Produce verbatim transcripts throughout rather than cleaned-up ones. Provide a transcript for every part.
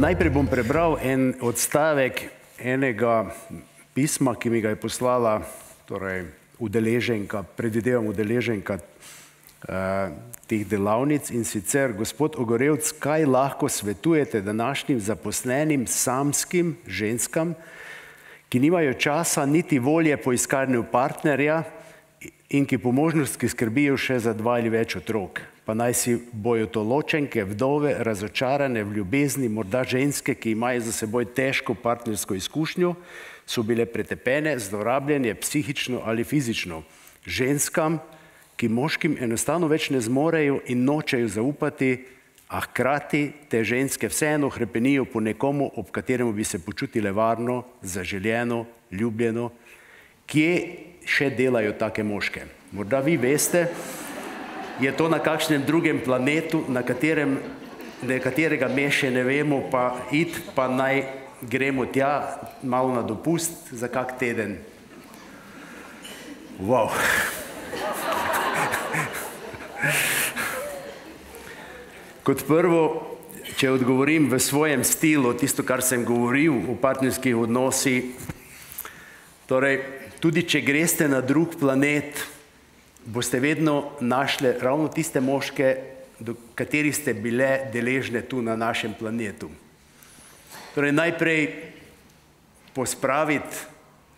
Najprej bom prebral en odstavek enega pisma, ki mi ga je poslala torej, udeleženka, predvidevam udeleženka uh, teh delavnic, in sicer: Gospod Ogorevc, kaj lahko svetujete današnjim zaposlenim samskim ženskam, ki nimajo časa niti volje po iskanju partnerja in ki po možnosti skrbijo še za dva ali več otrok, pa naj si bojo to ločenke, vdove, razočarane v ljubezni, morda ženske, ki imajo za seboj težko partnersko izkušnjo, so bile pretepene, zlorabljene psihično ali fizično. Ženskam, ki moškim enostavno več ne zmorejo in nočejo zaupati, a hkrati te ženske vseeno hrepenijo po nekomu, ob kateremu bi se počutile varno, zaželjeno, ljubljeno. Kje še delajo take moške? Morda vi veste, je to na kakšnem drugem planetu, na katerem nekaterega me še ne vemo, pa id, pa naj gremo tja malo na dopust za kak teden. Wow. Kot prvo, če odgovorim v svojem stilu, tisto, kar sem govoril o partnerskih odnosih, torej, tudi če greste na drug planet, boste vedno našli ravno tiste moške, do katerih ste bile deležne tu na našem planetu. Torej, najprej pospraviti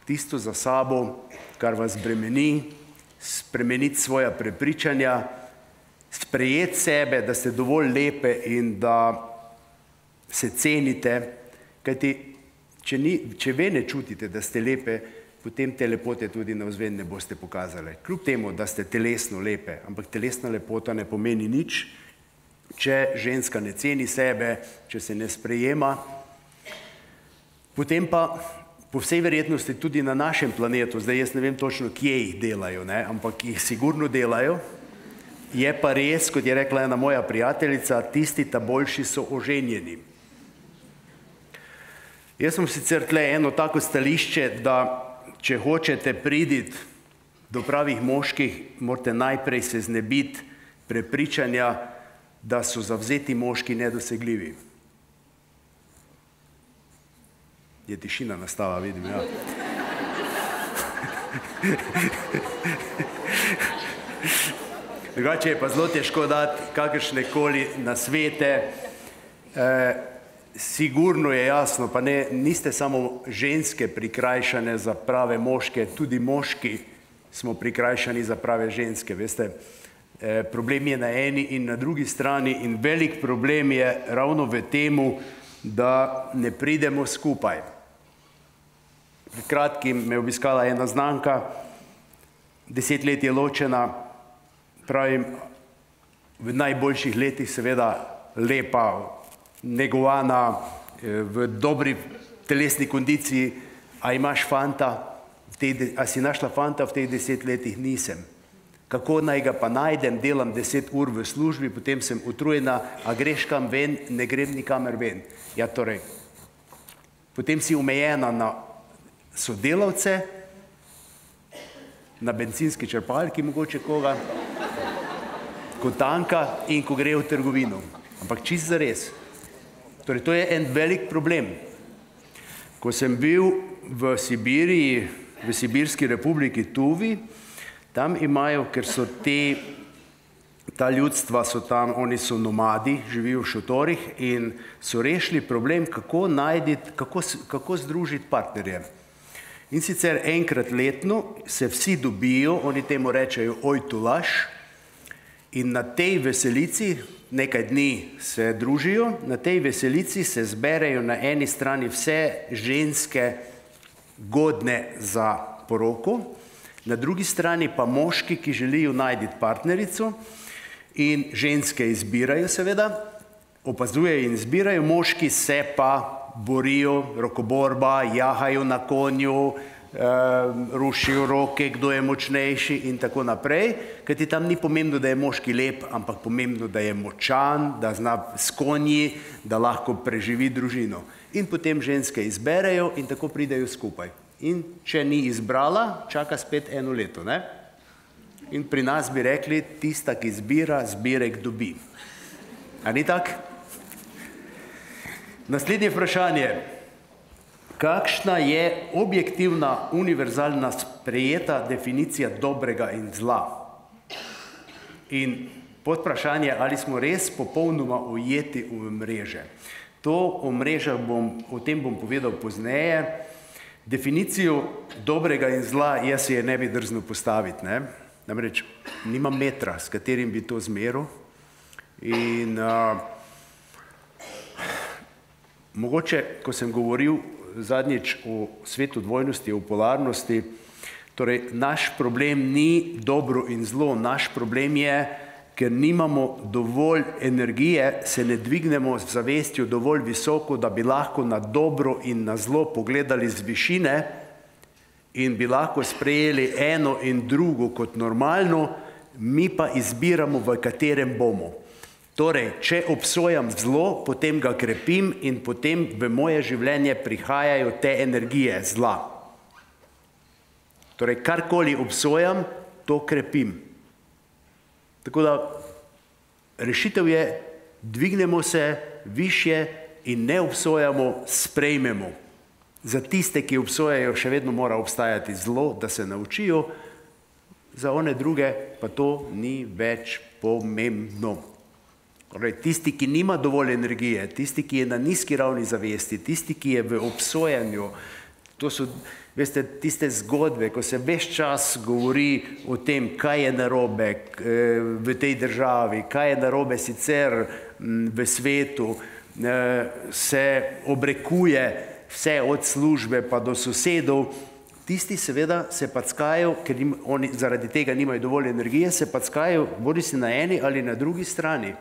tisto za sabo, kar vas bremeni, spremeniti svoja prepričanja, sprejeti sebe, da ste dovolj lepe in da se cenite, kajti če, ni, če ve ne čutite, da ste lepe, potem te lepote tudi navzven ne boste pokazali. Kljub temu, da ste telesno lepe, ampak telesna lepota ne pomeni nič, če ženska ne ceni sebe, če se ne sprejema. Potem pa po vsej verjetnosti tudi na našem planetu, zdaj jaz ne vem točno, kje jih delajo, ne? Ampak jih sigurno delajo. Je pa res, kot je rekla ena moja prijateljica, tisti ta boljši so oženjeni. Jaz sem sicer tle eno tako stališče, da če hočete priti do pravih moških, morate najprej se znebiti prepričanja, da so zavzeti moški nedosegljivi. Je tišina nastala, vidim, ja. Drugače je pa zelo težko dati kakršnekoli nasvete. E, sigurno je jasno, pa ne, niste samo ženske prikrajšane za prave moške, tudi moški smo prikrajšani za prave ženske, veste. E, problem je na eni in na drugi strani in velik problem je ravno v temu, da ne pridemo skupaj. Pred kratkim me je obiskala ena znanka, deset let je ločena, pravim, v najboljših letih seveda lepa, negovana, v dobri telesni kondiciji. A imaš fanta? A si našla fanta v teh deset letih? Nisem. Kako naj ga pa najdem? Delam deset ur v službi, potem sem utrujena, a greš kam ven? Ne grem nikamer ven. Ja, torej, potem si omejena na sodelavce, na bencinski črpalki mogoče koga, ko tanka in ko gre v trgovino. Ampak čisto zares. Torej, to je en velik problem. Ko sem bil v Sibiriji, v Sibirski republiki Tuvi, tam imajo, ker so te, ta ljudstva so tam, oni so nomadi, živijo v šotorih in so rešili problem, kako najditi, kako, kako združiti partnerje. In sicer enkrat letno se vsi dobijo, oni temu rečejo ojtulaš, in na tej veselici, nekaj dni se družijo, na tej veselici se zberejo na eni strani vse ženske godne za poroko, na drugi strani pa moški, ki želijo najti partnerico, in ženske izbirajo seveda, opazujejo in izbirajo, moški se pa borijo, rokoborba, jahajo na konju, rušijo roke, kdo je močnejši in tako naprej, kajti tam ni pomembno, da je moški lep, ampak pomembno, da je močan, da zna s konji, da lahko preživi družino. In potem ženske izberejo in tako pridejo skupaj. In če ni izbrala, čaka spet eno leto, ne? In pri nas bi rekli, tista, ki zbira, zbirek dobi. A ni tak? Naslednje vprašanje. Kakšna je objektivna, univerzalna, sprejeta definicija dobrega in zla? In podvprašanje, ali smo res popolnoma ujeti v mreže. To o mrežah bom, o tem bom povedal pozneje. Definicijo dobrega in zla jaz si je ne bi drznil postaviti, ne? Namreč nimam metra, s katerim bi to zmeril. In uh, mogoče, ko sem govoril zadnjič o svetu dvojnosti, o polarnosti, torej naš problem ni dobro in zlo, naš problem je, ker nimamo dovolj energije, se ne dvignemo z zavestjo dovolj visoko, da bi lahko na dobro in na zlo pogledali z višine in bi lahko sprejeli eno in drugo kot normalno, mi pa izbiramo, v katerem bomo. Torej, če obsojam zlo, potem ga krepim in potem v moje življenje prihajajo te energije zla. Torej, karkoli obsojam, to krepim. Tako da, rešitev je, dvignemo se višje in ne obsojamo, sprejmemo. Za tiste, ki obsojajo, še vedno mora obstajati zlo, da se naučijo, za one druge pa to ni več pomembno. Torej, tisti, ki nima dovolj energije, tisti, ki je na nizki ravni zavesti, tisti, ki je v obsojanju, to so, veste, tiste zgodbe, ko se ves čas govori o tem, kaj je narobe v tej državi, kaj je narobe sicer v svetu, se obrekuje vse od službe pa do sosedov, tisti seveda se packajo, ker oni zaradi tega nimajo dovolj energije, se packajo bodi si na eni ali na drugi strani.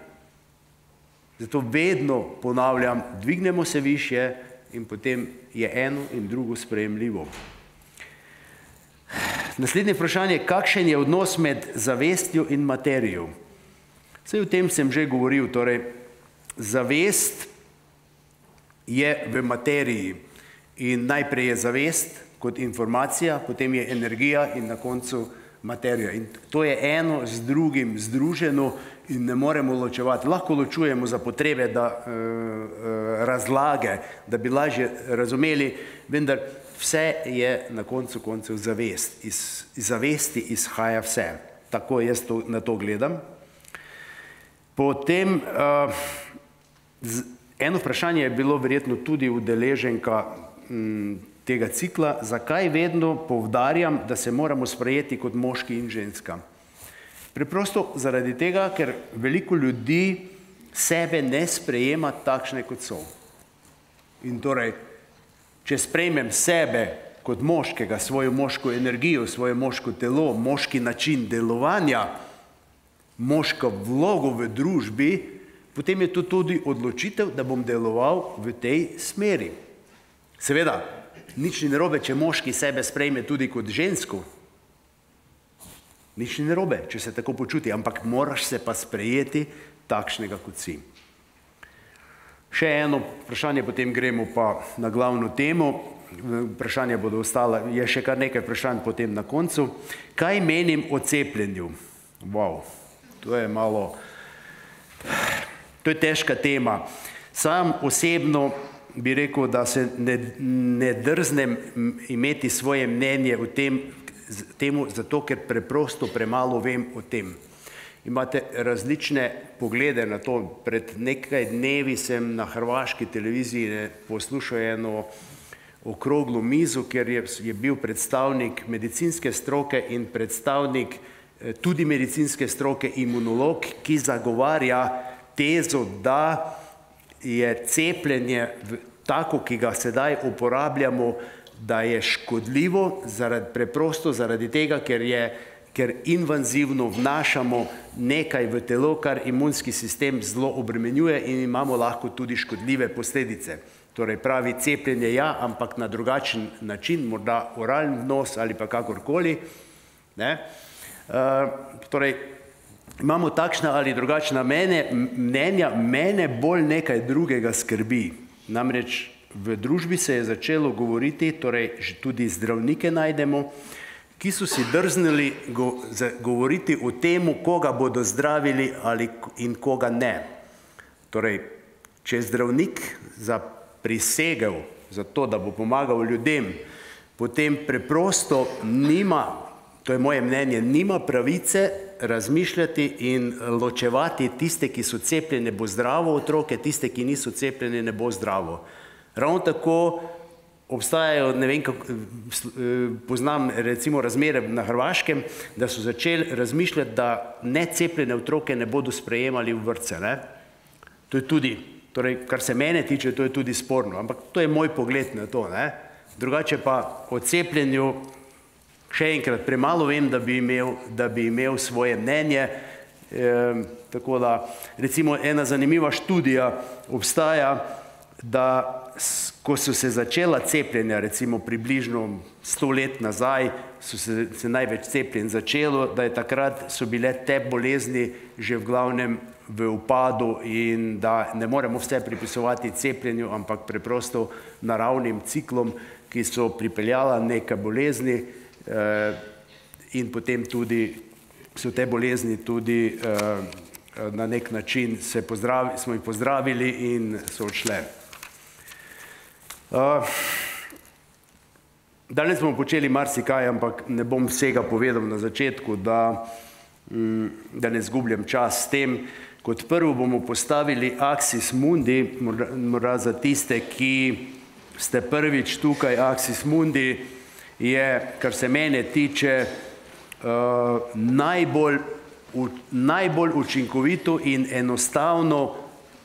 Zato vedno ponavljam, dvignemo se višje in potem je eno in drugo sprejemljivo. Naslednje vprašanje, kakšen je odnos med zavestjo in materijo? Saj o tem sem že govoril, torej zavest je v materiji in najprej je zavest kot informacija, potem je energija in na koncu materija. In to je eno z drugim združeno in ne moremo ločevati. Lahko ločujemo za potrebe da, e, e, razlage, da bi lažje razumeli, vendar vse je na koncu koncev zavest. Iz, iz zavesti izhaja vse. Tako jaz to, na to gledam. Potem, e, z, eno vprašanje je bilo verjetno tudi udeleženka m, tega cikla, zakaj vedno poudarjam, da se moramo sprejeti kot moški in ženska. Preprosto zaradi tega, ker veliko ljudi sebe ne sprejema takšne, kot so. In torej, če sprejmem sebe kot moškega, svojo moško energijo, svoje moško telo, moški način delovanja, moško vlogo v družbi, potem je to tudi odločitev, da bom deloval v tej smeri. Seveda, nič ni narobe, če moški sebe sprejme tudi kot žensko. Nič ni narobe, če se tako počuti, ampak moraš se pa sprejeti takšnega, kot si. Še eno vprašanje, potem gremo pa na glavno temo. Vprašanja bodo ostala, je še kar nekaj vprašanj potem na koncu. Kaj menim o cepljenju? Wow, to je malo, to je težka tema. Sam osebno bi rekel, da se ne, ne drznem imeti svoje mnenje o tem, temu, zato ker preprosto premalo vem o tem. Imate različne poglede na to. Pred nekaj dnevi sem na hrvaški televiziji poslušal eno okroglo mizo, kjer je, je bil predstavnik medicinske stroke in predstavnik tudi medicinske stroke imunolog, ki zagovarja tezo, da je cepljenje tako, ki ga sedaj uporabljamo, da je škodljivo zaradi, preprosto zaradi tega, ker, je, ker invazivno vnašamo nekaj v telo, kar imunski sistem zelo obremenjuje in imamo lahko tudi škodljive posledice. Torej pravi cepljenje ja, ampak na drugačen način, morda oralni vnos ali pa kakorkoli. Ne? Uh, torej, imamo takšna ali drugačna mene, mnenja, mene bolj nekaj drugega skrbi. Namreč v družbi se je začelo govoriti, torej tudi zdravnike najdemo, ki so si drznili go, govoriti o tem, koga bodo zdravili ali in koga ne. Torej, če zdravnik za prisegel za to, da bo pomagal ljudem, potem preprosto nima, to je moje mnenje, nima pravice razmišljati in ločevati tiste, ki so cepljene, bo zdravo otroke, tiste, ki niso cepljene, ne bo zdravo. Ravno tako obstajajo, ne vem, kako, poznam recimo razmere na Hrvaškem, da so začeli razmišljati, da necepljene otroke ne bodo sprejemali v vrtce. Ne? To je tudi, torej, kar se mene tiče, to je tudi sporno, ampak to je moj pogled na to. Ne? Drugače pa o cepljenju še enkrat premalo vem, da bi imel, da bi imel svoje mnenje. E, tako da, recimo, ena zanimiva študija obstaja, da ko so se začela cepljenja, recimo približno sto let nazaj, so se, se največ cepljenj začelo, da je takrat so bile te bolezni že v glavnem v upadu in da ne moremo vse pripisovati cepljenju, ampak preprosto naravnim ciklom, ki so pripeljala neke bolezni eh, in potem tudi so te bolezni tudi eh, na nek način se pozdravi, smo jih pozdravili in so odšle. Uh, danes bomo počeli marsikaj, ampak ne bom vsega povedal na začetku, da, um, da ne zgubljam čas s tem. Kot prvo bomo postavili Axis Mundi, morda za tiste, ki ste prvič tukaj. Axis Mundi je, kar se mene tiče, uh, najbolj, u, najbolj učinkovito in enostavno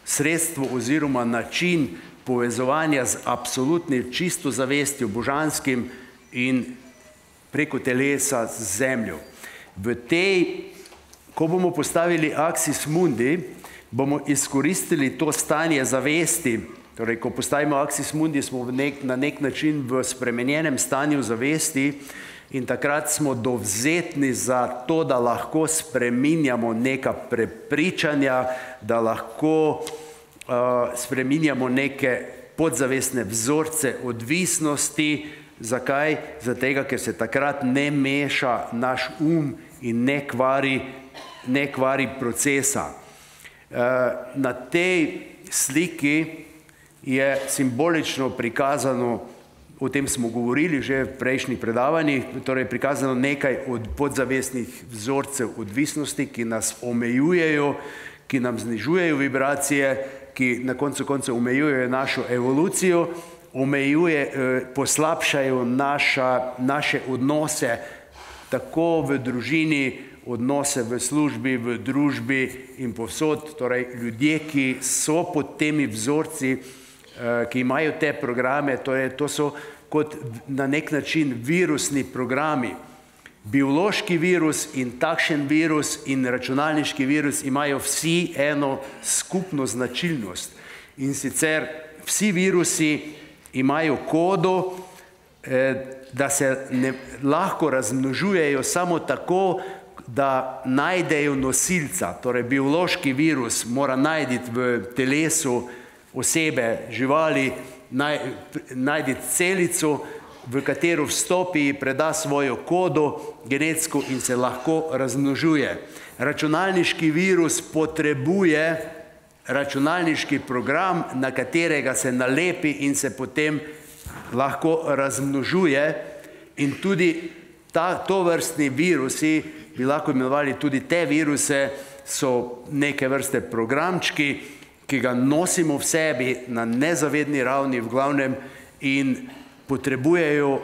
sredstvo oziroma način povezovanja z absolutnim čisto zavestjo, božanskim in preko telesa z zemljo. V tej, ko bomo postavili Axis Mundi, bomo izkoristili to stanje zavesti, torej, ko postavimo Axis Mundi, smo v nek, na nek način v spremenjenem stanju zavesti in takrat smo dovzetni za to, da lahko spreminjamo neka prepričanja, da lahko Uh, spreminjamo neke podzavestne vzorce odvisnosti. Zakaj? Zato, ker se takrat ne meša naš um in ne kvari, ne kvari procesa. Uh, na tej sliki je simbolično prikazano, o tem smo govorili že v prejšnjih predavanjih, torej prikazano nekaj od podzavestnih vzorcev odvisnosti, ki nas omejujejo, ki nam znižujejo vibracije, ki na koncu koncev omejujejo našo evolucijo, omejuje, poslabšajo naša, naše odnose, tako v družini, odnose v službi, v družbi in povsod. Torej, ljudje, ki so pod temi vzorci, ki imajo te programe, torej, to so kot na nek način virusni programi. Biološki virus in takšen virus in računalniški virus imajo vsi eno skupno značilnost. In sicer vsi virusi imajo kodo, da se ne, lahko razmnožujejo samo tako, da najdejo nosilca. Torej, biološki virus mora najti v telesu osebe, živali, naj, najti celico, v katero vstopi, preda svojo kodo genetsko in se lahko razmnožuje. Računalniški virus potrebuje računalniški program, na katerega se nalepi in se potem lahko razmnožuje. In tudi ta, tovrstni virusi, bi lahko imenovali tudi te viruse, so neke vrste programčki, ki ga nosimo v sebi na nezavedni ravni v glavnem in potrebujejo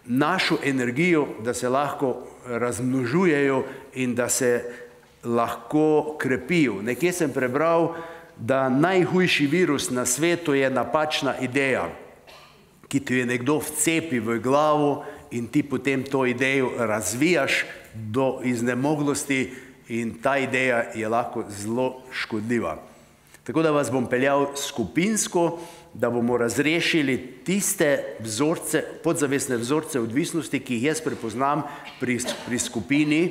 našo energijo, da se lahko razmnožujejo in da se lahko krepijo. Nekje sem prebral, da najhujši virus na svetu je napačna ideja, ki ti je nekdo vcepi v glavo in ti potem to idejo razvijaš do iznemoglosti in ta ideja je lahko zelo škodljiva. Tako da vas bom peljal skupinsko, da bomo razrešili tiste vzorce, podzavestne vzorce odvisnosti, ki jih jaz prepoznam pri, pri skupini.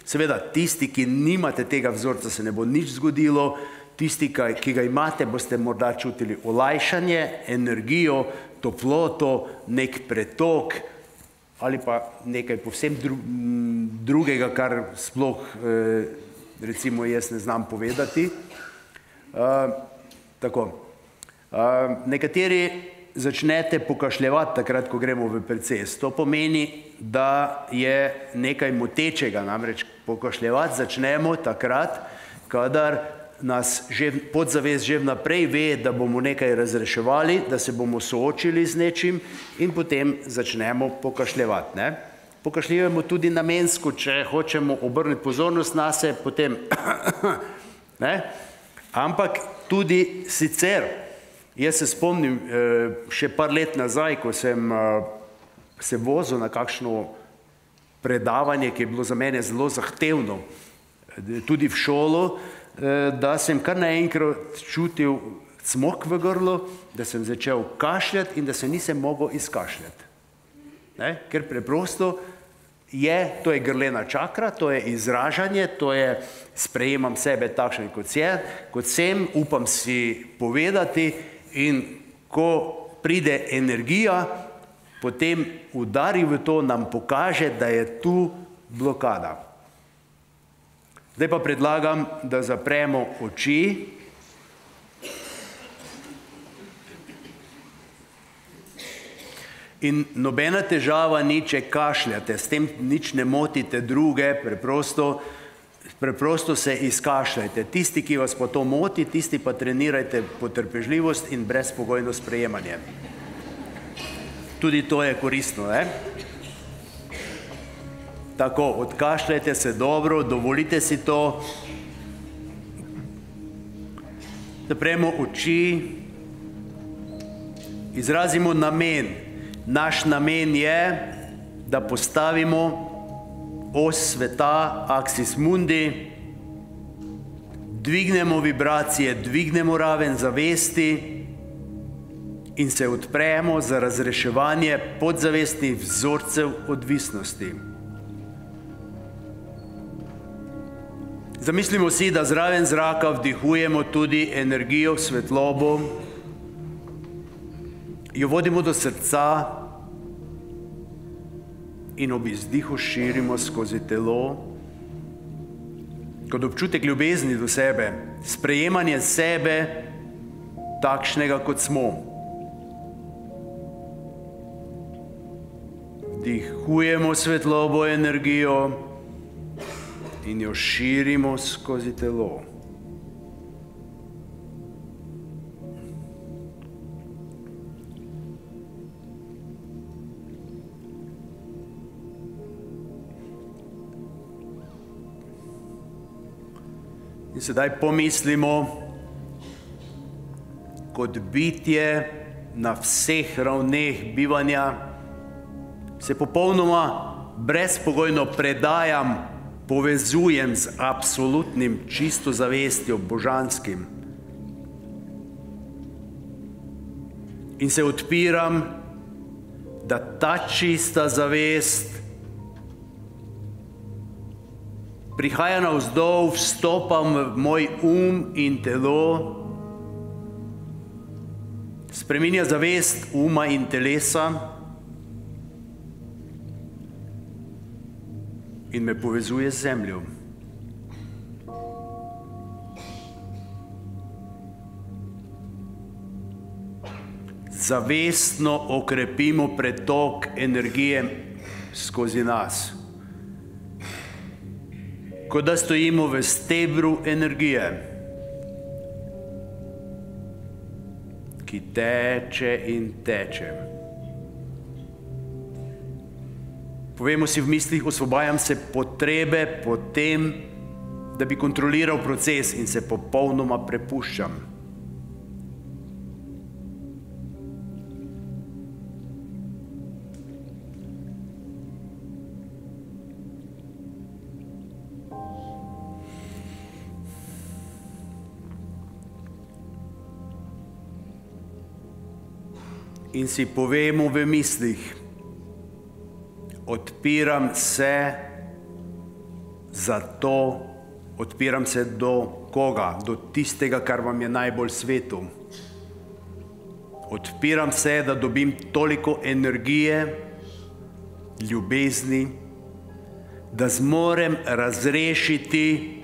Seveda, tisti, ki nimate tega vzorca, se ne bo nič zgodilo. Tisti, ki ga imate, boste morda čutili olajšanje, energijo, toploto, nek pretok ali pa nekaj povsem dru, drugega, kar sploh recimo jaz ne znam povedati. Uh, tako. Nekateri začnete pokašljevati takrat, ko gremo v proces. To pomeni, da je nekaj motečega, namreč pokašljevati začnemo takrat, kadar nas že podzavest že vnaprej ve, da bomo nekaj razreševali, da se bomo soočili z nečim in potem začnemo pokašljevati. Ne? Pokašljujemo tudi namensko, če hočemo obrniti pozornost nase, potem ne? Ampak tudi sicer, jaz se spomnim še par let nazaj, ko sem se vozil na kakšno predavanje, ki je bilo za mene zelo zahtevno, tudi v šolo, da sem kar naenkrat čutil cmok v grlu, da sem začel kašljati in da se nisem mogel izkašljati. Ne? Ker preprosto je, to je grlena čakra, to je izražanje, to je sprejemam sebe takšen kot je, kot sem, upam si povedati in ko pride energija, potem udari v to, nam pokaže, da je tu blokada. Zdaj pa predlagam, da zapremo oči in nobena težava ni, če kašljate, s tem nič ne motite druge, preprosto, preprosto se izkašljajte. Tisti, ki vas pa to moti, tisti pa trenirajte potrpežljivost in brezpogojno sprejemanje. Tudi to je koristno, ne? Tako, odkašljajte se dobro, dovolite si to. Zapremo oči, izrazimo namen. Naš namen je, da postavimo os sveta, aksis mundi, dvignemo vibracije, dvignemo raven zavesti in se odpremo za razreševanje podzavestnih vzorcev odvisnosti. Zamislimo si, da zraven zraka vdihujemo tudi energijo, svetlobo, jo vodimo do srca in ob izdihu širimo skozi telo, kot občutek ljubezni do sebe, sprejemanje sebe takšnega, kot smo. Vdihujemo svetlobo, energijo in jo širimo skozi telo. In sedaj pomislimo, kot bitje na vseh ravneh bivanja, se popolnoma brezpogojno predajam, povezujem z absolutnim čisto zavestjo, božanskim. In se odpiram, da ta čista zavest prihaja navzdol, vstopam v moj um in telo, spreminja zavest uma in telesa in me povezuje z zemljo. Zavestno okrepimo pretok energije skozi nas, kot da stojimo v stebru energije, ki teče in teče. Povemo si v mislih, osvobajam se potrebe po tem, da bi kontroliral proces in se popolnoma prepuščam. In si povemo v mislih, odpiram se za to, odpiram se do koga, do tistega, kar vam je najbolj svetu. Odpiram se, da dobim toliko energije, ljubezni, da zmorem razrešiti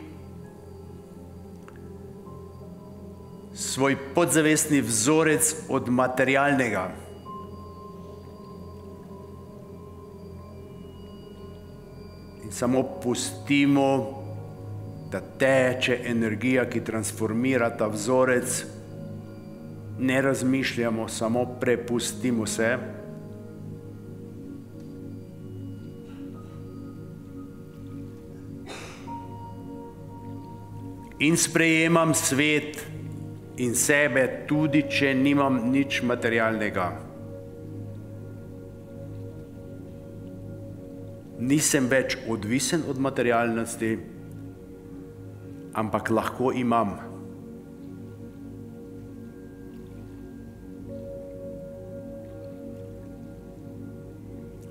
svoj podzavestni vzorec od materialnega. In samo pustimo, da teče energija, ki transformira ta vzorec. Ne razmišljamo, samo prepustimo se. In sprejemam svet in sebe, tudi če nimam nič materialnega. Nisem več odvisen od materialnosti, ampak lahko imam.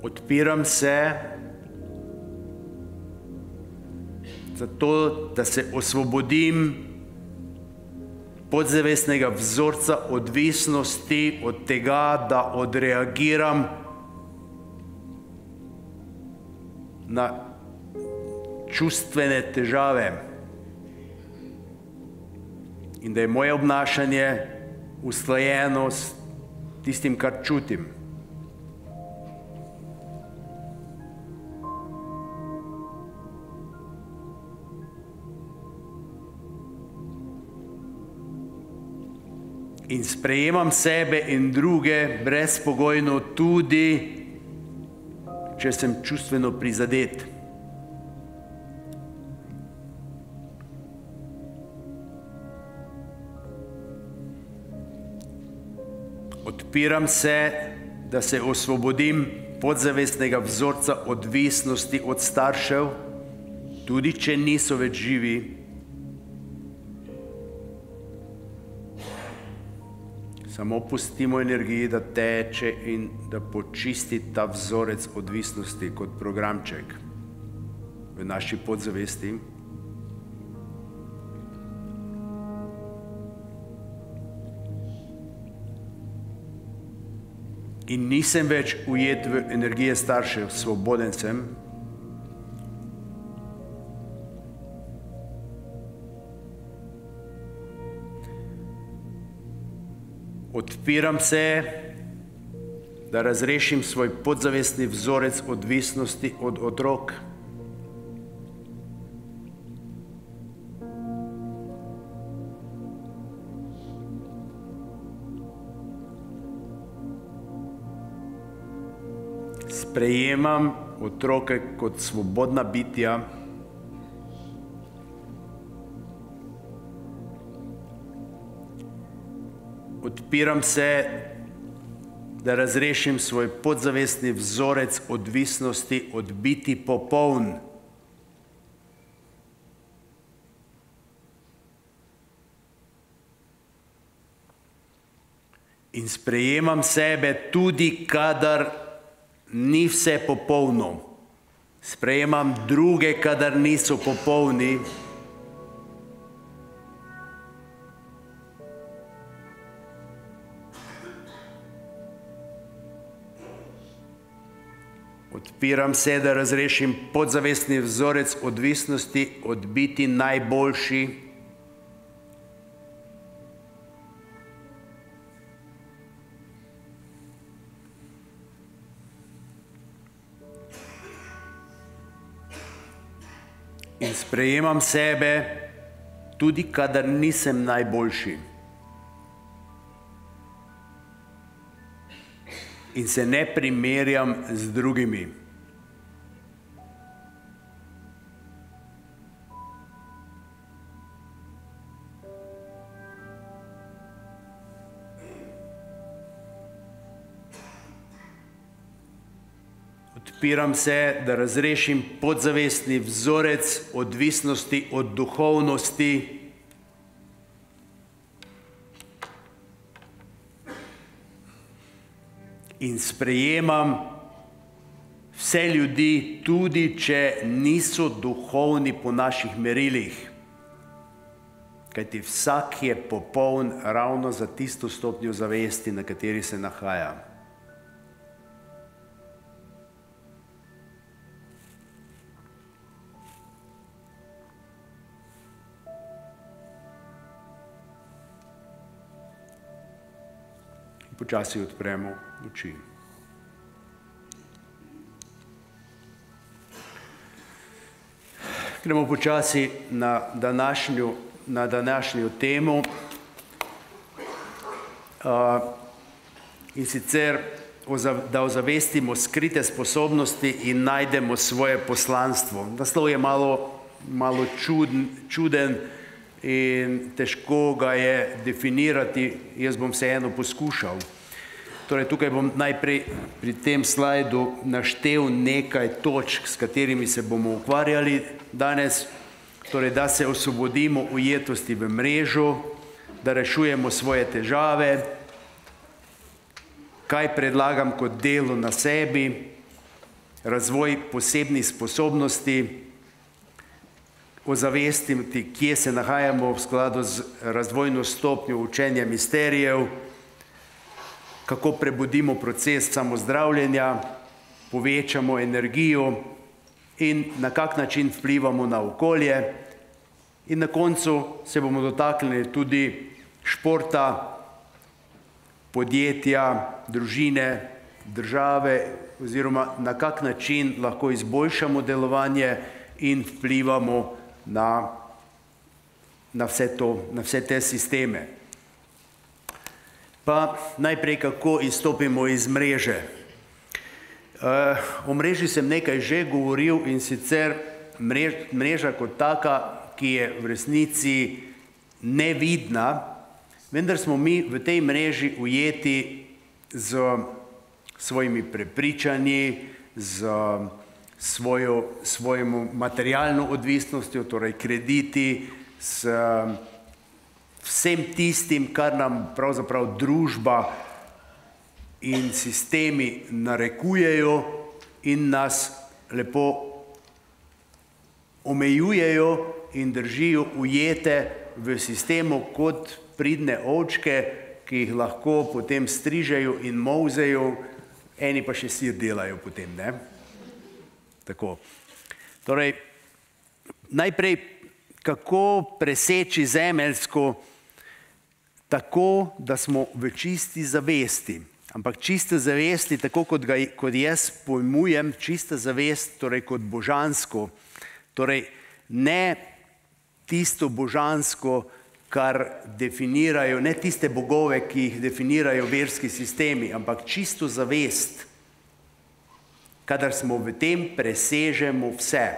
Odpiram se zato, da se osvobodim podzavestnega vzorca odvisnosti od tega, da odreagiram na čustvene težave in da je moje obnašanje usklajeno s tistim, kar čutim. In sprejemam sebe in druge brezpogojno, tudi če sem čustveno prizadet. Odpiram se, da se osvobodim podzavestnega vzorca odvisnosti od staršev, tudi če niso več živi. Samo pustimo energiji, da teče in da počisti ta vzorec odvisnosti kot programček v naši podzavesti. In nisem več ujet v energije staršev, svoboden sem. Odpiram se, da razrešim svoj podzavestni vzorec odvisnosti od otrok. Sprejemam otroke kot svobodna bitja. Odpiram se, da razrešim svoj podzavestni vzorec odvisnosti od biti popoln. In sprejemam sebe tudi, kadar ni vse popolno. Sprejemam druge, kadar niso popolni. Odpiram se, da razrešim podzavestni vzorec odvisnosti od biti najboljši. In sprejemam sebe, tudi kadar nisem najboljši. In se ne primerjam z drugimi. Odpiram se, da razrešim podzavestni vzorec odvisnosti od duhovnosti. In sprejemam vse ljudi, tudi če niso duhovni po naših merilih. Kajti vsak je popoln ravno za tisto stopnjo zavesti, na kateri se nahaja. Počasi odpremo oči. Gremo počasi na današnjo, na današnjo temo. Uh, in sicer, da ozavestimo skrite sposobnosti in najdemo svoje poslanstvo. Naslov je malo, malo čuden, čuden in težko ga je definirati, jaz bom vseeno poskušal. Torej, tukaj bom najprej pri tem slajdu naštel nekaj točk, s katerimi se bomo ukvarjali danes. Torej, da se osvobodimo ujetosti v mrežo, da rešujemo svoje težave, kaj predlagam kot delo na sebi, razvoj posebnih sposobnosti, ozavestiti, kje se nahajamo v skladu z razvojno stopnjo učenja misterijev, kako prebudimo proces samozdravljenja, povečamo energijo in na kak način vplivamo na okolje. In na koncu se bomo dotaknili tudi športa, podjetja, družine, države, oziroma na kak način lahko izboljšamo delovanje in vplivamo na, na, vse to, na vse te sisteme. Pa najprej, kako izstopimo iz mreže. Uh, o mreži sem nekaj že govoril, in sicer mrež, mreža kot taka, ki je v resnici nevidna, vendar smo mi v tej mreži ujeti z svojimi prepričanji, z svojo, svojemu materialno odvisnostjo, torej krediti, s vsem tistim, kar nam pravzaprav družba in sistemi narekujejo in nas lepo omejujejo in držijo ujete v sistemu kot pridne ovčke, ki jih lahko potem strižejo in molzejo, eni pa še sir delajo potem, ne? Tako. Torej, najprej, kako preseči zemeljsko tako, da smo v čisti zavesti. Ampak čiste zavesti, tako kot, ga, kot jaz pojmujem, čista zavest, torej kot božansko, torej ne tisto božansko, kar definirajo, ne tiste bogove, ki jih definirajo verski sistemi, ampak čisto zavest, kadar smo v tem, presežemo vse.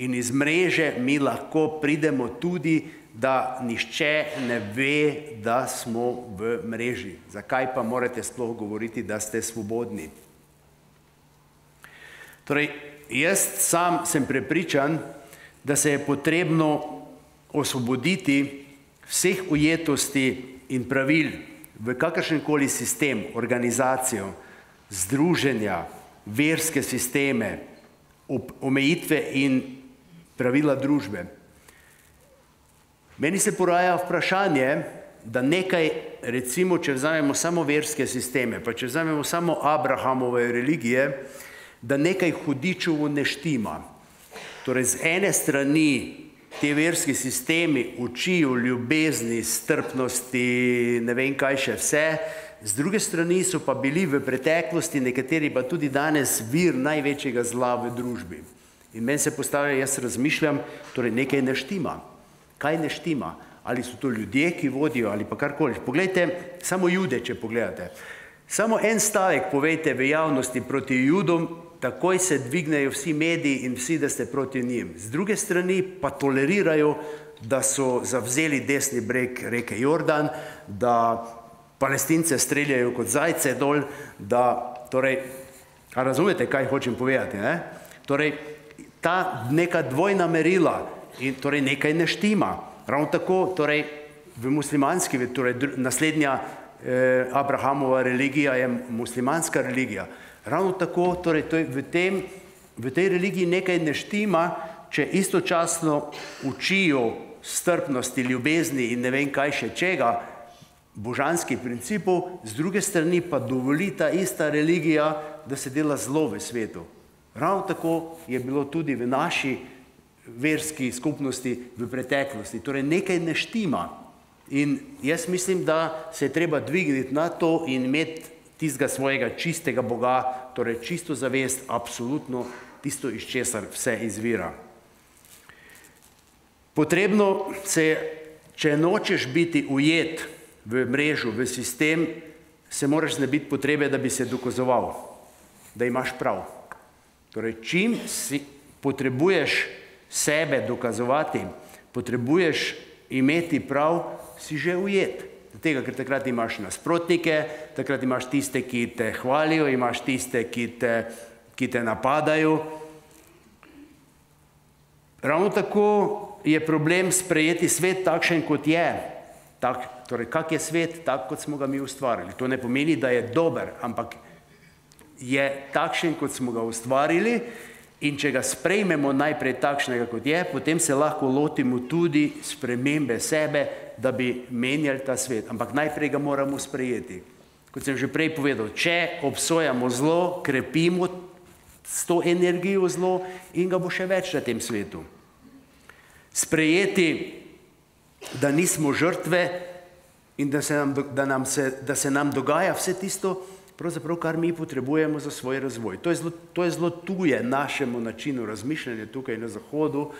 In iz mreže mi lahko pridemo tudi, da nihče ne ve, da smo v mreži. Zakaj pa morate sploh govoriti, da ste svobodni? Torej, jaz sam sem prepričan, da se je potrebno osvoboditi vseh ujetosti in pravil v kakršenkoli sistem, organizacijo, združenja, verske sisteme, omejitve in pravila družbe. Meni se poraja vprašanje, da nekaj, recimo, če vzamemo samo verske sisteme, pa če vzamemo samo Abrahamove religije, da nekaj hudičevo ne štima. Torej, z ene strani te verski sistemi učijo ljubezni, strpnosti, ne vem kaj še vse, z druge strani so pa bili v preteklosti nekateri pa tudi danes vir največjega zla v družbi. In meni se postavlja, jaz razmišljam, torej nekaj ne štima. Kaj ne štima? Ali so to ljudje, ki vodijo, ali pa karkoli. Poglejte, samo Jude, če pogledate. Samo en stavek povejte v javnosti proti Judom, takoj se dvignejo vsi mediji in vsi, da ste proti njim. Z druge strani pa tolerirajo, da so zavzeli desni breg reke Jordan, da Palestince streljajo kot zajce dol, da, torej, a razumete, kaj hočem povedati, ne? Torej, ta neka dvojna merila, in torej nekaj ne štima. Ravno tako, torej, v muslimanski, torej naslednja eh, Abrahamova religija je muslimanska religija. Ravno tako, torej, to je v, tem, v tej religiji nekaj ne štima, če istočasno učijo strpnosti, ljubezni in ne vem kaj še čega, božanskih principov, z druge strani pa dovoli ta ista religija, da se dela zlo v svetu. Ravno tako je bilo tudi v naši verski skupnosti v preteklosti. Torej nekaj ne štima. In jaz mislim, da se je treba dvigniti na to in imeti tistega svojega čistega Boga, torej čisto zavest, absolutno tisto, iz česar vse izvira. Potrebno se, če nočeš biti ujet v mrežu, v sistem, se moraš znebiti potrebe, da bi se dokazoval, da imaš prav. Torej, čim si potrebuješ sebe dokazovati, potrebuješ imeti prav, si že ujet. Tega, ker takrat imaš nasprotnike, takrat imaš tiste, ki te hvalijo, imaš tiste, ki te, ki te napadajo. Ravno tako je problem sprejeti svet takšen, kot je. Tak, torej, kak je svet, tak, kot smo ga mi ustvarili. To ne pomeni, da je dober, ampak je takšen, kot smo ga ustvarili, in če ga sprejmemo najprej takšnega, kot je, potem se lahko lotimo tudi spremembe sebe, da bi menjali ta svet. Ampak najprej ga moramo sprejeti. Kot sem že prej povedal, če obsojamo zlo, krepimo s to energijo zlo in ga bo še več na tem svetu. Sprejeti, da nismo žrtve in da se nam, da nam, se, da se nam dogaja vse tisto, pravzaprav, kar mi potrebujemo za svoj razvoj. To je zelo, to je zelo tuje našemu načinu razmišljanja tukaj na Zahodu,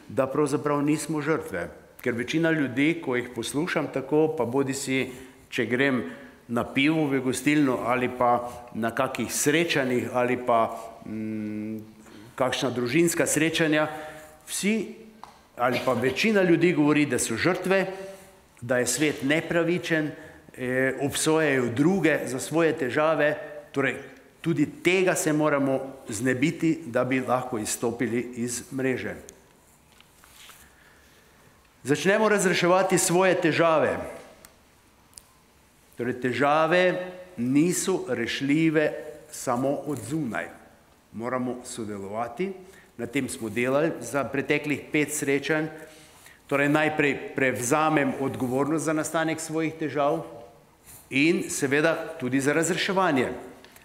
da pravzaprav nismo žrtve. Ker večina ljudi, ko jih poslušam tako, pa bodi si, če grem na pivo v gostilno ali pa na kakih srečanjih ali pa mm, kakšna družinska srečanja, vsi ali pa večina ljudi govori, da so žrtve, da je svet nepravičen, obsojajo druge za svoje težave, torej tudi tega se moramo znebiti, da bi lahko izstopili iz mreže. Začnemo razreševati svoje težave. Torej, težave niso rešljive samo od zunaj. Moramo sodelovati, na tem smo delali za preteklih pet srečanj. Torej, najprej prevzamem odgovornost za nastanek svojih težav, in seveda tudi za razreševanje.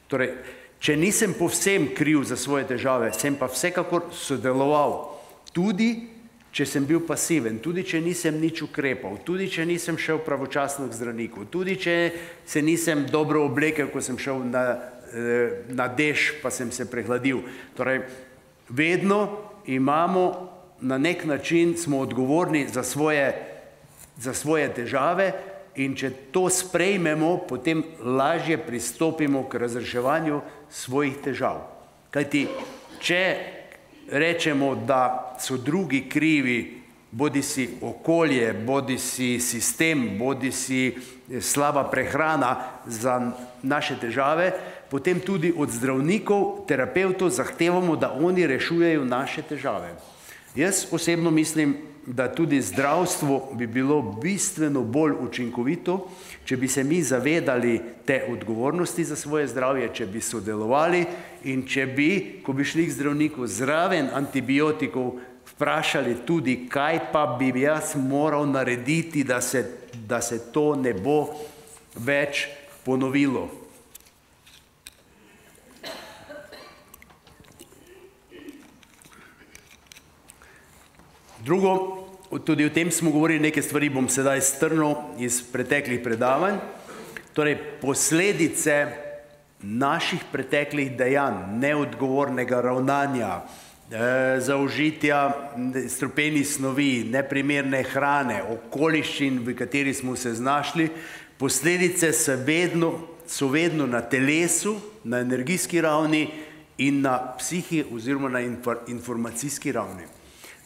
Torej, če nisem povsem kriv za svoje težave, sem pa vsekakor sodeloval, tudi če sem bil pasiven, tudi če nisem nič ukrepal, tudi če nisem šel pravočasno k zdravniku, tudi če se nisem dobro oblekel, ko sem šel na, na dež, pa sem se prehladil. Torej, vedno imamo na nek način, smo odgovorni za svoje, za svoje težave, in če to sprejmemo, potem lažje pristopimo k razreševanju svojih težav. Kajti, če rečemo, da so drugi krivi, bodi si okolje, bodi si sistem, bodi si slaba prehrana za naše težave, potem tudi od zdravnikov, terapevtov zahtevamo, da oni rešujejo naše težave. Jaz osebno mislim, da tudi zdravstvo bi bilo bistveno bolj učinkovito, če bi se mi zavedali te odgovornosti za svoje zdravje, če bi sodelovali in če bi, ko bi šli k zdravniku zraven antibiotikov, vprašali tudi, kaj pa bi jaz moral narediti, da se, da se to ne bo več ponovilo. Drugo, tudi o tem smo govorili, neke stvari bom sedaj strnil iz preteklih predavanj. Torej, posledice naših preteklih dejanj, neodgovornega ravnanja, zaužitja strupenih snovi, neprimerne hrane, okoliščin, v kateri smo se znašli, posledice so vedno, so vedno na telesu, na energijski ravni in na psihi oziroma na informacijski ravni.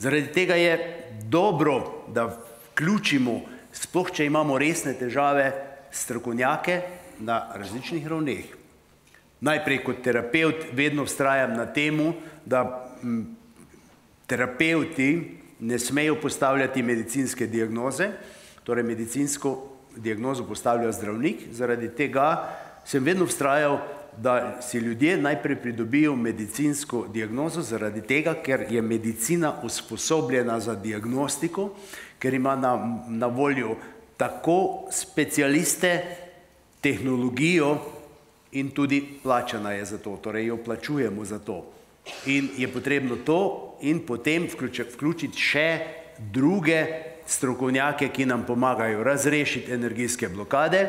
Zaradi tega je dobro, da vključimo, sploh če imamo resne težave, strokovnjake na različnih ravneh. Najprej kot terapevt vedno vztrajam na temu, da terapevti ne smejo postavljati medicinske diagnoze, torej medicinsko diagnozo postavlja zdravnik, zaradi tega sem vedno vztrajal, da si ljudje najprej pridobijo medicinsko diagnozo, zaradi tega, ker je medicina usposobljena za diagnostiko, ker ima na, na voljo tako specialiste, tehnologijo in tudi plačana je za to, torej jo plačujemo za to. In je potrebno to in potem vključiti še druge strokovnjake, ki nam pomagajo razrešiti energijske blokade,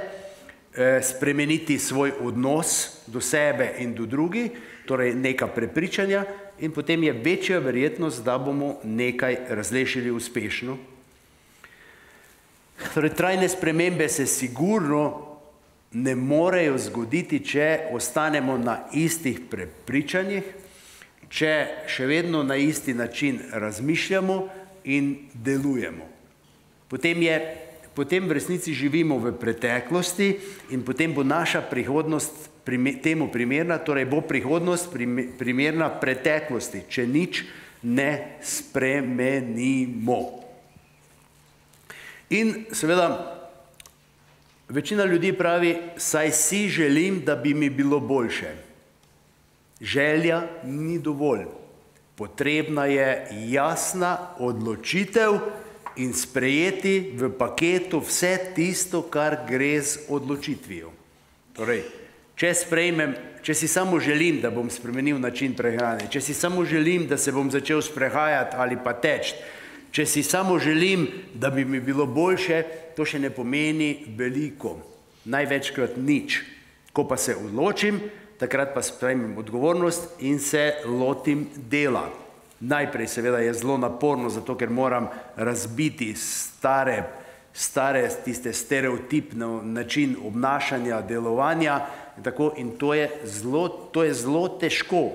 spremeniti svoj odnos do sebe in do drugih, torej neka prepričanja, in potem je večja verjetnost, da bomo nekaj razrešili uspešno. Torej, trajne spremembe se sigurno ne morejo zgoditi, če ostanemo na istih prepričanjih, če še vedno na isti način razmišljamo in delujemo. Potem je Potem v resnici živimo v preteklosti in potem bo naša prihodnost temu primerna, torej bo prihodnost primerna preteklosti, če nič ne spremenimo. In seveda, večina ljudi pravi, saj si želim, da bi mi bilo boljše. Želja ni dovolj. Potrebna je jasna odločitev in sprejeti v paketu vse tisto, kar gre z odločitvijo. Torej, če sprejmem, če si samo želim, da bom spremenil način prehrane, če si samo želim, da se bom začel sprehajati ali pa teči, če si samo želim, da bi mi bilo boljše, to še ne pomeni veliko. Največkrat nič. Ko pa se odločim, takrat pa sprejmem odgovornost in se lotim dela. Najprej seveda je zelo naporno, zato ker moram razbiti stare, stare tiste stereotipne način obnašanja, delovanja, tako, in to je zelo, to je zelo težko.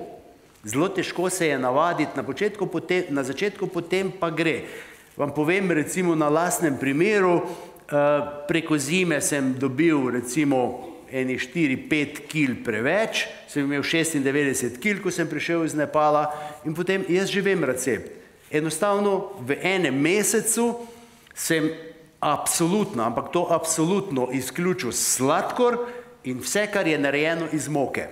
Zelo težko se je navaditi na početku, potem, na začetku, potem pa gre. Vam povem recimo na lastnem primeru, preko zime sem dobil recimo eni štiri, pet kil preveč, sem imel šestindevetdeset kil, ko sem prišel iz Nepala, in potem jaz že vem recept. Enostavno v enem mesecu sem absolutno, ampak to absolutno izključil sladkor in vse, kar je narejeno iz moke.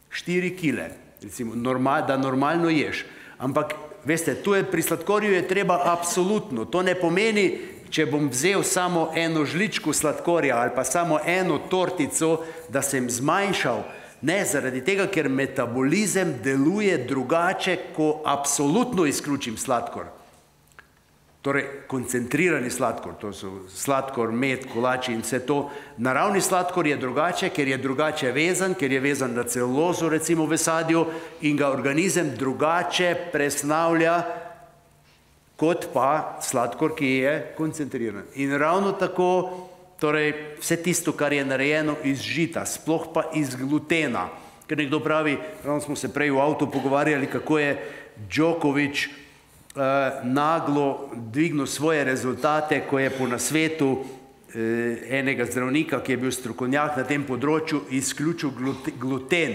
Štiri kile, recimo, da normalno ješ. Ampak, veste, tu je pri sladkorju je treba absolutno. To ne pomeni, če bom vzel samo eno žličko sladkorja ali pa samo eno tortico, da sem zmanjšal. Ne, zaradi tega, ker metabolizem deluje drugače, ko absolutno izključim sladkor. Torej, koncentrirani sladkor, to so sladkor, med, kolači in vse to. Naravni sladkor je drugače, ker je drugače vezan, ker je vezan na celulozo, recimo v sadju, in ga organizem drugače presnavlja, kot pa sladkor, ki je koncentriran. In ravno tako, torej, vse tisto, kar je narejeno iz žita, sploh pa iz glutena. Ker nekdo pravi, ravno smo se prej v avtu pogovarjali, kako je Djokovič naglo dvignil svoje rezultate, ko je po nasvetu enega zdravnika, ki je bil strokovnjak na tem področju, izključil gluten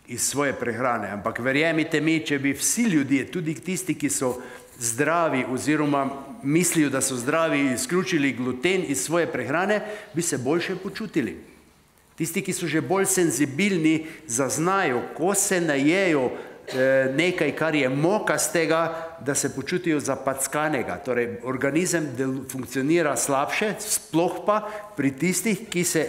iz svoje prehrane. Ampak verjemite mi, če bi vsi ljudje, tudi tisti, ki so zdravi oziroma mislijo, da so zdravi, izključili gluten iz svoje prehrane, bi se boljše počutili. Tisti, ki so že bolj senzibilni, zaznajo, ko se najejo nekaj, kar je mokastega, da se počutijo zapackanega. Torej, organizem funkcionira slabše, sploh pa pri tistih, ki se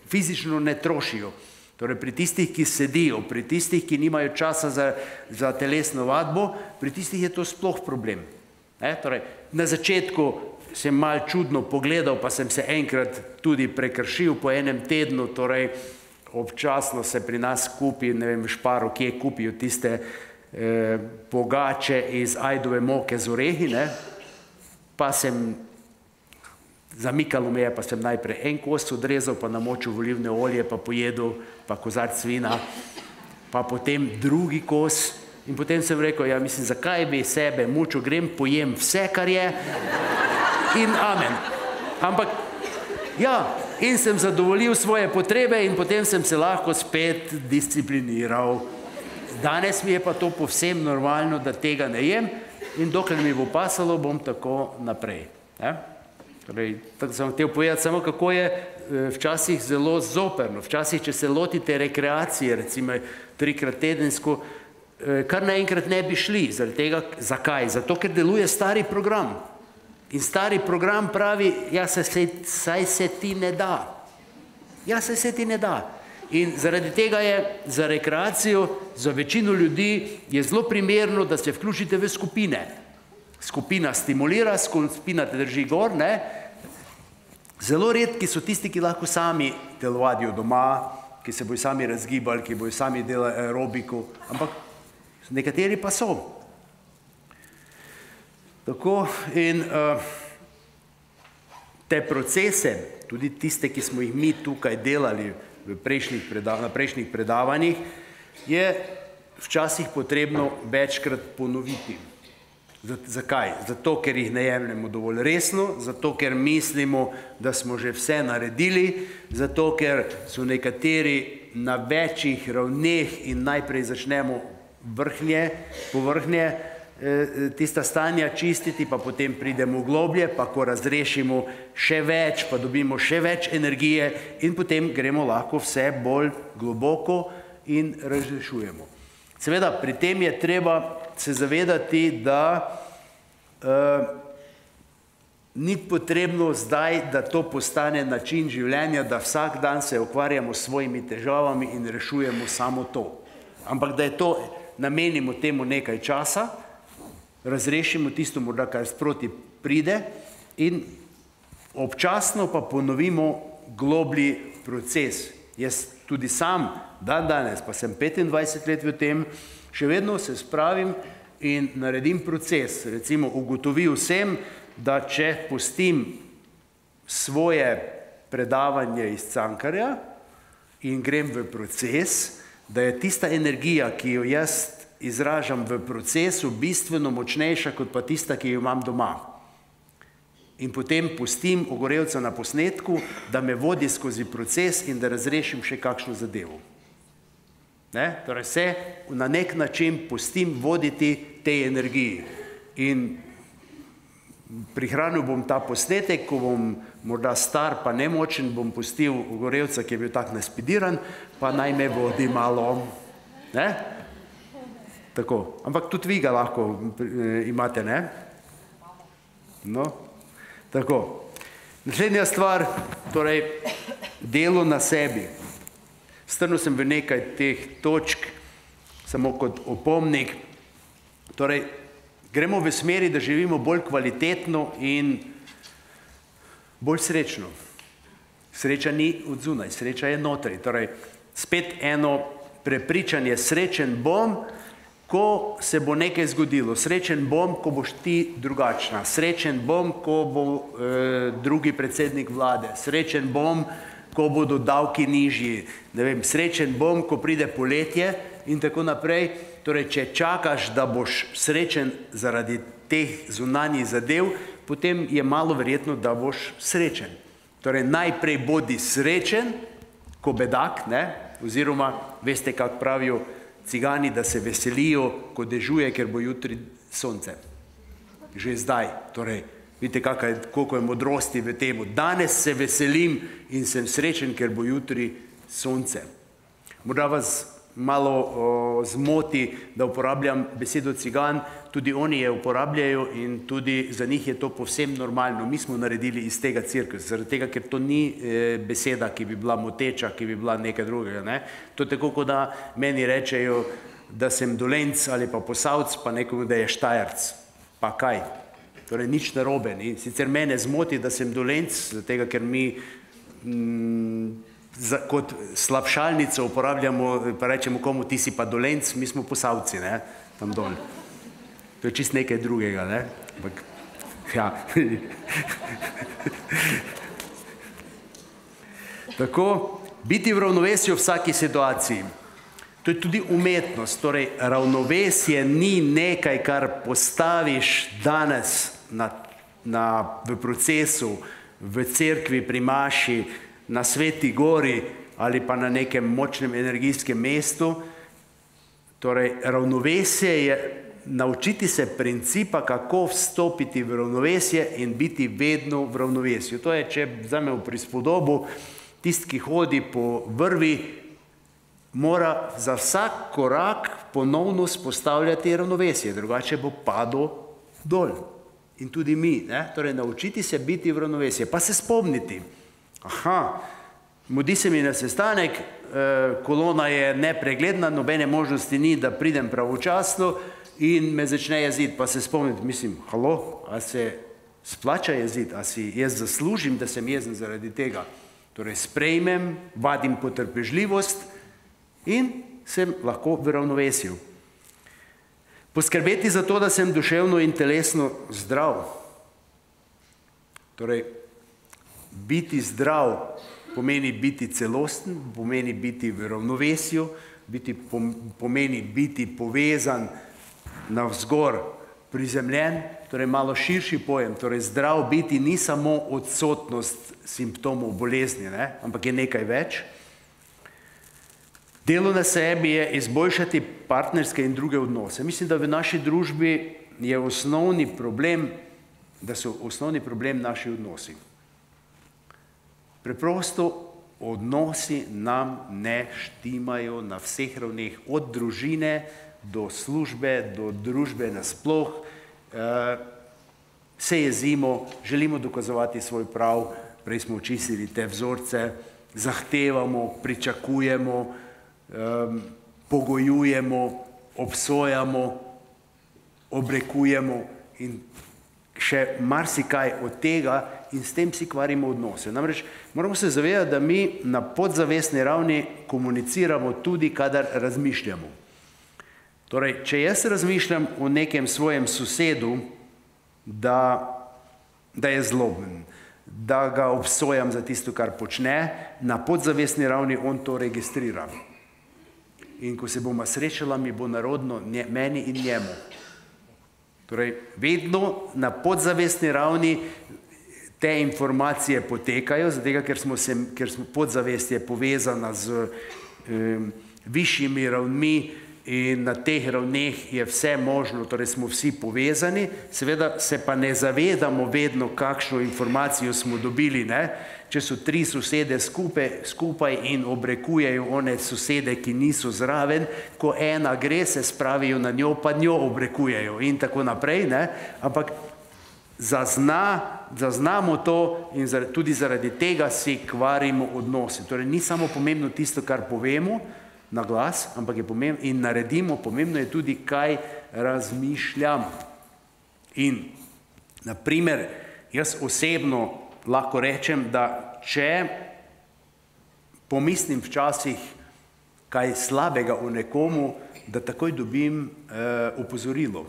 fizično ne trošijo. Torej, pri tistih, ki sedijo, pri tistih, ki nimajo časa za, za telesno vadbo, pri tistih je to sploh problem. E, torej, na začetku sem malo čudno pogledal, pa sem se enkrat tudi prekršil po enem tednu, torej občasno se pri nas kupi, ne vem, v Šparu, kje kupijo tiste eh, pogače iz ajdove moke z orehi, ne, pa sem zamikalo me je, pa sem najprej en kos odrezal, pa namočil v olivno olje, pa pojedel, pa kozarc vina, pa potem drugi kos. In potem sem rekel, ja, mislim, zakaj bi sebe mučil, grem, pojem vse, kar je, in amen. Ampak, ja, in sem zadovoljil svoje potrebe in potem sem se lahko spet discipliniral. Danes mi je pa to povsem normalno, da tega ne jem, in dokler mi bo pasalo, bom tako naprej. Ja? Torej, tako sem hotel povedati samo, kako je včasih zelo zoperno. Včasih, če se lotite rekreacije, recimo trikrat tedensko, kar naenkrat ne bi šli. Zaradi tega, zakaj? Zato, ker deluje stari program. In stari program pravi, ja, saj se ti ne da. Ja, saj se ti ne da. In zaradi tega je za rekreacijo, za večino ljudi je zelo primerno, da se vključite v skupine. skupina stimulira, skupina te drži gor, ne. Zelo redki so tisti, ki lahko sami telovadijo doma, ki se bojo sami razgibali, ki bojo sami delali aerobiko, ampak nekateri pa so. Tako in uh, te procese, tudi tiste, ki smo jih mi tukaj delali v prejšnjih predav, na prejšnjih predavanjih, je včasih potrebno večkrat ponoviti. Zakaj? Zato, ker jih ne jemljemo dovolj resno, zato, ker mislimo, da smo že vse naredili, zato, ker so nekateri na večjih ravneh in najprej začnemo vrhnje, povrhnje, tista stanja čistiti, pa potem pridemo globlje, pa ko razrešimo še več, pa dobimo še več energije in potem gremo lahko vse bolj globoko in razrešujemo. Seveda, pri tem je treba se zavedati, da uh, ni potrebno zdaj, da to postane način življenja, da vsak dan se ukvarjamo s svojimi težavami in rešujemo samo to. Ampak da je to, namenimo temu nekaj časa, razrešimo tisto morda, kar sproti pride in občasno pa ponovimo globlji proces. Jaz tudi sam, dan danes, pa sem petindvajset let v tem, še vedno se spravim in naredim proces. Recimo, ugotovil sem, da če pustim svoje predavanje iz Cankarja in grem v proces, da je tista energija, ki jo jaz izražam v procesu, bistveno močnejša, kot pa tista, ki jo imam doma. In potem pustim Ogorevca na posnetku, da me vodi skozi proces in da razrešim še kakšno zadevo. Ne? Torej se na nek način pustim voditi tej energiji. In prihranil bom ta posnetek, ko bom morda star pa nemočen, bom pustil Ogorevca, ki je bil tak naspidiran, pa naj me vodi malo. Ne? Tako. Ampak tudi vi ga lahko imate, ne? No. Tako. Naslednja stvar, torej delo na sebi. Strnil sem v nekaj teh točk, samo kot opomnik. Torej, gremo v smeri, da živimo bolj kvalitetno in bolj srečno. Sreča ni od zunaj, sreča je notri. Torej, spet eno prepričanje, srečen bom, ko se bo nekaj zgodilo. Srečen bom, ko boš ti drugačna. Srečen bom, ko bo e, drugi predsednik vlade. Srečen bom, ko bodo davki nižji. Ne vem, srečen bom, ko pride poletje in tako naprej. Torej, če čakaš, da boš srečen zaradi teh zunanjih zadev, potem je malo verjetno, da boš srečen. Torej, najprej bodi srečen, ko bedak, ne? Oziroma, veste, kako pravijo cigani, da se veselijo, ko dežuje, ker bo jutri sonce. Že zdaj. Torej, vidite, koliko je modrosti v temu. Danes se veselim in sem srečen, ker bo jutri sonce. Morda vas malo o, zmoti, da uporabljam besedo cigan, tudi oni je uporabljajo in tudi za njih je to povsem normalno. Mi smo naredili iz tega cirkus, zaradi tega, ker to ni e, beseda, ki bi bila moteča, ki bi bila nekaj drugega. Ne? To je tako, kot da meni rečejo, da sem Dolenc ali pa Posavc, pa nekomu, da je Štajerc. Pa kaj? Torej, nič narobe. Ni? Sicer mene zmoti, da sem Dolenc, zaradi tega, ker mi mm, za, kot slabšalnico uporabljamo, pa rečemo komu, ti si pa Dolenc, mi smo Posavci, ne? Tam dol. To je čist nekaj drugega, ne? Ampak, ja. Tako, biti v ravnovesju v vsaki situaciji. To je tudi umetnost, torej ravnovesje ni nekaj, kar postaviš danes na, na, v procesu, v cerkvi pri maši, na Sveti gori ali pa na nekem močnem energijskem mestu. Torej, ravnovesje je naučiti se principa, kako vstopiti v ravnovesje in biti vedno v ravnovesju. To je, če vzamemo prispodobo, tisti, ki hodi po vrvi, mora za vsak korak ponovno spostavljati ravnovesje, drugače bo padel dol. In tudi mi, ne? Torej, naučiti se biti v ravnovesje, pa se spomniti. Aha, mudi se mi na sestanek, kolona je nepregledna, nobene možnosti ni, da pridem pravočasno in me začne jeziti, pa se spomnim, mislim, halo, a se splača jeziti, a si jaz zaslužim, da sem jezen zaradi tega. Torej sprejmem, vadim potrpežljivost in sem lahko v ravnovesju. Poskrbeti za to, da sem duševno in telesno zdrav. Torej, biti zdrav pomeni biti celosten, pomeni biti v ravnovesju, biti, pomeni biti povezan navzgor, prizemljen, torej malo širši pojem. Torej, zdrav biti ni samo odsotnost simptomov bolezni, ne? Ampak je nekaj več. Delo na sebi je izboljšati partnerske in druge odnose. Mislim, da v naši družbi je osnovni problem, da so osnovni problem naši odnosi. Preprosto odnosi nam ne štimajo na vseh ravneh, od družine do službe, do družbe nasploh. Se jezimo, želimo dokazovati svoj prav, prej smo očistili te vzorce, zahtevamo, pričakujemo, pogojujemo, obsojamo, obrekujemo in še marsikaj od tega in s tem si kvarimo odnose. Namreč moramo se zavedati, da mi na podzavestni ravni komuniciramo tudi, kadar razmišljamo. Torej, če jaz razmišljam o nekem svojem sosedu, da, da je zloben, da ga obsojam za tisto, kar počne, na podzavestni ravni on to registrira. In ko se bomo srečala, mi bo narodno meni in njemu. Torej, vedno na podzavestni ravni te informacije potekajo, zato ker smo se, ker smo podzavest je povezana z um, višjimi ravnmi in na teh ravneh je vse možno, torej smo vsi povezani, seveda se pa ne zavedamo vedno, kakšno informacijo smo dobili, ne? Če so tri sosede skupaj, skupaj in obrekujejo one sosede, ki niso zraven, ko ena gre, se spravijo na njo, pa njo obrekujejo in tako naprej, ne? Ampak zazna, zaznamo to in zaradi, tudi zaradi tega si kvarimo odnose. Torej, ni samo pomembno tisto, kar povemo na glas, ampak je pomembno in naredimo, pomembno je tudi, kaj razmišljam. In, na primer, jaz osebno lahko rečem, da če pomislim včasih kaj slabega o nekomu, da takoj dobim eh, opozorilo.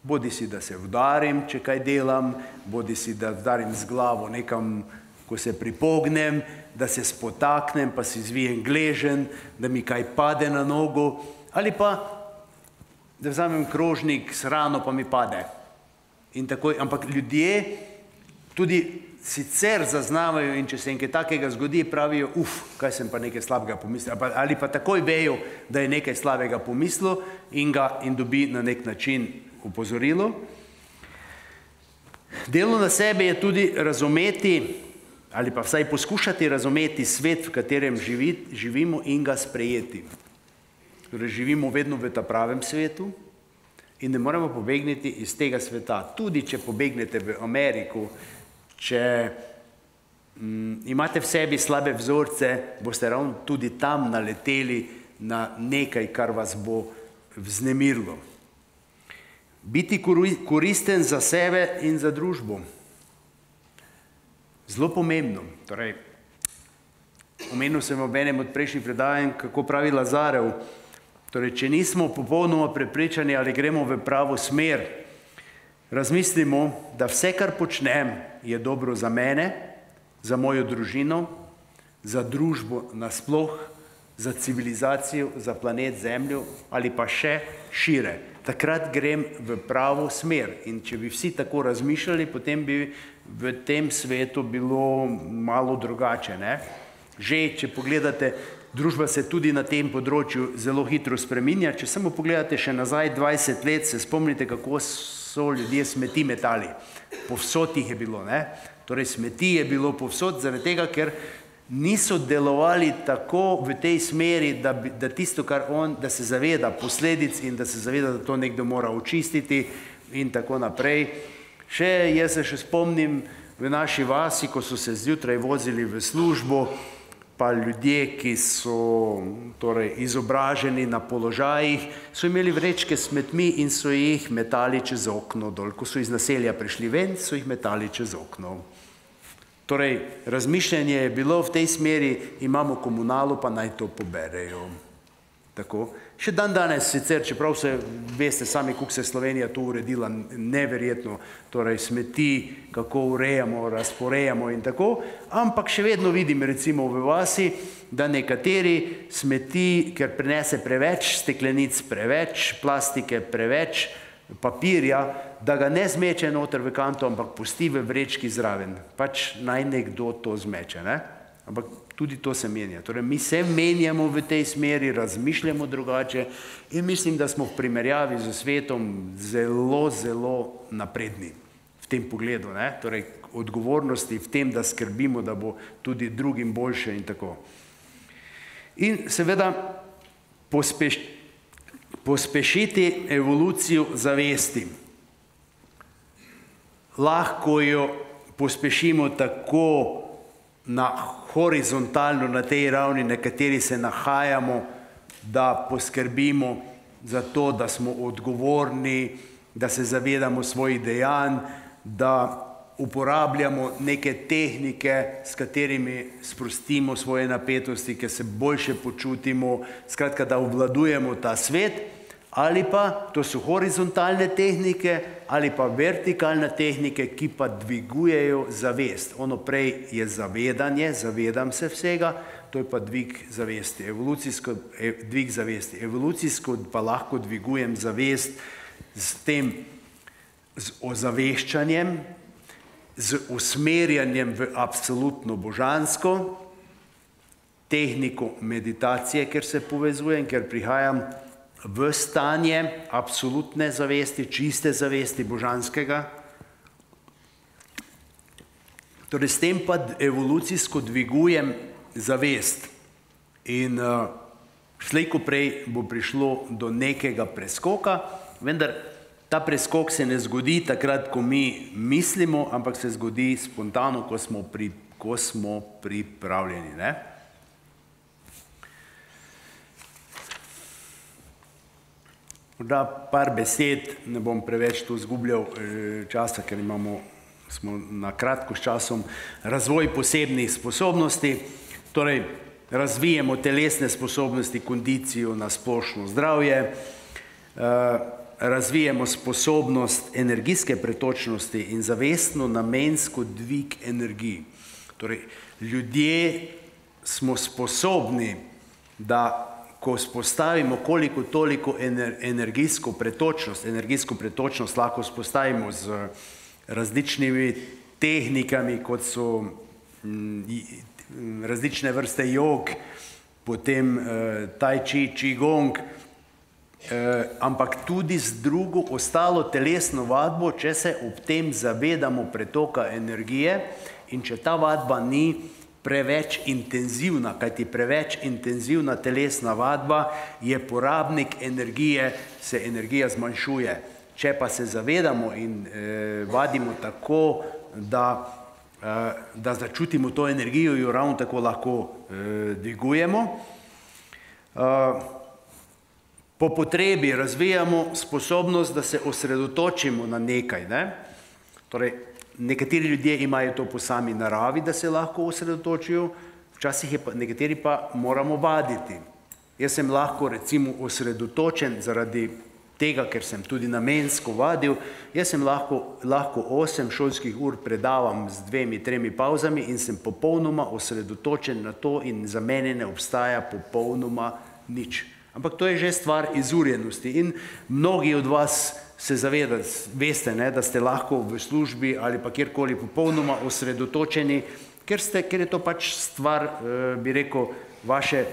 Bodi si, da se udarim, če kaj delam, bodi si, da udarim z glavo nekam, ko se pripognem, da se spotaknem, pa si zvijem gležen, da mi kaj pade na nogo, ali pa, da vzamem krožnik s hrano, pa mi pade. In takoj, ampak ljudje tudi sicer zaznavajo in če se nekaj takega zgodi, pravijo, uf, kaj sem pa nekaj slabega pomislil, ali pa takoj vejo, da je nekaj slabega pomislil in ga in dobi na nek način opozorilo. Delo na sebi je tudi razumeti, ali pa vsaj poskušati razumeti svet, v katerem živi, živimo in ga sprejeti. Torej, živimo vedno v ta pravem svetu in ne moremo pobegniti iz tega sveta. Tudi, če pobegnete v Ameriko, če m, imate v sebi slabe vzorce, boste ravno tudi tam naleteli na nekaj, kar vas bo vznemirilo. Biti koristen za sebe in za družbo. Zelo pomembno. Torej, omenil sem ob enem od prejšnjih predavanj, kako pravi Lazarev. Torej, če nismo popolnoma prepričani, ali gremo v pravo smer, razmislimo, da vse, kar počnem, je dobro za mene, za mojo družino, za družbo nasploh, za civilizacijo, za planet Zemljo ali pa še šire. Takrat grem v pravo smer. In če bi vsi tako razmišljali, potem bi v tem svetu bilo malo drugače, ne? Že, če pogledate, družba se tudi na tem področju zelo hitro spreminja. Če samo pogledate še nazaj dvajset let, se spomnite, kako so ljudje smeti metali. Povsod jih je bilo, ne? Torej, smeti je bilo povsod, zaradi tega, ker niso delovali tako v tej smeri, da, da tisto, kar on, da se zaveda posledic in da se zaveda, da to nekdo mora očistiti in tako naprej. Še, jaz se še spomnim v naši vasi, ko so se zjutraj vozili v službo, pa pa ljudje, ki so torej, izobraženi na položajih, so imeli vrečke s smetmi in so jih metali čez okno dol. Ko so iz naselja prišli ven, so jih metali čez okno. Torej, razmišljanje je bilo v tej smeri, imamo komunalo, pa naj to poberejo. Tako. Še dan danes sicer, čeprav se veste sami, kako se je Slovenija to uredila neverjetno, torej smeti, kako urejamo, razporejamo in tako, ampak še vedno vidim recimo v vasi, da nekateri smeti, ker prinese preveč steklenic, preveč plastike, preveč papirja, da ga ne zmeče noter v kanto, ampak pusti v vrečki zraven. Pač naj nekdo to zmeče, ne? Ampak tudi to se menja. Torej, mi se menjamo v tej smeri, razmišljamo drugače in mislim, da smo v primerjavi z svetom zelo, zelo napredni v tem pogledu, ne? Torej, odgovornosti v tem, da skrbimo, da bo tudi drugim boljše in tako. In seveda pospeš, pospešiti evolucijo zavesti. Lahko jo pospešimo tako na horizontalno, na tej ravni, na kateri se nahajamo, da poskrbimo za to, da smo odgovorni, da se zavedamo svojih dejanj, da uporabljamo neke tehnike, s katerimi sprostimo svoje napetosti, ker se boljše počutimo, skratka, da obvladujemo ta svet, ali pa, to so horizontalne tehnike, ali pa vertikalne tehnike, ki pa dvigujejo zavest. Ono prej je zavedanje, zavedam se vsega, to je pa dvig zavesti, evolucijsko dvig zavesti. Evolucijsko pa lahko dvigujem zavest s tem, z ozaveščanjem, z usmerjanjem v absolutno božansko, tehniko meditacije, ker se povezujem, ker prihajam v stanje absolutne zavesti, čiste zavesti božanskega. Torej, s tem pa evolucijsko dvigujem zavest. In uh, slej ko prej bo prišlo do nekega preskoka, vendar ta preskok se ne zgodi takrat, ko mi mislimo, ampak se zgodi spontano, ko smo, pri, ko smo pripravljeni, ne? Morda par besed, ne bom preveč tu zgubljal časa, ker imamo, smo na kratko s časom, razvoj posebnih sposobnosti, torej razvijemo telesne sposobnosti, kondicijo na splošno zdravje, razvijemo sposobnost energijske pretočnosti in zavestno namensko dvig energij. Torej, ljudje smo sposobni, da ko spostavimo koliko toliko energijsko pretočnost, energijsko pretočnost lahko spostavimo z različnimi tehnikami, kot so različne vrste jog, potem tai chi, qigong, ampak tudi z drugo ostalo telesno vadbo, če se ob tem zavedamo pretoka energije in če ta vadba ni preveč intenzivna, kajti preveč intenzivna telesna vadba je porabnik energije, se energija zmanjšuje. Če pa se zavedamo in eh, vadimo tako, da, eh, da začutimo to energijo, jo ravno tako lahko eh, dvigujemo. Eh, po potrebi razvijamo sposobnost, da se osredotočimo na nekaj, ne? Torej, nekateri ljudje imajo to po sami naravi, da se lahko osredotočijo, včasih je pa, nekateri pa moramo vaditi. Jaz sem lahko recimo osredotočen zaradi tega, ker sem tudi namensko vadil, jaz sem lahko, lahko osem šolskih ur predavam z dvemi, tremi pavzami in sem popolnoma osredotočen na to in za mene ne obstaja popolnoma nič. Ampak to je že stvar izurjenosti in mnogi od vas se zavedate, veste, ne, da ste lahko v službi ali pa kjerkoli popolnoma osredotočeni, ker, ste, ker je to pač stvar, eh, bi rekel, vaše eh,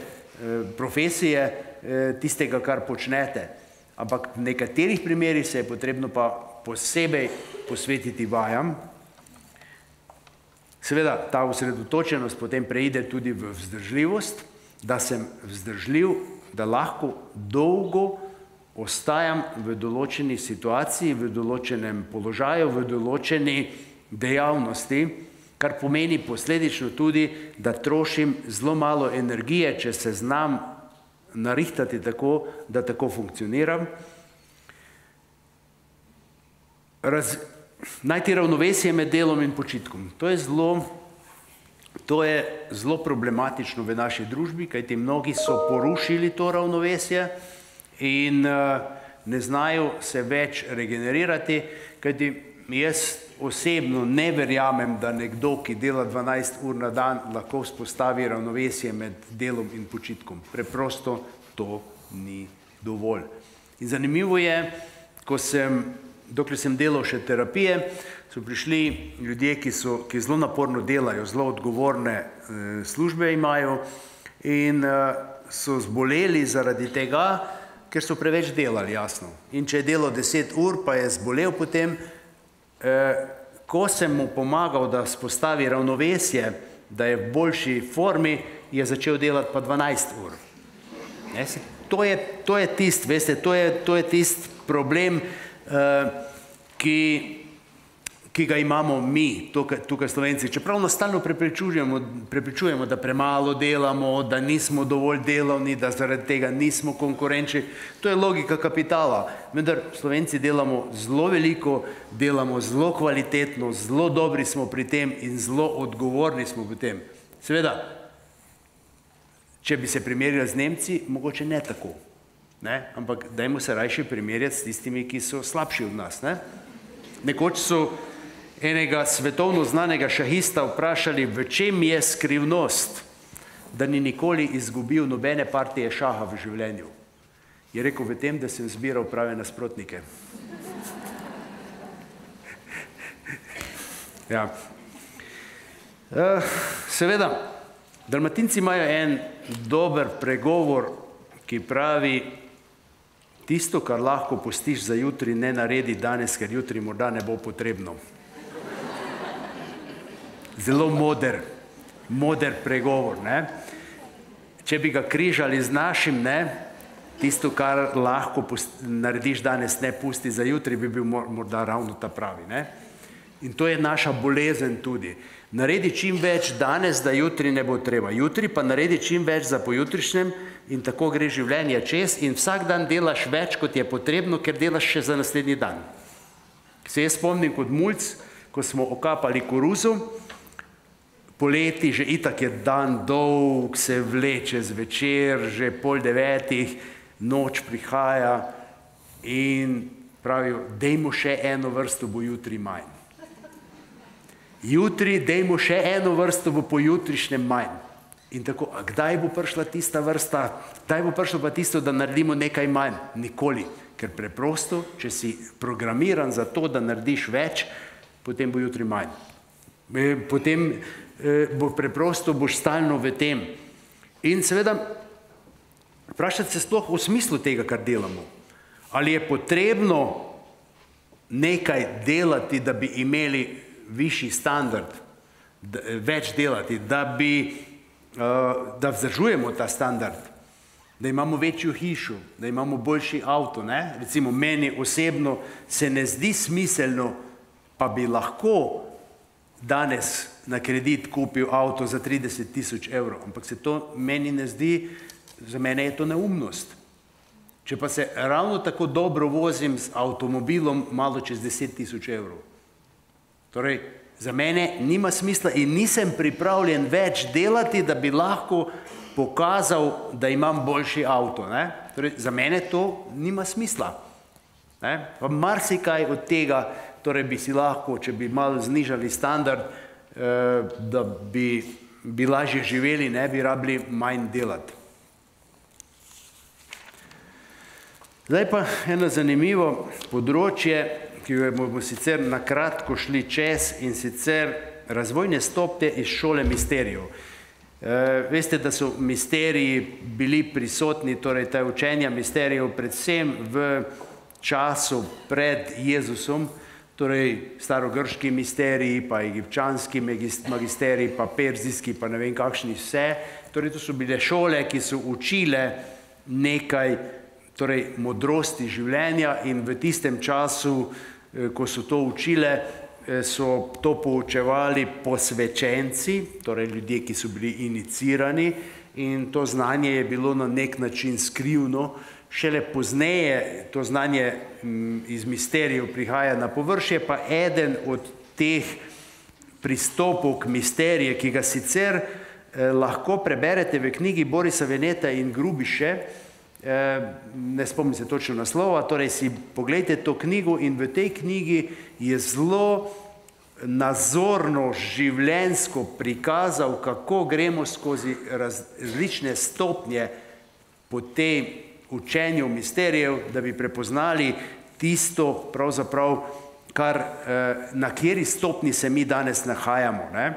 profesije, eh, tistega, kar počnete. Ampak v nekaterih primerih se je potrebno pa posebej posvetiti vajam. Seveda, ta osredotočenost potem preide tudi v vzdržljivost, da sem vzdržljiv, da lahko dolgo ostajam v določeni situaciji, v določenem položaju, v določeni dejavnosti kar pomeni posledično tudi, da trošim zelo malo energije, če se znam narihtati tako, da tako funkcioniram. Raz, najti ravnovesje med delom in počitkom. To je zelo, to je zelo problematično v naši družbi, kajti mnogi so porušili to ravnovesje in uh, ne znajo se več regenerirati, kajti jaz osebno ne verjamem, da nekdo, ki dela dvanajst ur na dan, lahko vzpostavi ravnovesje med delom in počitkom. Preprosto to ni dovolj. In zanimivo je, ko sem, dokler sem delal še terapije, so prišli ljudje, ki, so, ki zelo naporno delajo, zelo odgovorne e, službe imajo in e, so zboleli zaradi tega, ker so preveč delali, jasno. In če je delal deset ur, pa je zbolel potem, eh, ko sem mu pomagal, da spostavi ravnovesje, da je v boljši formi, je začel delati pa dvanajst ur. Ne, se, to je, to je tist, veste, to je, to je tist problem, eh, ki, ki ga imamo mi, tukaj, tukaj Slovenci. Čeprav nas stalno prepričujemo, prepričujemo, da premalo delamo, da nismo dovolj delovni, da zaradi tega nismo konkurenčni. To je logika kapitala. Vendar Slovenci delamo zelo veliko, delamo zelo kvalitetno, zelo dobri smo pri tem in zelo odgovorni smo pri tem. Seveda, če bi se primerjali z Nemci, mogoče ne tako. Ne? Ampak dajmo se rajše primerjati s tistimi, ki so slabši od nas. Ne? Nekoč so enega svetovno znanega šahista vprašali, v čem je skrivnost, da ni nikoli izgubil nobene partije šaha v življenju. Je rekel, v tem, da sem zbiral prave nasprotnike. Ja. Seveda, Dalmatinci imajo en dober pregovor, ki pravi, tisto, kar lahko pustiš za jutri, ne naredi danes, ker jutri morda ne bo potrebno. Zelo moder, moder pregovor. Ne? Če bi ga križali z našim, ne, tisto, kar lahko narediš danes, ne pusti za jutri, bi bil morda ravno ta pravi. Ne? In to je naša bolezen tudi. Naredi čim več danes, da jutri ne bo treba. Jutri pa naredi čim več za pojutrišnjem in tako gre življenje čez in vsak dan delaš več, kot je potrebno, ker delaš še za naslednji dan. Se jaz spomnim kot mulc, ko smo okapali koruzo, poleti, že itak je dan dolg, se vleče zvečer, že pol devetih, noč prihaja in pravijo, dejmo še eno vrsto, bo jutri manj. Jutri, dejmo še eno vrsto, bo pojutrišnjem manj. In tako, a kdaj bo prišla tista vrsta, kdaj bo prišlo pa tisto, da naredimo nekaj manj? Nikoli. Ker preprosto, če si programiran za to, da narediš več, potem bo jutri manj. Potem bo preprosto, boš stalno v tem. In seveda, vprašati se sploh o smislu tega, kar delamo. Ali je potrebno nekaj delati, da bi imeli višji standard, več delati, da bi, da vzdržujemo ta standard, da imamo večjo hišo, da imamo boljši avto, ne? Recimo, meni osebno se ne zdi smiselno, pa bi lahko danes na kredit kupil avto za trideset tisoč evrov, ampak se to meni ne zdi, za mene je to neumnost. Če pa se ravno tako dobro vozim z avtomobilom malo čez deset tisoč evrov. Torej, za mene nima smisla in nisem pripravljen več delati, da bi lahko pokazal, da imam boljši avto. Ne? Torej, za mene to nima smisla. Ne? Pa marsikaj od tega, torej bi si lahko, če bi malo znižali standard, da bi, bi lažje živeli, ne bi rabili manj delati. Zdaj pa eno zanimivo področje, ki jo bomo sicer na kratko šli čez, in sicer razvojne stopnje iz šole misterijev. Veste, da so misteriji bili prisotni, torej ta učenja misterijev, predvsem v času pred Jezusom, torej starogrški misteriji, pa egipčanski magisteriji, pa perzijski, pa ne vem kakšni vse. Torej, to so bile šole, ki so učile nekaj, torej modrosti življenja in v tistem času, ko so to učile, so to poučevali posvečenci, torej ljudje, ki so bili inicirani, in to znanje je bilo na nek način skrivno. Šele pozneje to znanje iz misterijev prihaja na površje, pa eden od teh pristopov k misterije, ki ga sicer eh, lahko preberete v knjigi Borisa Veneta in Grubiše, eh, ne spomnim se točno naslova, torej si pogledajte to knjigo in v tej knjigi je zelo nazorno, življenjsko prikazal, kako gremo skozi različne stopnje po tej učenju misterijev, da bi prepoznali tisto, pravzaprav, kar, na kateri stopni se mi danes nahajamo. Ne?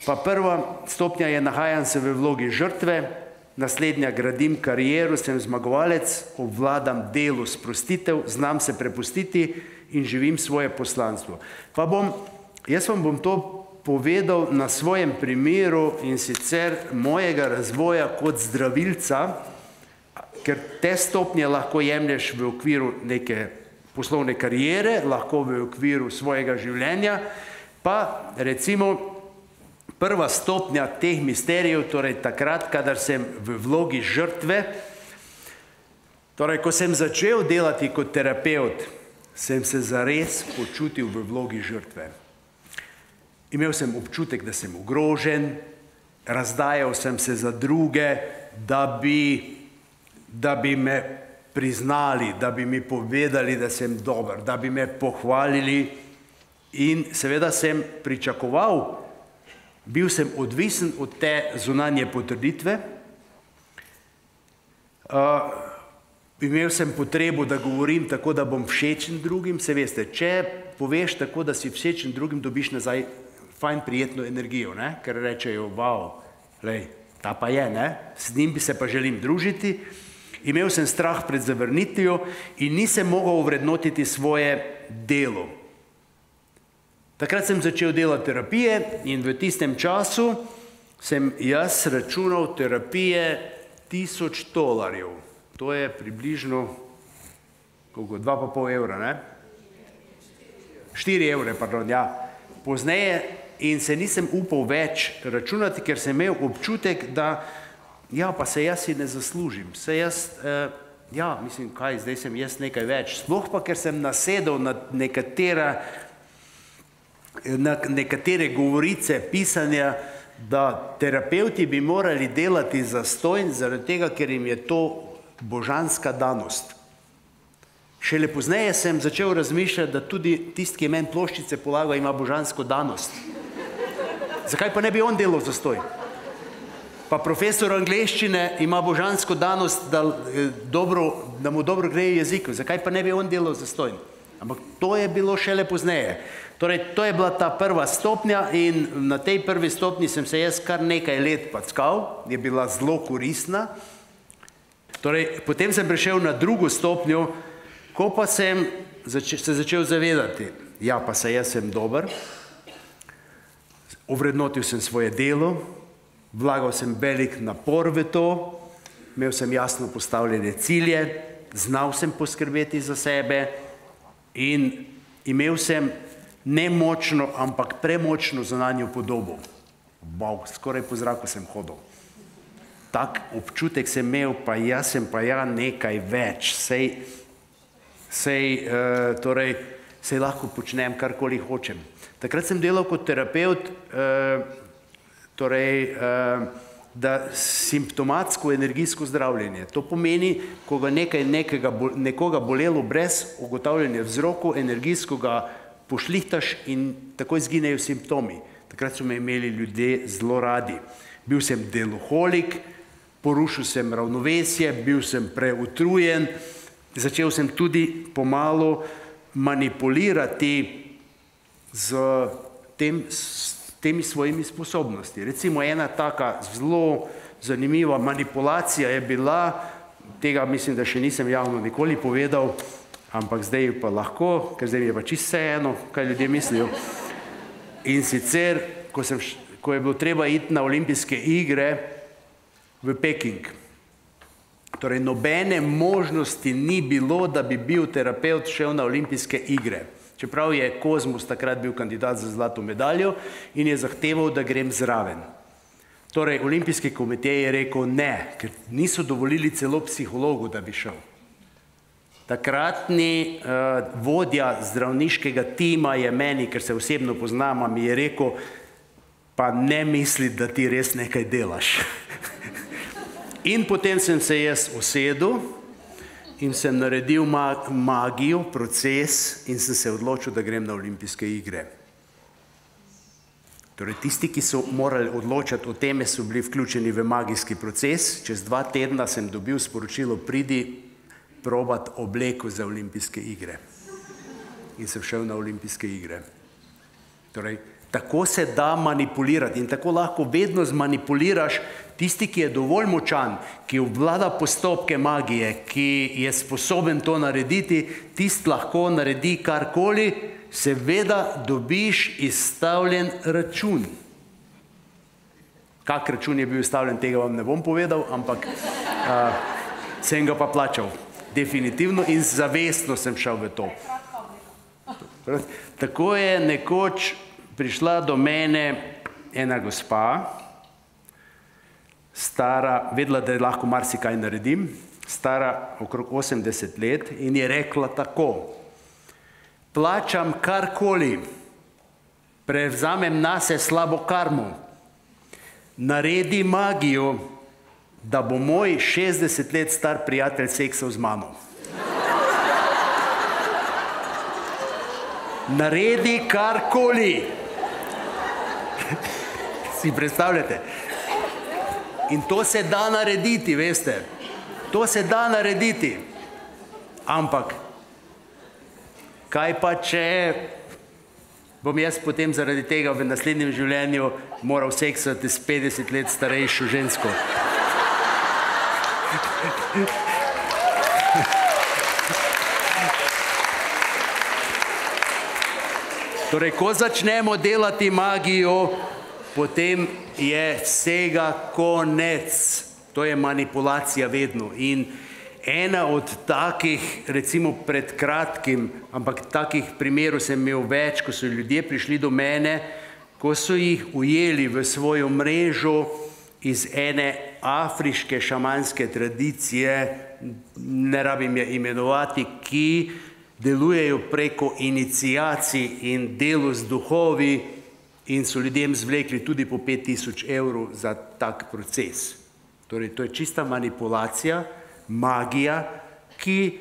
Pa prva stopnja je nahajam se v vlogi žrtve, naslednja gradim kariero, sem zmagovalec, obvladam delo sprostitev, znam se prepustiti in živim svoje poslanstvo. Pa bom, jaz vam bom to povedal na svojem primeru in sicer mojega razvoja kot zdravilca, ker te stopnje lahko jemlješ v okviru neke poslovne kariere, lahko v okviru svojega življenja, pa recimo prva stopnja teh misterijev, torej takrat, kadar sem v vlogi žrtve, torej ko sem začel delati kot terapevt, sem se zares počutil v vlogi žrtve. Imel sem občutek, da sem ogrožen, razdajal sem se za druge, da bi da bi me priznali, da bi mi povedali, da sem dober, da bi me pohvalili in seveda sem pričakoval, bil sem odvisen od te zunanje potrditve, uh, imel sem potrebo, da govorim tako, da bom všečen drugim, se veste, če poveš tako, da si všečen drugim, dobiš nazaj fajn prijetno energijo, ne? Ker rečejo, wow, lej, ta pa je, ne? S njim bi se pa želim družiti. Imel sem strah pred zavrnitvijo in nisem mogel ovrednotiti svoje delo. Takrat sem začel delati terapije in v tistem času sem jaz računal terapije tisoč dolarjev. To je približno koliko, dva pa pol evra, ne? Štiri evre, pardon, ja. Pozneje in se nisem upal več računati, ker sem imel občutek, da ja, pa se jaz si ne zaslužim, se jaz, eh, ja, mislim, kaj, zdaj sem jaz nekaj več, sploh pa, ker sem nasedel na nekatera, na nekatere govorice, pisanja, da terapevti bi morali delati zastonj, zaradi tega, ker jim je to božanska danost. Šele pozneje sem začel razmišljati, da tudi tisti, ki je meni ploščice polagal, ima božansko danost. Zakaj pa ne bi on delal zastonj? Pa profesor angleščine ima božansko danost, da, dobro, da mu dobro gre jezik. Zakaj pa ne bi on delal zastonj? Ampak to je bilo šele pozneje. Torej, to je bila ta prva stopnja in na tej prvi stopnji sem se jaz kar nekaj let packal, je bila zelo koristna. Torej, potem sem prišel na drugo stopnjo, ko pa sem zače, se začel zavedati, ja, pa se jaz sem dober, ovrednotil sem svoje delo, vlagal sem velik napor v to, imel sem jasno postavljene cilje, znal sem poskrbeti za sebe in imel sem ne močno, ampak premočno zunanjo podobo. Wow, skoraj po zraku sem hodil. Tak občutek sem imel, pa jaz sem pa ja nekaj več, sej, sej, uh, torej, sej lahko počnem karkoli hočem. Takrat sem delal kot terapeut, uh, torej, da simptomatsko energijsko zdravljenje. To pomeni, ko ga nekaj, nekega, nekoga bolelo brez ugotavljanja vzrokov, energijsko ga pošlihtaš in takoj izginejo simptomi. Takrat so me imeli ljudje zelo radi. Bil sem deloholik, porušil sem ravnovesje, bil sem preutrujen, začel sem tudi pomalo manipulirati z tem temi svojimi sposobnosti. Recimo ena taka zelo zanimiva manipulacija je bila, tega mislim, da še nisem javno nikoli povedal, ampak zdaj pa lahko, ker zdaj mi je pa čisto vseeno, kaj ljudje mislijo. In sicer, ko, sem, ko je bilo treba iti na olimpijske igre v Peking, torej nobene možnosti ni bilo, da bi bil terapeut šel na olimpijske igre. Čeprav je Kozmus takrat bil kandidat za zlato medaljo in je zahteval, da grem zraven. Torej, Olimpijski komitej je rekel ne, ker niso dovolili celo psihologu, da bi šel. Takratni uh, vodja zdravniškega tima je meni, ker se osebno poznamo, mi je rekel, pa ne misli, da ti res nekaj delaš. In potem sem se jaz usedel in sem naredil magijo, proces in sem se odločil, da grem na olimpijske igre. Torej, tisti, ki so morali odločati o teme, so bili vključeni v magijski proces. Čez dva tedna sem dobil sporočilo, pridi probat obleko za olimpijske igre. In sem šel na olimpijske igre. Torej, tako se da manipulirati in tako lahko vedno zmanipuliraš tisti, ki je dovolj močan, ki obvlada postopke magije, ki je sposoben to narediti, tist lahko naredi karkoli, seveda dobiš izstavljen račun. Kak račun je bil izstavljen, tega vam ne bom povedal, ampak a, sem ga pa plačal. Definitivno in zavestno sem šel v to. Tako je nekoč prišla do mene ena gospa, stara, vedela, da lahko marsikaj naredim, stara okrog osemdeset let in je rekla tako, plačam karkoli, prevzamem nase slabo karmo, naredi magijo, da bo moj šestdeset let star prijatelj seksal z mano. Naredi karkoli. Si predstavljate? In to se da narediti, veste. To se da narediti. Ampak, kaj pa če bom jaz potem zaradi tega v naslednjem življenju moral seksati s petdeset let starejšo žensko? Torej, ko začnemo delati magijo, potem je vsega konec. To je manipulacija vedno. In ena od takih, recimo pred kratkim, ampak takih primerov sem imel več, ko so ljudje prišli do mene, ko so jih ujeli v svojo mrežo iz ene afriške šamanske tradicije, ne rabim je imenovati, ki delujejo preko iniciacij in delu z duhovi in so ljudem zvlekli tudi po pet tisoč evrov za tak proces. Torej, to je čista manipulacija, magija, ki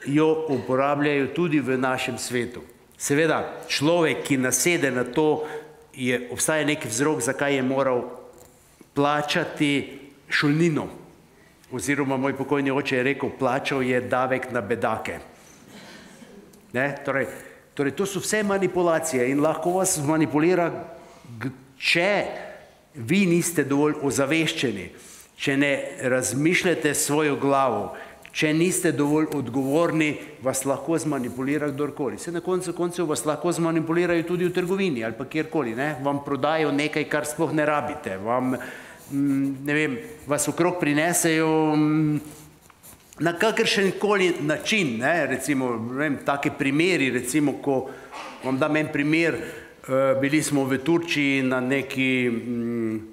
jo uporabljajo tudi v našem svetu. Seveda, človek, ki nasede na to, je, obstaja nek vzrok, zakaj je moral plačati šolnino. Oziroma, moj pokojni oče je rekel, plačal je davek na bedake. Ne? Torej, torej, to so vse manipulacije in lahko vas manipulira, če vi niste dovolj ozaveščeni, če ne razmišljate svojo glavo, če niste dovolj odgovorni, vas lahko zmanipulira kdorkoli. Se na koncu koncev vas lahko zmanipulirajo tudi v trgovini ali pa kjerkoli, ne? Vam prodajo nekaj, kar sploh ne rabite, vam, ne vem, vas okrog prinesejo na kakršen koli način, ne, recimo, ne vem, take primeri, recimo, ko vam dam en primer, bili smo v Turčiji na neki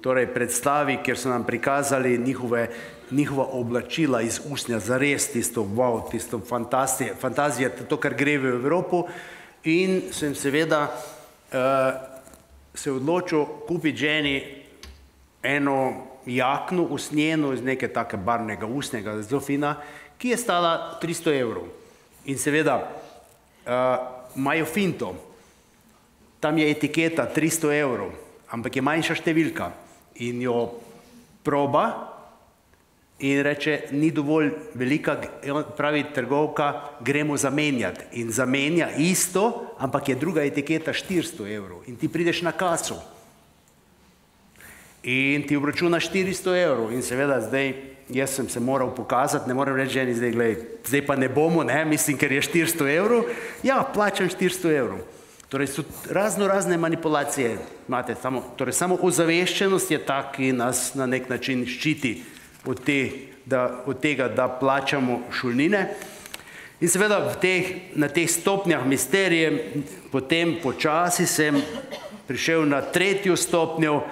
torej, predstavi, kjer so nam prikazali njihove, njihova oblačila iz usnja, zares tisto, wow, tisto fantazija, fantazija, to, kar gre v Evropo, in sem seveda uh, se odločil kupiti ženi eno jakno usnjeno iz neke take barvnega usnjega, zelo fina, ki je stala tristo evrov. In seveda, imajo uh, finto, tam je etiketa tristo evrov, ampak je manjša številka in jo proba in reče, ni dovolj velika, pravi trgovka, gremo zamenjati. In zamenja isto, ampak je druga etiketa štiristo evrov in ti prideš na kaso. In ti obračuna štiristo evrov in seveda zdaj, jaz sem se moral pokazati, ne moram reči ženi, zdaj, glej, zdaj pa ne bomo, ne, mislim, ker je štiristo evrov, ja, plačam štiristo evrov. Torej so razno razne manipulacije, imate, samo, torej samo ozaveščenost je ta, ki nas na nek način ščiti od, te, da, od tega, da plačamo šolnine. In seveda v teh, na teh stopnjah misterije, potem počasi sem prišel na tretjo stopnjo,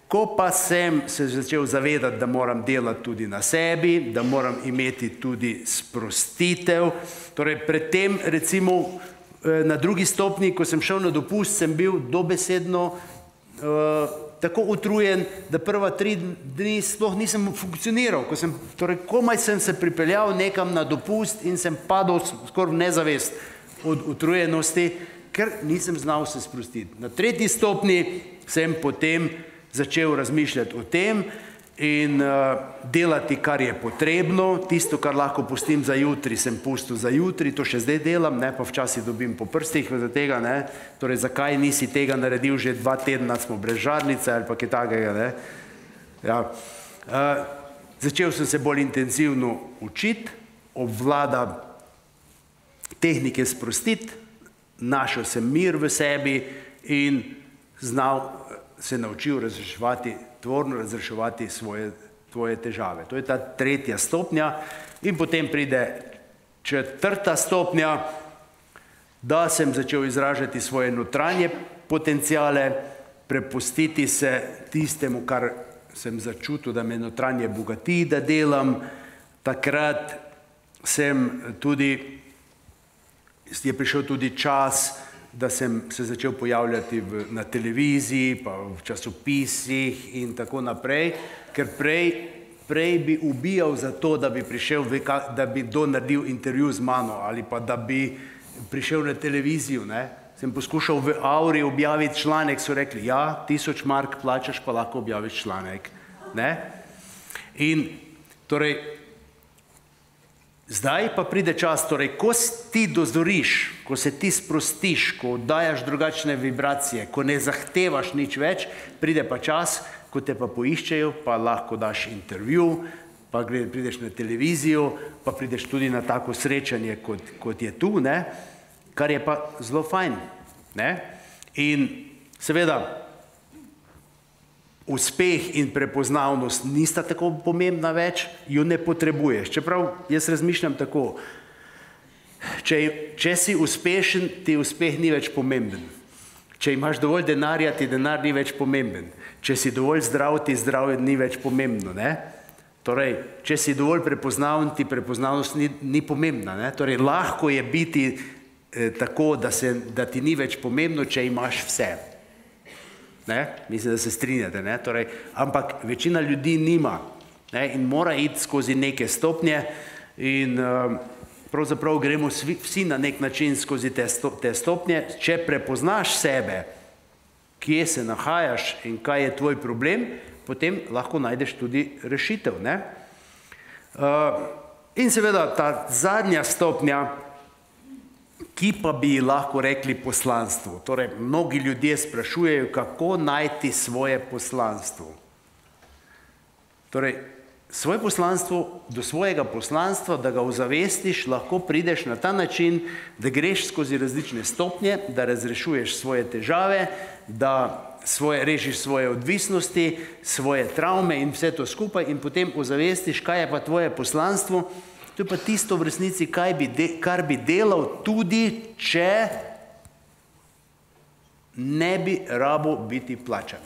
ko pa sem se začel zavedati, da moram delati tudi na sebi, da moram imeti tudi sprostitev. Torej, predtem, recimo, na drugi stopnji, ko sem šel na dopust, sem bil dobesedno uh, tako utrujen, da prva tri dni sploh nisem funkcioniral. Ko sem, torej, komaj sem se pripeljal nekam na dopust in sem padal skoraj v nezavest od utrujenosti, ker nisem znal se sprostiti. Na tretji stopnji sem potem začel razmišljati o tem in uh, delati, kar je potrebno. Tisto, kar lahko pustim za jutri, sem pustil za jutri, to še zdaj delam, ne, pa včasih dobim po prstih za tega, ne. Torej, zakaj nisi tega naredil, že dva tedna smo brez žarnice ali pa kaj takega, ne. Ja. Uh, začel sem se bolj intenzivno učiti, obvlada tehnike sprostiti, našel sem mir v sebi in znal se naučil razreševati, tvorno razreševati svoje, svoje težave. To je ta tretja stopnja in potem pride četrta stopnja, da sem začel izražati svoje notranje potencijale, prepustiti se tistemu, kar sem začutil, da me notranje bogati, da delam. Takrat sem tudi, je prišel tudi čas, da sem se začel pojavljati v, na televiziji, pa v časopisih in tako naprej, ker prej, prej bi ubijal za to, da bi prišel, da bi kdo naredil intervju z mano ali pa da bi prišel na televizijo, ne. Sem poskušal v Auri objaviti članek, so rekli, ja, tisoč mark plačaš, pa lahko objaviš članek, ne. In torej, zdaj pa pride čas, torej, ko ti dozoriš, ko se ti sprostiš, ko dajaš drugačne vibracije, ko ne zahtevaš nič več, pride pa čas, ko te pa poiščejo, pa lahko daš intervju, pa prideš na televizijo, pa prideš tudi na tako srečanje, kot, kot je tu, ne, kar je pa zelo fajn, ne. In seveda, uspeh in prepoznavnost nista tako pomembna več, jo ne potrebuješ. Čeprav jaz razmišljam tako, če, če si uspešen, ti uspeh ni več pomemben. Če imaš dovolj denarja, ti denar ni več pomemben. Če si dovolj zdrav, ti zdravje ni več pomembno, ne. Torej, če si dovolj prepoznaven, ti prepoznavnost ni, ni pomembna, ne. Torej, lahko je biti eh, tako, da, se, da ti ni več pomembno, če imaš vse. Ne? Mislim, da se strinjate, ne? Torej, ampak večina ljudi nima, ne? In mora iti skozi neke stopnje in uh, pravzaprav gremo vsi, vsi na nek način skozi te, sto, te stopnje. Če prepoznaš sebe, kje se nahajaš in kaj je tvoj problem, potem lahko najdeš tudi rešitev, ne? Uh, in seveda ta zadnja stopnja, ki pa bi lahko rekli poslanstvo. Torej, mnogi ljudje sprašujejo, kako najti svoje poslanstvo. Torej, svoje poslanstvo, do svojega poslanstva, da ga ozavestiš, lahko prideš na ta način, da greš skozi različne stopnje, da razrešuješ svoje težave, da svoje, rešiš svoje odvisnosti, svoje travme in vse to skupaj in potem ozavestiš, kaj je pa tvoje poslanstvo. To je pa tisto v resnici, kaj bi de, kar bi delal tudi, če ne bi rabo biti plačan.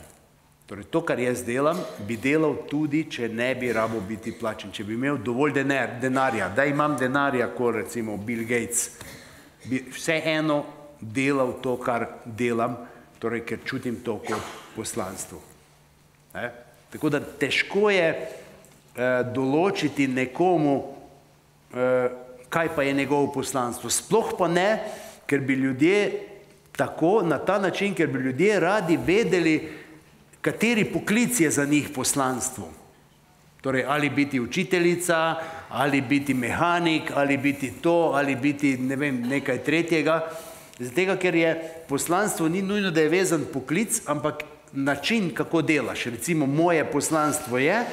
Torej, to, kar jaz delam, bi delal tudi, če ne bi rabo biti plačan. Če bi imel dovolj denar, denarja, da imam denarja, kot recimo Bill Gates, bi vseeno delal to, kar delam, torej, ker čutim to kot poslanstvo. Ne? Tako da težko je eh, določiti nekomu, kaj pa je njegovo poslanstvo. Sploh pa ne, ker bi ljudje tako, na ta način, ker bi ljudje radi vedeli, kateri poklic je za njih poslanstvo. Torej, ali biti učiteljica, ali biti mehanik, ali biti to, ali biti, ne vem, nekaj tretjega. Zato, ker je poslanstvo ni nujno, da je vezan poklic, ampak način, kako delaš. Recimo, moje poslanstvo je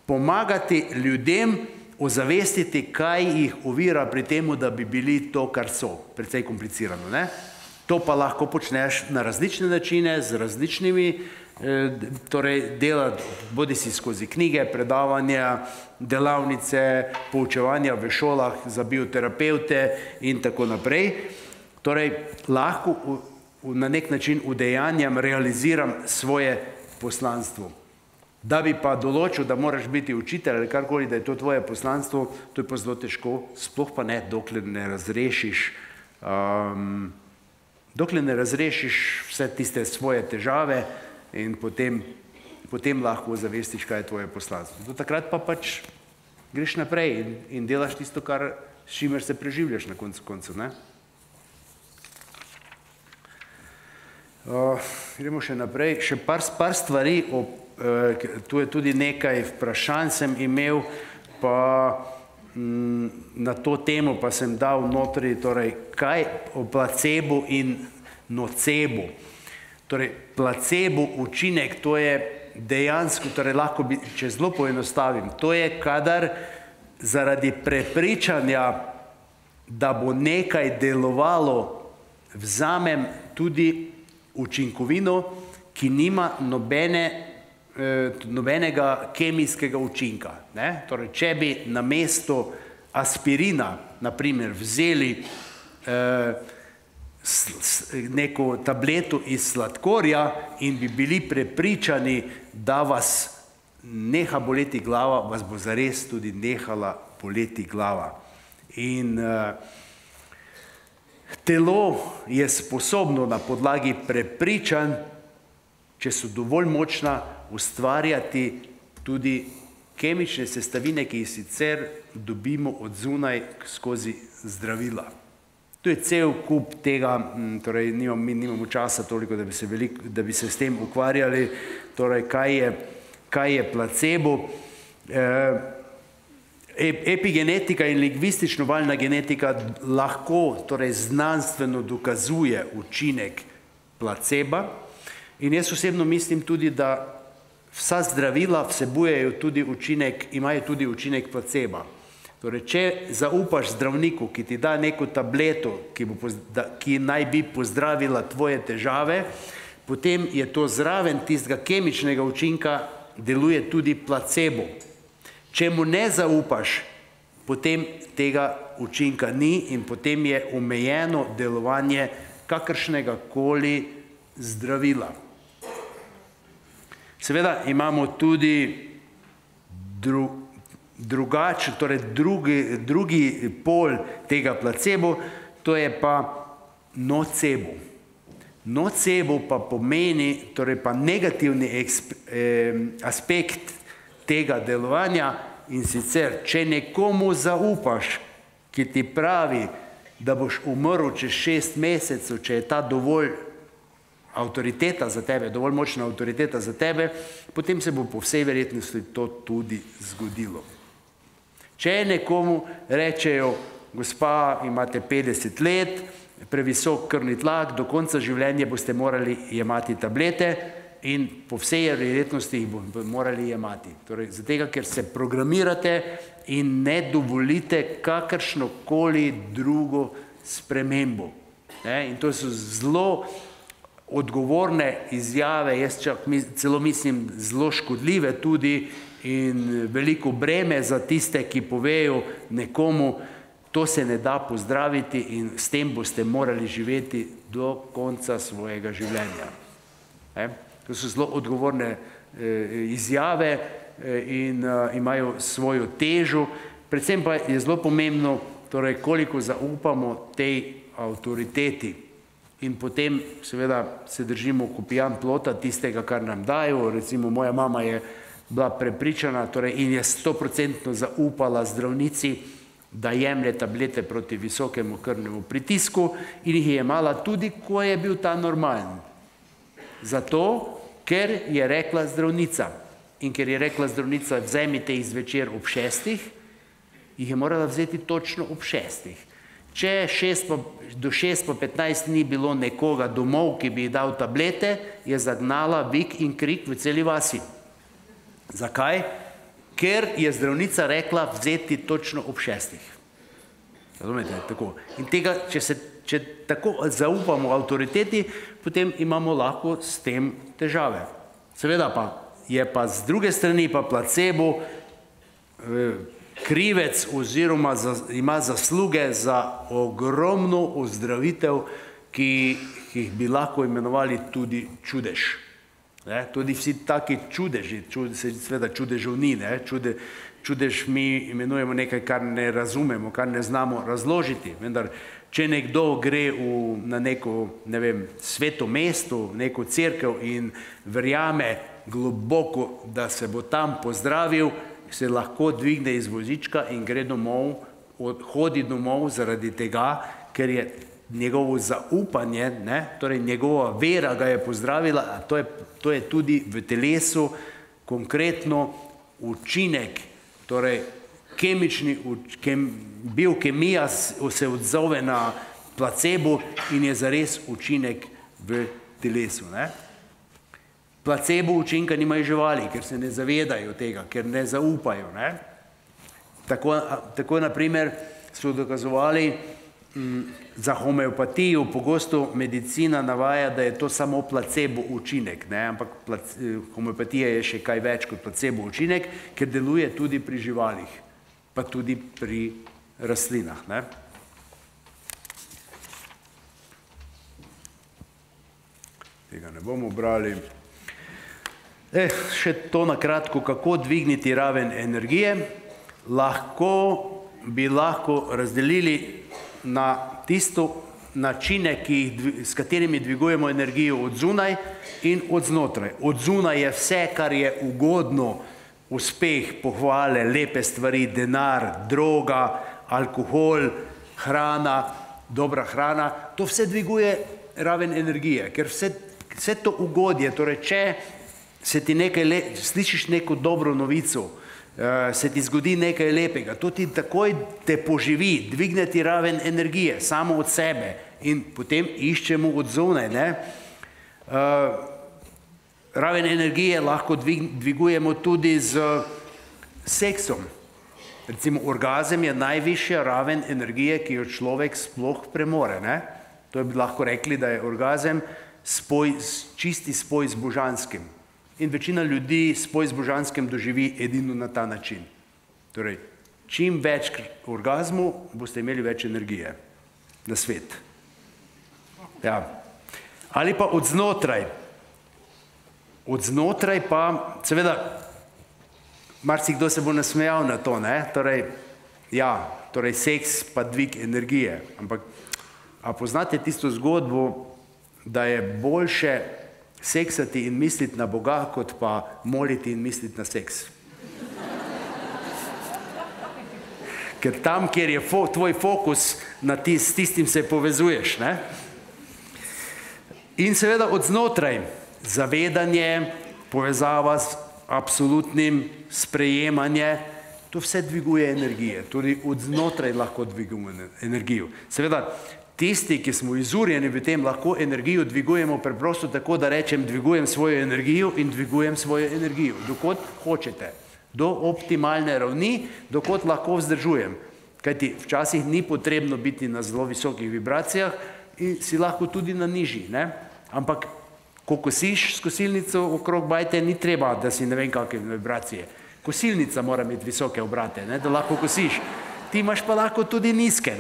pomagati ljudem ozavestiti, kaj jih ovira pri temu, da bi bili to, kar so. Precej komplicirano, ne? To pa lahko počneš na različne načine, z različnimi, torej dela bodi si skozi knjige, predavanja, delavnice, poučevanja v šolah za bioterapevte in tako naprej. Torej, lahko na nek način udejanjam, realiziram svoje poslanstvo. Da bi pa določil, da moraš biti učitelj ali karkoli, da je to tvoje poslanstvo, to je pa zelo težko, sploh pa ne, dokler ne razrešiš um, dokler ne razrešiš vse tiste svoje težave in potem, potem lahko zavestiš, kaj je tvoje poslanstvo. Do takrat pa pač greš naprej in, in delaš tisto, kar, s čimer se preživljaš na koncu koncu, ne? Uh, gremo še naprej. Še par, par stvari, o, uh, tu je tudi nekaj vprašanj sem imel, pa na to temo pa sem dal notri, torej, kaj o placebo in nocebo. Torej, placebo učinek, to je dejansko, torej lahko bi, če zelo poenostavim, to je, kadar zaradi prepričanja, da bo nekaj delovalo, vzamem tudi učinkovino, ki nima nobene nobenega kemijskega učinka. Ne? Torej, če bi namesto aspirina, naprimer, vzeli eh, s, s, neko tableto iz sladkorja in bi bili prepričani, da vas neha boleti glava, vas bo zares tudi nehala boleti glava. In eh, telo je sposobno na podlagi prepričanj, če so dovolj močna, ustvarjati tudi kemične sestavine, ki jih sicer dobimo od zunaj skozi zdravila. To je cel kup tega, torej nimam, mi nimamo časa toliko, da bi se, veliko, da bi se s tem ukvarjali, torej kaj je, kaj je placebo. Epigenetika in lingvistično-valna genetika lahko, torej znanstveno dokazuje učinek placeba in jaz osebno mislim tudi, da vsa zdravila vsebujejo tudi učinek, imajo tudi učinek placeba. Torej, če zaupaš zdravniku, ki ti da neko tableto, ki, bo, ki naj bi pozdravila tvoje težave, potem je to zraven tistega kemičnega učinka, deluje tudi placebo. Če mu ne zaupaš, potem tega učinka ni in potem je omejeno delovanje kakršnega koli zdravila. Seveda imamo tudi dru, drugač, torej drugi, drugi pol tega placebo, to je pa nocebo. Nocebo pa pomeni, torej pa negativni eksp, eh, aspekt tega delovanja in sicer, če nekomu zaupaš, ki ti pravi, da boš umrl čez šest mesecev, če je ta dovolj avtoriteta za tebe, dovolj močna avtoriteta za tebe, potem se bo po vsej verjetnosti to tudi zgodilo. Če nekomu rečejo, gospa, imate petdeset let, previsok krvni tlak, do konca življenja boste morali jemati tablete in po vsej verjetnosti jih boste morali jemati. Torej, zato, ker se programirate in ne dovolite kakršnokoli drugo spremembo. Ne? In to so zelo odgovorne izjave, jaz čak celo mislim zelo škodljive tudi in veliko breme za tiste, ki povejo nekomu, to se ne da pozdraviti in s tem boste morali živeti do konca svojega življenja. E? To so zelo odgovorne e, izjave e, in e, imajo svojo težo. Predvsem pa je zelo pomembno, torej, koliko zaupamo tej avtoriteti. In potem seveda se držimo kopijan plota tistega, kar nam dajo. Recimo moja mama je bila prepričana, torej, in je stoprocentno zaupala zdravnici, da jemlje tablete proti visokemu krvnemu pritisku in jih je jemala tudi, ko je bil ta normalen. Zato, ker je rekla zdravnica. In ker je rekla zdravnica, vzemite jih zvečer ob šestih, jih je morala vzeti točno ob šestih. Če šest pa, do šest pa petnajst ni bilo nekoga domov, ki bi ji dal tablete, je zagnala vik in krik v celi vasi. Zakaj? Ker je zdravnica rekla vzeti točno ob šestih. Razumete? Tako. In tega, če se če tako zaupamo avtoriteti, potem imamo lahko s tem težave. Seveda pa je pa z druge strani pa placebo krivec oziroma ima zasluge za ogromno ozdravitev, ki jih bi lahko imenovali tudi čudež. Tudi vsi taki čudeži, seveda čudežev ni, čudež mi imenujemo nekaj, kar ne razumemo, kar ne znamo razložiti, vendar če nekdo gre na neko, ne vem, sveto mesto, neko cerkev in verjame globoko, da se bo tam pozdravil, se lahko dvigne iz vozička in gre domov, hodi domov zaradi tega, ker je njegovo zaupanje, torej njegova vera ga je pozdravila, a to je tudi v telesu konkretno učinek, torej kemični, biokemija se odzove na placebo in je zares učinek v telesu. Placebo učinka nimajo živali, ker se ne zavedajo tega, ker ne zaupajo. Tako naprimer so dokazovali za homeopatijo, pogosto medicina navaja, da je to samo placebo učinek, ampak homeopatija je še kaj več kot placebo učinek, ker deluje tudi pri živalih, pa tudi pri rastlinah. Tega ne bomo brali. Še to na kratko, kako dvigniti raven energije. Lahko bi lahko razdelili na tisto načine, s katerimi dvigujemo energijo od zunaj in od znotraj. Od zunaj je vse, kar je ugodno, uspeh, pohvale, lepe stvari, denar, droga, alkohol, hrana, dobra hrana, to vse dviguje raven energije, ker vse to ugodje, torej če se ti nekaj, slišiš neko dobro novico, se ti zgodi nekaj lepega, to ti takoj te poživi, dvigne ti raven energije, samo od sebe in potem iščemo od zunaj. Raven energije lahko dvigujemo tudi z seksom. Recimo orgazem je najvišja raven energije, ki jo človek sploh premore. To bi lahko rekli, da je orgazem čisti spoj z božanskim. In večina ljudi spoj z božanskim doživi edino na ta način. Torej, čim več orgazmu, boste imeli več energije na svet. Ali pa od znotraj. Od znotraj pa, seveda, marsikdo se bo nasmejal na to, torej, ja, torej seks pa dvig energije. Ampak, a poznate tisto zgodbo, da je boljše seksati in misliti na Boga, kot pa moliti in misliti na seks. Ker tam, kjer je tvoj fokus, s tistim se povezuješ. In seveda od znotraj zavedanje, povezava z absolutnim sprejemanje, to vse dviguje energije. Tudi od znotraj lahko dvigujemo energijo. Seveda, tisti, ki smo izurjeni v tem, lahko energijo dvigujemo preprosto tako, da rečem, dvigujem svojo energijo in dvigujem svojo energijo. Dokot hočete. Do optimalne ravni, dokot lahko vzdržujem. Kajti včasih ni potrebno biti na zelo visokih vibracijah in si lahko tudi na nižji. Ampak, ko kosiš s kosilnico okrog bajte, ni treba, da si ne vem kakve vibracije. Kosilnica mora imeti visoke obrate, da lahko kosiš. Ti imaš pa lahko tudi nizke.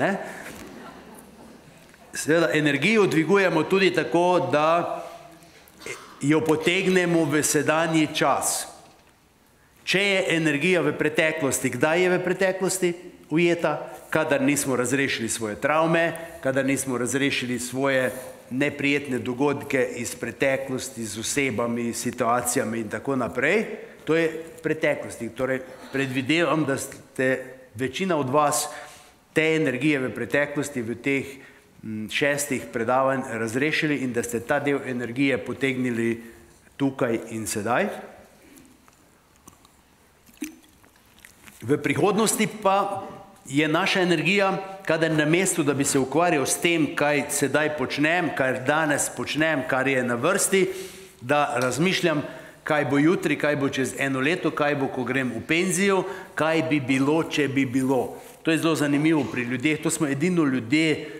Seveda, energijo dvigujemo tudi tako, da jo potegnemo v sedanji čas. Če je energija v preteklosti, kdaj je v preteklosti ujeta? Kadar nismo razrešili svoje travme, kadar nismo razrešili svoje neprijetne dogodke iz preteklosti z osebami, situacijami in tako naprej, to je preteklosti. Torej, predvidevam, da ste večina od vas te energije v preteklosti, v teh šestih predavanj razrešili in da ste ta del energije potegnili tukaj in sedaj. V prihodnosti pa je naša energija, kadar na mestu, da bi se ukvarjal s tem, kaj sedaj počnem, kar danes počnem, kar je na vrsti, da razmišljam, kaj bo jutri, kaj bo čez eno leto, kaj bo, ko grem v penzijo, kaj bi bilo, če bi bilo. To je zelo zanimivo pri ljudeh, to smo edino ljudje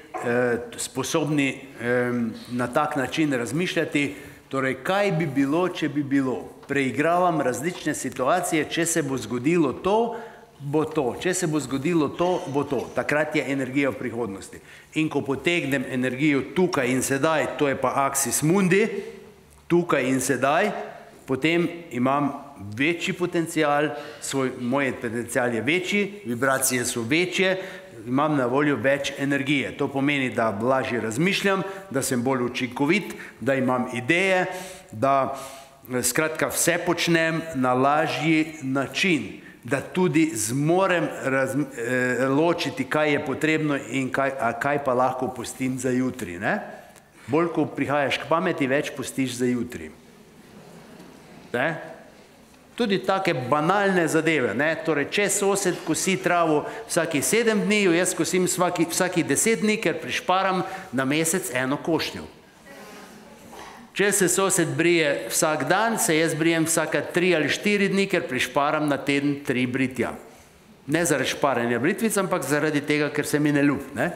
sposobni na tak način razmišljati, torej kaj bi bilo, če bi bilo. Preigravam različne situacije, če se bo zgodilo to, bo to, če se bo zgodilo to, bo to. Takrat je energija v prihodnosti. In ko potegnem energijo tukaj in sedaj, to je pa axis mundi, tukaj in sedaj, potem imam večji potencial, svoj, moj potencial je večji, vibracije so večje, imam na voljo več energije. To pomeni, da lažje razmišljam, da sem bolj učinkovit, da imam ideje, da skratka vse počnem na lažji način, da tudi zmorem raz, eh, ločiti, kaj je potrebno in kaj, a kaj pa lahko pustim za jutri. Ne? Bolj, ko prihajaš k pameti, več pustiš za jutri. Ne? Tudi take banalne zadeve. Ne? Torej, če sosed kosi travo vsaki sedem dni, jaz kosim vsaki, vsaki deset dni, ker prišparam na mesec eno košnjo. Če se sosed brije vsak dan, se jaz brijem vsaka tri ali štiri dni, ker prišparam na teden tri britja. Ne zaradi šparanja britvic, ampak zaradi tega, ker se mi ne ljub. Ne?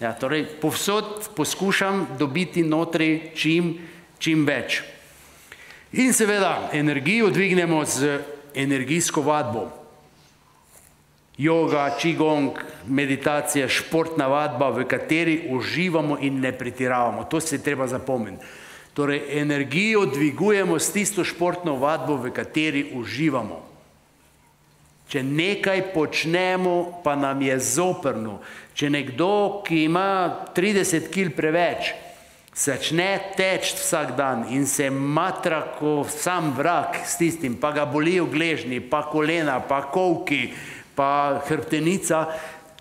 Ja, torej, povsod poskušam dobiti notri čim, čim več. In seveda, energijo dvignemo z energijsko vadbo. Yoga, qigong, meditacija, športna vadba, v kateri uživamo in ne pretiravamo. To se je treba zapomniti. Torej, energijo dvigujemo s tisto športno vadbo, v kateri uživamo. Če nekaj počnemo, pa nam je zoprno. Če nekdo, ki ima trideset kil preveč, začne teči vsak dan in se matra ko sam vrag s tistim, pa ga bolijo gležnji, pa kolena, pa kolki, pa hrbtenica,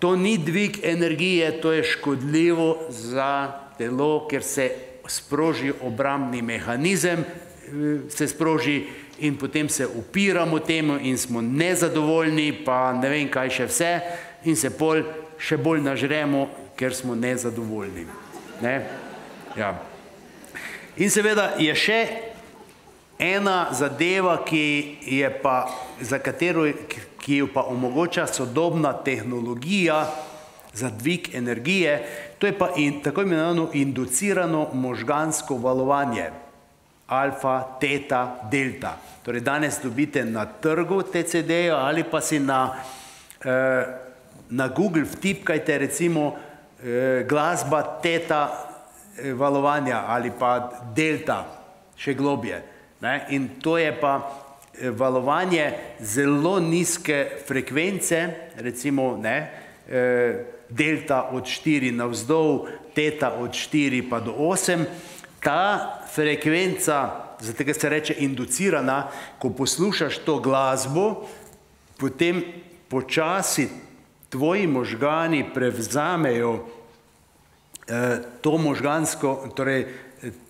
to ni dvig energije, to je škodljivo za telo, ker se sproži obrambni mehanizem, se sproži in potem se upiramo temu in smo nezadovoljni, pa ne vem kaj še vse, in se pol še bolj nažremo, ker smo nezadovoljni. Ne? Ja. In seveda je še ena zadeva, ki je pa, za katero, ki jo pa omogoča sodobna tehnologija za dvig energije, to je pa in, tako imenovano inducirano možgansko valovanje. Alfa, teta, delta. Torej danes dobite na trgu te ce de-je ali pa si na, eh, na Google vtipkajte recimo eh, glasba teta valovanja ali pa delta, še globje. Ne? In to je pa valovanje zelo nizke frekvence, recimo ne, delta od štiri navzdol, teta od štiri pa do osem. Ta frekvenca, zato se reče inducirana, ko poslušaš to glasbo, potem počasi tvoji možgani prevzamejo to možgansko, torej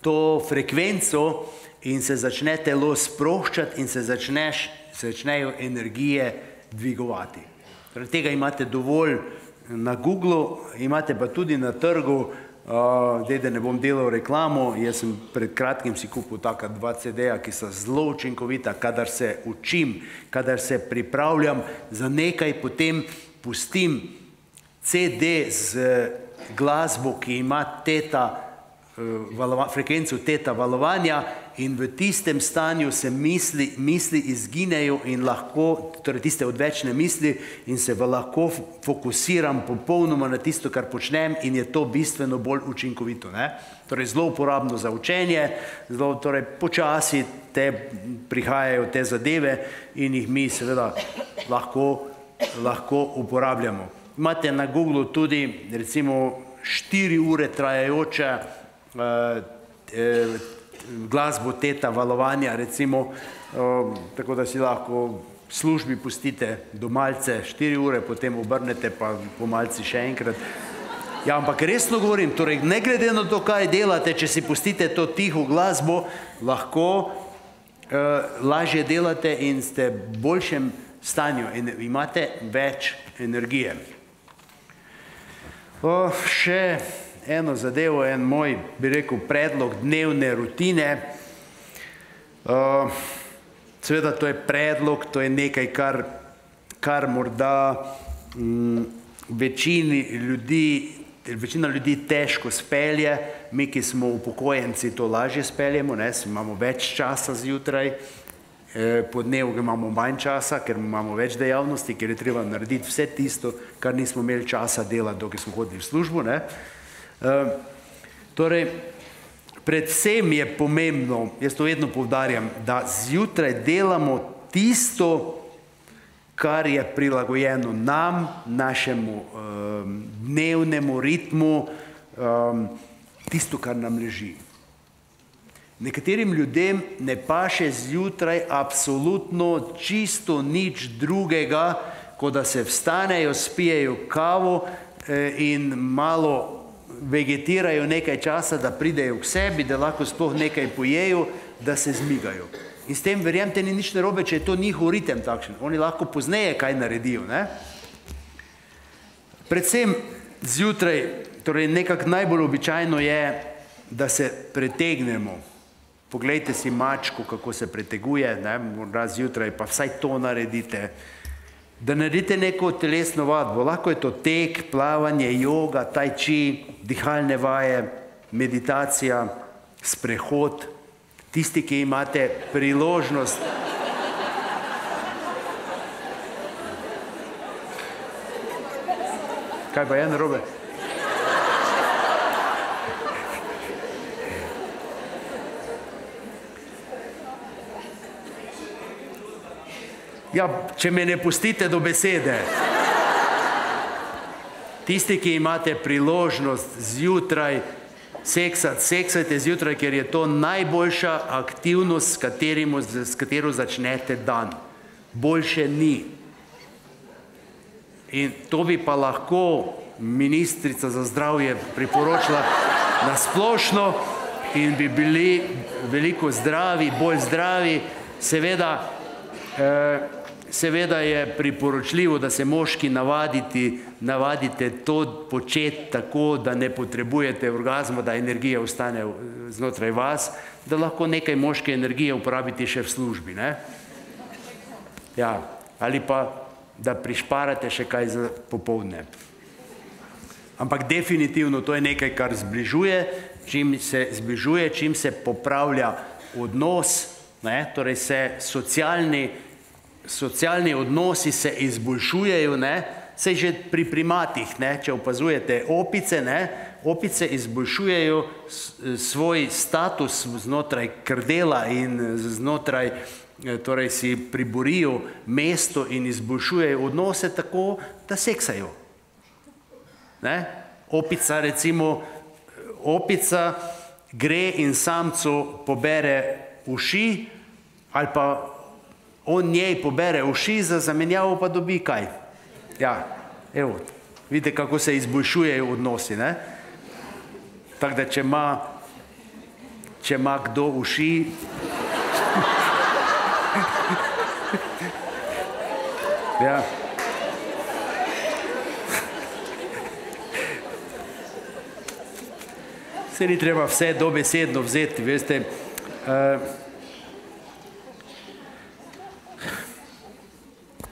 to frekvenco in se začne telo sproščati in se začneš, začnejo energije dvigovati. Torej tega imate dovolj na Googlu, imate pa tudi na trgu, zdaj, da ne bom delal reklamo, jaz sem pred kratkim si kupil taka dva ce de-ja, ki so zelo učinkovita, kadar se učim, kadar se pripravljam za nekaj, potem pustim ce de z glasbo, ki ima teta, frekvenco teta valovanja in v tistem stanju se misli, misli izginejo in lahko, torej tiste odvečne misli in se lahko fokusiram popolnoma na tisto, kar počnem in je to bistveno bolj učinkovito. Ne? Torej zelo uporabno za učenje, zelo, torej počasi te prihajajo te zadeve in jih mi seveda lahko, lahko uporabljamo. Imate na Googlu tudi recimo štiri ure trajajoče eh, eh, glasbo teta valovanja, recimo, eh, tako da si lahko v službi pustite do malce štiri ure, potem obrnete pa po malci še enkrat. Ja, ampak resno govorim, torej ne glede na to, kaj delate, če si pustite to tiho glasbo, lahko eh, lažje delate in ste v boljšem stanju in imate več energije. O, še eno zadevo, en moj, bi rekel, predlog dnevne rutine. O, seveda to je predlog, to je nekaj, kar, kar morda m, večini ljudi večina ljudi težko spelje, mi, ki smo upokojenci, to lažje speljemo, ne, imamo več časa zjutraj, po dnevu imamo manj časa, ker imamo več dejavnosti, ker je treba narediti vse tisto, kar nismo imeli časa delati, dokaj smo hodili v službo. Ne. Torej, predvsem je pomembno, jaz to vedno poudarjam, da zjutraj delamo tisto, kar je prilagojeno nam, našemu um, dnevnemu ritmu, um, tisto, kar nam leži. Nekaterim ljudem ne paše zjutraj absolutno čisto nič drugega, kot da se vstanejo, spijejo kavo eh, in malo vegetirajo nekaj časa, da pridejo k sebi, da lahko sploh nekaj pojejo, da se zmigajo. In s tem, verjemte, ni nič narobe, če je to njihov ritem takšen. Oni lahko pozneje kaj naredijo. Ne? Predvsem zjutraj, torej nekako najbolj običajno je, da se pretegnemo. Poglejte si mačko, kako se preteguje, ne, morda zjutraj, pa vsaj to naredite. Da naredite neko telesno vadbo, lahko je to tek, plavanje, joga, tai chi, dihalne vaje, meditacija, sprehod. Tisti, ki imate priložnost. Kaj pa je narobe? Ja, če me ne pustite do besede. Tisti, ki imate priložnost zjutraj seksati, seksajte zjutraj, ker je to najboljša aktivnost, s, katerim, s katero začnete dan. Boljše ni. In to bi pa lahko ministrica za zdravje priporočila na splošno in bi bili veliko zdravi, bolj zdravi. Seveda, eh, Seveda je priporočljivo, da se moški navaditi, navadite to početi tako, da ne potrebujete orgazma, da energija ostane znotraj vas, da lahko nekaj moške energije uporabite še v službi. Ne? Ja, ali pa, da prišparate še kaj za popoldne. Ampak definitivno to je nekaj, kar zbližuje, čim se zbližuje, čim se popravlja odnos, ne? Torej se socialni Socialni odnosi se izboljšujejo, ne? Saj že pri primatih, ne? Če opazujete opice, ne? Opice izboljšujejo svoj status znotraj krdela in znotraj, torej si priborijo mesto in izboljšujejo odnose tako, da seksajo. Ne? Opica, recimo, opica gre in samcu pobere uši ali pa on njej pobere uši, za zamenjavo pa dobi kaj. Ja, evo, vidite, kako se izboljšujejo odnosi, ne? Tako da, če ima, če ima kdo uši, ja, se ni treba vse dobesedno vzeti, veste, uh,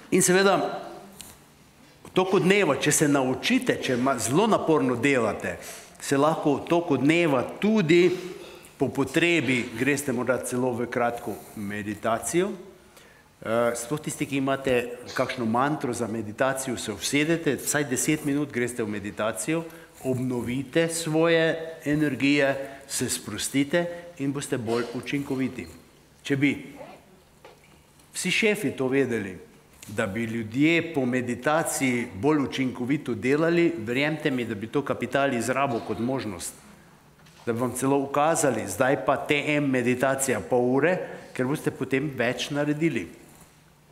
in seveda, v toku dneva, če se naučite, če zelo naporno delate, se lahko v toku dneva tudi po potrebi greste morda celo v kratko meditacijo. Sploh tisti, ki imate kakšno mantro za meditacijo, se usedete, vsaj deset minut greste v meditacijo, obnovite svoje energije, se sprostite in boste bolj učinkoviti. Če bi vsi šefi to vedeli, da bi ljudje po meditaciji bolj učinkovito delali, verjemte mi, da bi to kapital izrabil kot možnost. Da bi vam celo ukazali, zdaj pa T M meditacija pol ure, ker boste potem več naredili.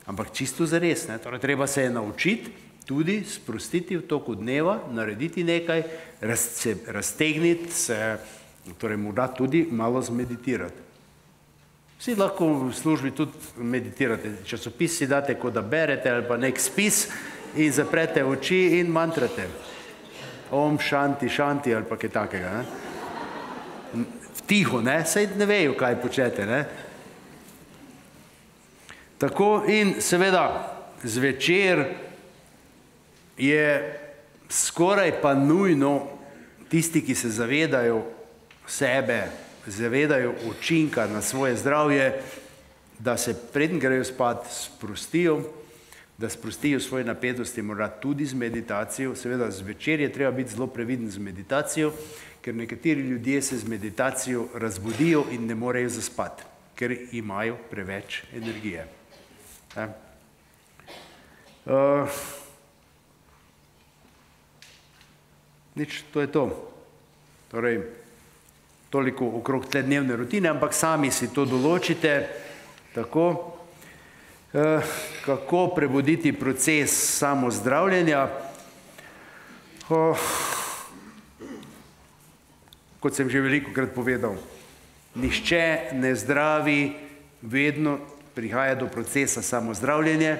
Ampak čisto zares, ne? Torej, treba se je naučiti, tudi sprostiti v toku dneva, narediti nekaj, raz, se raztegniti, se, torej morda tudi malo zmeditirati. Vsi lahko v službi tudi meditirate. Časopis si date, kot da berete, ali pa nek spis in zaprete oči in mantrate. Om, šanti, šanti, ali pa kaj takega. Ne? Tiho, ne? Saj ne vejo, kaj počete. Ne? Tako in seveda zvečer je skoraj pa nujno tisti, ki se zavedajo sebe, zavedajo učinka na svoje zdravje, da se preden grejo spat sprostijo, da sprostijo svoje napetosti, morda tudi z meditacijo. Seveda zvečer je treba biti zelo previden z meditacijo, ker nekateri ljudje se z meditacijo razbudijo in ne morejo zaspati, ker imajo preveč energije. Ja. Uh, nič, to je to. Torej, toliko okrog te dnevne rutine, ampak sami si to določite, tako, uh, kako prebuditi proces samozdravljenja. Uh, kot sem že velikokrat povedal, nihče ne zdravi, vedno prihaja do procesa samozdravljenja.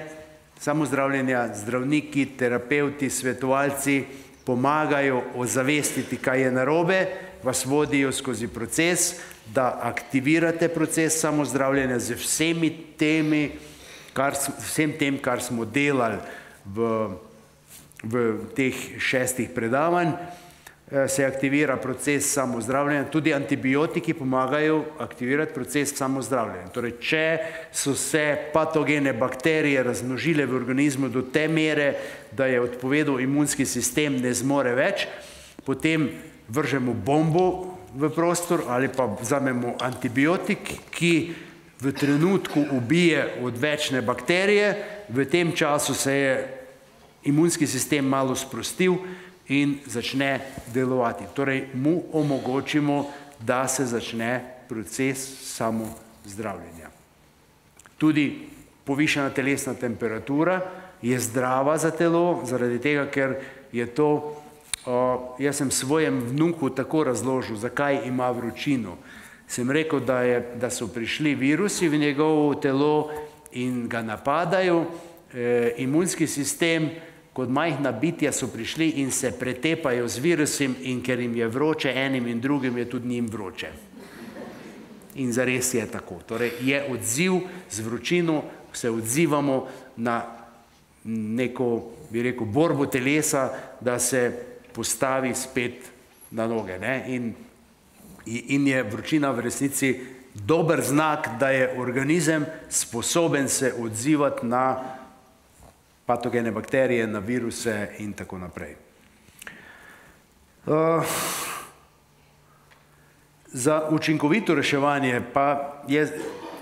Samozdravljenja, zdravniki, terapevti, svetovalci pomagajo ozavestiti, kaj je narobe, vas vodijo skozi proces, da aktivirate proces samozdravljenja z vsemi temi, kar, vsem tem, kar smo delali v, v teh šestih predavanj. Se aktivira proces samozdravljenja, tudi antibiotiki pomagajo aktivirati proces samozdravljenja. Torej, če so se patogene bakterije razmnožile v organizmu do te mere, da je odpovedal imunski sistem, ne zmore več, potem vržemo bombo v prostor ali pa vzamemo antibiotik, ki v trenutku ubije odvečne bakterije, v tem času se je imunski sistem malo sprostil in začne delovati. Torej, mu omogočimo, da se začne proces samozdravljenja. Tudi povišana telesna temperatura je zdrava za telo, zaradi tega, ker je to, o, jaz sem svojem vnuku tako razložil, zakaj ima vročino. Sem rekel, da, je, da so prišli virusi v njegovo telo in ga napadajo, e, imunski sistem, kot majhna bitja so prišli in se pretepajo z virusom, in ker jim je vroče enim in drugim, je tudi njim vroče. In zares je tako. Torej, je odziv z vročino, se odzivamo na neko, bi rekel, borbo telesa, da se postavi spet na noge. Ne? In, in je vročina v resnici dober znak, da je organizem sposoben se odzivati na patogene bakterije, na viruse in tako naprej. Uh, za učinkovito reševanje pa je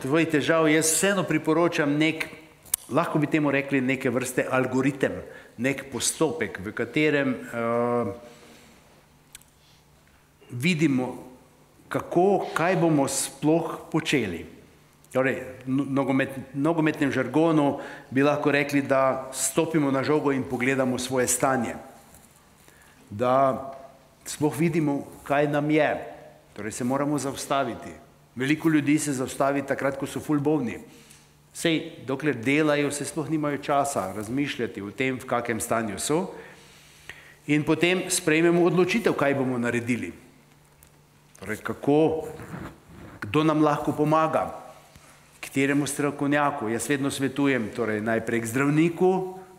tvoj težav, jaz vseeno priporočam nek, lahko bi temu rekli neke vrste algoritem, nek postopek, v katerem uh, vidimo, kako, kaj bomo sploh počeli. Torej, nogomet, nogometnem žargonu bi lahko rekli, da stopimo na žogo in pogledamo svoje stanje. Da sploh vidimo, kaj nam je. Torej, se moramo zaustaviti. Veliko ljudi se zaustavi takrat, ko so ful bolni. Sej, dokler delajo, se sploh nimajo časa razmišljati o tem, v kakem stanju so. In potem sprejmemo odločitev, kaj bomo naredili. Torej, kako, kdo nam lahko pomaga. Kateremu strokovnjaku. Jaz vedno svetujem, torej najprej k zdravniku,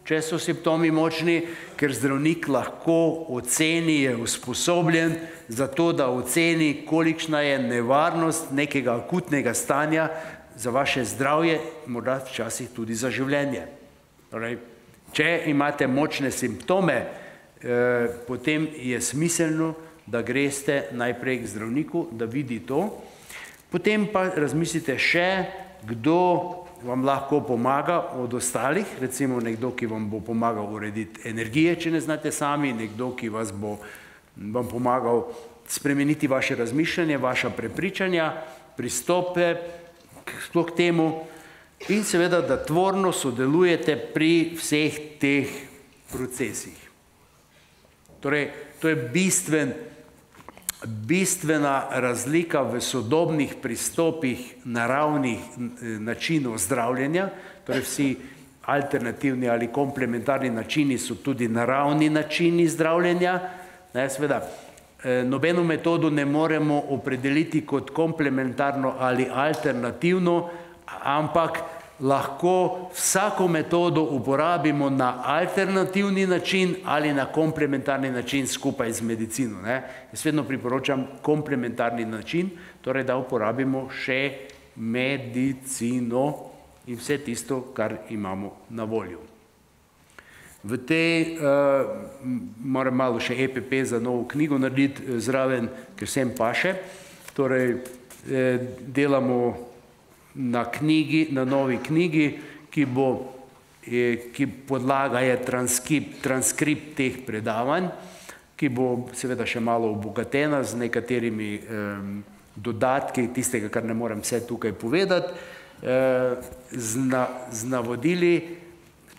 če so simptomi močni, ker zdravnik lahko oceni, je usposobljen za to, da oceni, kolikšna je nevarnost nekega akutnega stanja za vaše zdravje, morda včasih tudi za življenje. Torej, če imate močne simptome, eh, potem je smiselno, da greste najprej k zdravniku, da vidi to. Potem pa razmislite še, kdo vam lahko pomaga od ostalih, recimo nekdo, ki vam bo pomagal urediti energije, če ne znate sami, nekdo, ki vas bo vam pomagal spremeniti vaše razmišljanje, vaša prepričanja, pristope sploh k temu in seveda, da tvorno sodelujete pri vseh teh procesih. Torej, to je bistven bistvena razlika v sodobnih pristopih naravnih načinov zdravljenja, torej vsi alternativni ali komplementarni načini so tudi naravni načini zdravljenja. Ne, seveda, nobeno metodo ne moremo opredeliti kot komplementarno ali alternativno, ampak lahko vsako metodo uporabimo na alternativni način ali na komplementarni način skupaj z medicino. Ne? Jaz vedno priporočam komplementarni način, torej da uporabimo še medicino in vse tisto, kar imamo na voljo. V tej, uh, moram malo še E P P za novo knjigo narediti zraven, ker sem paše, torej eh, delamo na knjigi, na novi knjigi, ki bo, eh, ki podlaga je transkript, transkript teh predavanj, ki bo seveda še malo obogatena z nekaterimi eh, dodatki, tistega, kar ne morem vse tukaj povedati, eh, z, na, z navodili,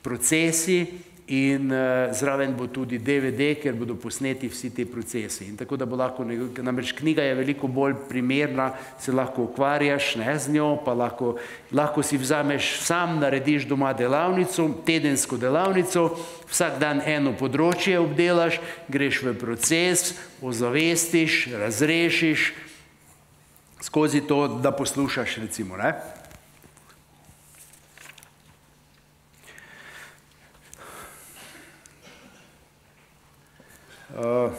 procesi, in uh, zraven bo tudi D V D, ker bodo posneti vsi ti procesi. In tako da bo lahko, namreč knjiga je veliko bolj primerna, se lahko ukvarjaš ne, z njo, pa lahko, lahko si vzameš sam, narediš doma delavnico, tedensko delavnico, vsak dan eno področje obdelaš, greš v proces, ozavestiš, razrešiš, skozi to, da poslušaš, recimo, ne. Uh,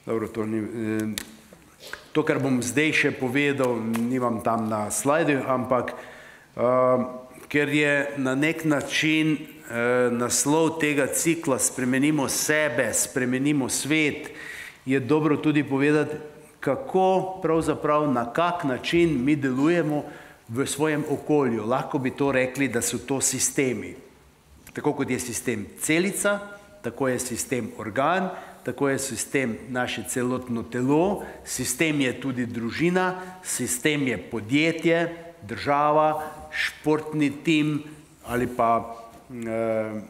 dobro, to, ni, eh, to, kar bom zdaj še povedal, nimam tam na slajdu, ampak uh, ker je na nek način eh, naslov tega cikla Spremenimo sebe, spremenimo svet, je dobro tudi povedati, kako pravzaprav, na kak način mi delujemo v svojem okolju. Lahko bi to rekli, da so to sistemi. Tako kot je sistem celica, tako je sistem organ, tako je sistem naše celotno telo, sistem je tudi družina, sistem je podjetje, država, športni tim ali pa eh,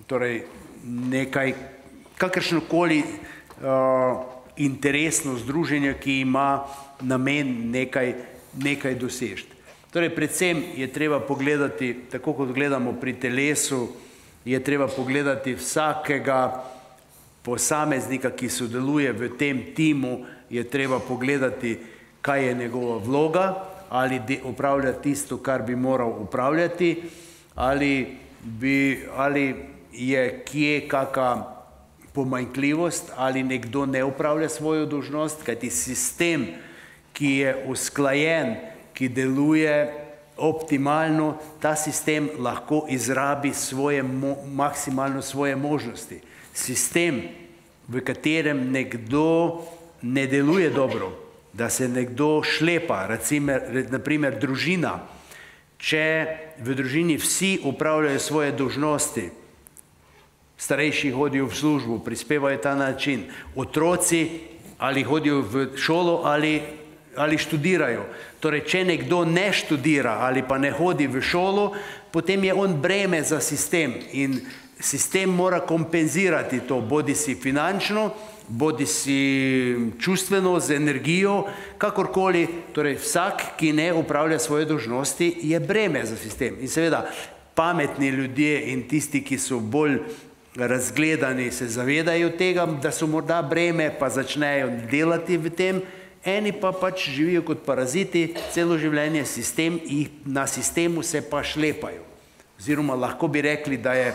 torej nekaj, kakršnokoli eh, interesno združenje, ki ima namen nekaj, nekaj dosežeti. Torej, predvsem je treba pogledati, tako kot gledamo pri telesu, je treba pogledati vsakega posameznika, ki sodeluje v tem timu, je treba pogledati, kaj je njegova vloga, ali opravlja tisto, kar bi moral upravljati, ali, bi, ali je kje kakšna pomanjkljivost, ali nekdo ne upravlja svojo dolžnost, kajti sistem, ki je usklajen, ki deluje optimalno, ta sistem lahko izrabi svoje, maksimalno svoje možnosti. Sistem, v katerem nekdo ne deluje dobro, da se nekdo šlepa, recimo, naprimer družina, če v družini vsi upravljajo svoje dolžnosti, starejši hodijo v službo, prispevajo ta način, otroci ali hodijo v šolo ali ali študirajo. Torej, če nekdo ne študira ali pa ne hodi v šolo, potem je on breme za sistem in sistem mora kompenzirati to, bodi si finančno, bodi si čustveno, z energijo, kakorkoli. Torej, vsak, ki ne upravlja svoje dolžnosti, je breme za sistem. In seveda, pametni ljudje in tisti, ki so bolj razgledani, se zavedajo tega, da so morda breme, pa začnejo delati v tem. Eni pa pač živijo kot paraziti, celo življenje sistem, na sistemu se pa šlepajo. Oziroma lahko bi rekli, da je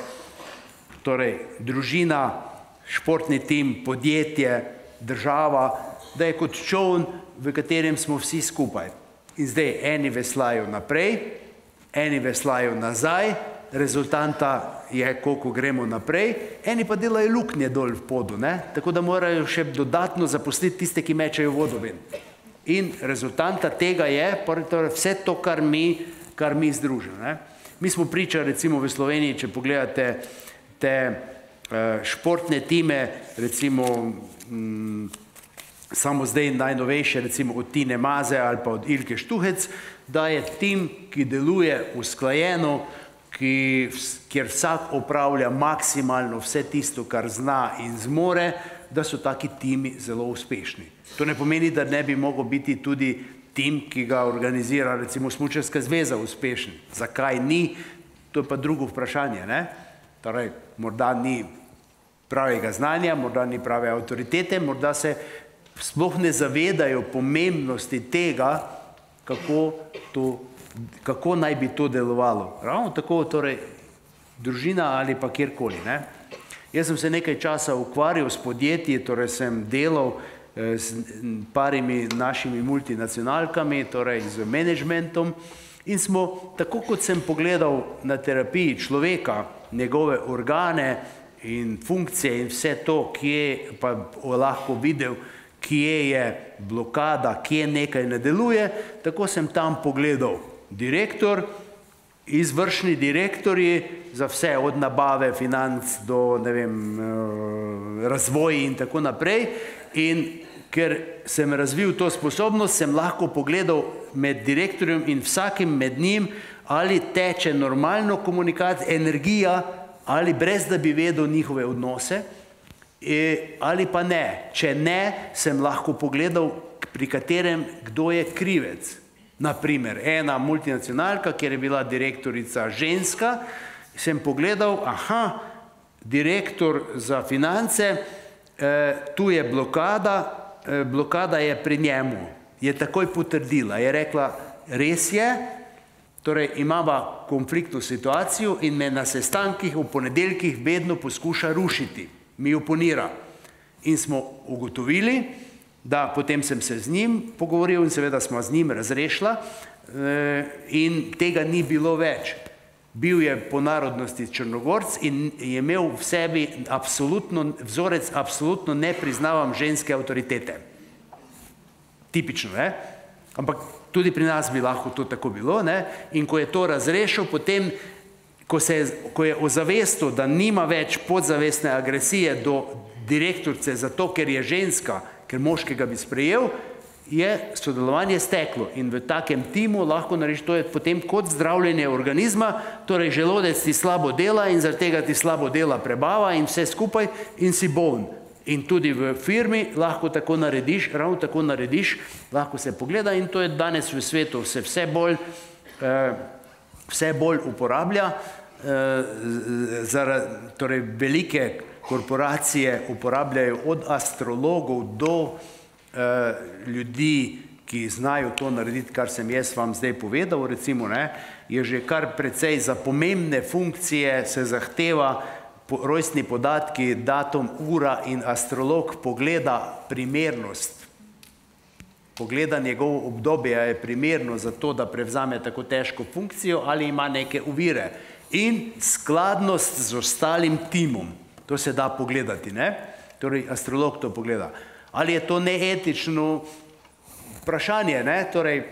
torej, družina, športni tim, podjetje, država, da je kot čoln, v katerem smo vsi skupaj. In zdaj eni veslajo naprej, eni veslajo nazaj, rezultanta je, koliko gremo naprej, eni pa delajo luknje dol v podu, ne? Tako da morajo še dodatno zaposliti tiste, ki mečejo vodo ven. In rezultanta tega je torej vse to, kar mi, kar mi združimo. Ne? Mi smo priča, recimo v Sloveniji, če pogledate te uh, športne time, recimo mm, samo zdaj najnovejše, recimo od Tine Maze ali pa od Ilke Štuhec, da je tim, ki deluje usklajeno, Ki, kjer vsak opravlja maksimalno vse tisto, kar zna in zmore, da so taki timi zelo uspešni. To ne pomeni, da ne bi mogel biti tudi tim, ki ga organizira recimo Smučarska zveza, uspešen. Zakaj ni? To je pa drugo vprašanje. Ne? Torej, morda ni pravega znanja, morda ni prave avtoritete, morda se sploh ne zavedajo pomembnosti tega, kako to kako naj bi to delovalo. Ravno tako, torej, družina ali pa kjerkoli, ne. Jaz sem se nekaj časa ukvarjal s podjetji, torej sem delal s parimi našimi multinacionalkami, torej z menedžmentom, in smo, tako kot sem pogledal na terapiji človeka, njegove organe in funkcije in vse to, kje pa lahko videl, kje je blokada, kje nekaj ne deluje, tako sem tam pogledal direktor, izvršni direktorji za vse, od nabave, financ do, ne vem, razvoj in tako naprej. In ker sem razvil to sposobnost, sem lahko pogledal med direktorjem in vsakim med njim, ali teče normalno komunikacija, energija, ali brez da bi vedel njihove odnose, ali pa ne. Če ne, sem lahko pogledal, pri katerem, kdo je krivec. Naprimer, ena multinacionalka, kjer je bila direktorica ženska, sem pogledal, aha, direktor za finance, tu je blokada, blokada je pri njemu. Je takoj potrdila, je rekla, res je, torej imava konfliktno situacijo in me na sestankih v ponedeljkih vedno poskuša rušiti, mi oponira. In smo ugotovili, da potem sem se z njim pogovoril in seveda smo z njim razrešila in tega ni bilo več. Bil je po narodnosti Črnogorc in je imel v sebi absolutno, vzorec absolutno ne priznavam ženske avtoritete. Tipično, ne? Ampak tudi pri nas bi lahko to tako bilo, ne? In ko je to razrešil, potem, ko, se, ko je ozavestil, da nima več podzavestne agresije do direktorice zato, ker je ženska, ker moškega bi sprejel, je sodelovanje steklo. In v takem timu lahko narediš, to je potem kot zdravljenje organizma, torej želodec ti slabo dela in zaradi tega ti slabo dela prebava in vse skupaj in si boln. In tudi v firmi lahko tako narediš, ravno tako narediš, lahko se pogleda in to je danes v svetu se vse bolj, vse bolj uporablja, torej velike korporacije uporabljajo od astrologov do ljudi, ki znajo to narediti, kar sem jaz vam zdaj povedal, recimo, ne, je že kar precej za pomembne funkcije se zahteva rojstni podatki, datum, ura in astrolog pogleda primernost. Pogleda njegovo obdobje, je primerno za to, da prevzame tako težko funkcijo ali ima neke ovire. In skladnost z ostalim timom. To se da pogledati, ne? Torej, astrolog to pogleda. Ali je to neetično vprašanje, ne? Torej,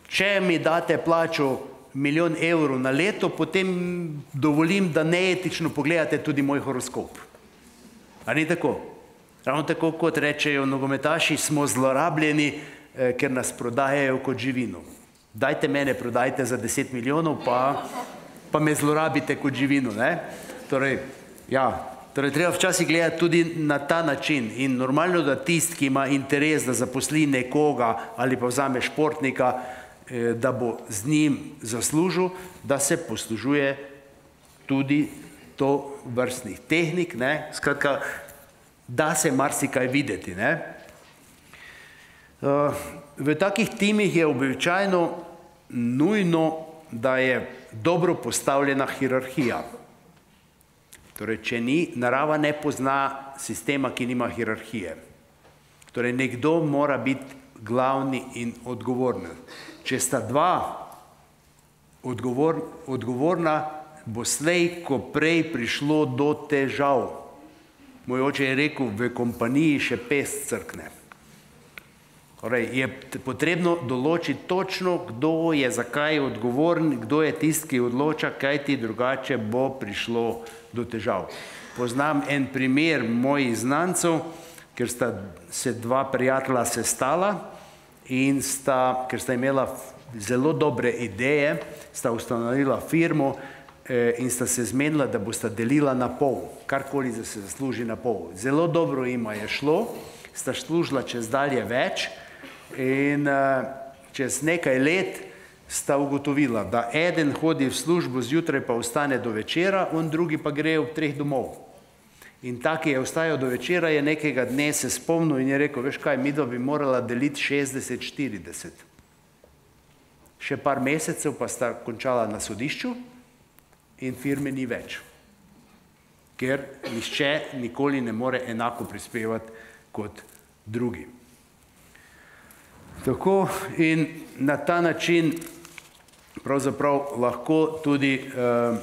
če mi date plačo milijon evrov na leto, potem dovolim, da neetično pogledate tudi moj horoskop. A ni tako? Ravno tako, kot rečejo nogometaši, smo zlorabljeni, ker nas prodajajo kot živino. Dajte mene, prodajte za deset milijonov, pa, pa me zlorabite kot živino, ne? Torej, ja, torej treba včasih gledati tudi na ta način in normalno, da tist, ki ima interes, da zaposli nekoga ali pa vzame športnika, da bo z njim zaslužil, da se poslužuje tudi to vrstnih tehnik, ne, skratka, da se marsikaj videti, ne. V takih timih je običajno nujno, da je dobro postavljena hierarhija. Torej, če ni, narava ne pozna sistema, ki nima hierarhije. Torej, nekdo mora biti glavni in odgovorni. Če sta dva odgovor, odgovorna, bo slej, ko prej prišlo do težav. Moj oče je rekel, v kompaniji še pes crkne. Torej, je potrebno določiti točno, kdo je zakaj odgovoren, kdo je tist, ki odloča, kaj ti drugače bo prišlo do težav. Poznam en primer mojih znancev, ker sta se dva prijatelja sestala, in sta, ker sta imela zelo dobre ideje, sta ustanovila firmo in sta se zmenila, da bosta delila na pol, karkoli da se zasluži na pol. Zelo dobro jima je šlo, sta služila čez dalje več in čez nekaj let sta ugotovila, da eden hodi v službo zjutraj pa ostane do večera, on drugi pa gre v treh domov. In tak je ostajal do večera, je nekega dne se spomnil in je rekel, veš kaj, midva bi morala deliti šestdeset štirideset. še par mesecev pa sta končala na sodišču in firme ni več. Ker nihče nikoli ne more enako prispevati kot drugi. Tako in na ta način pravzaprav lahko tudi eh,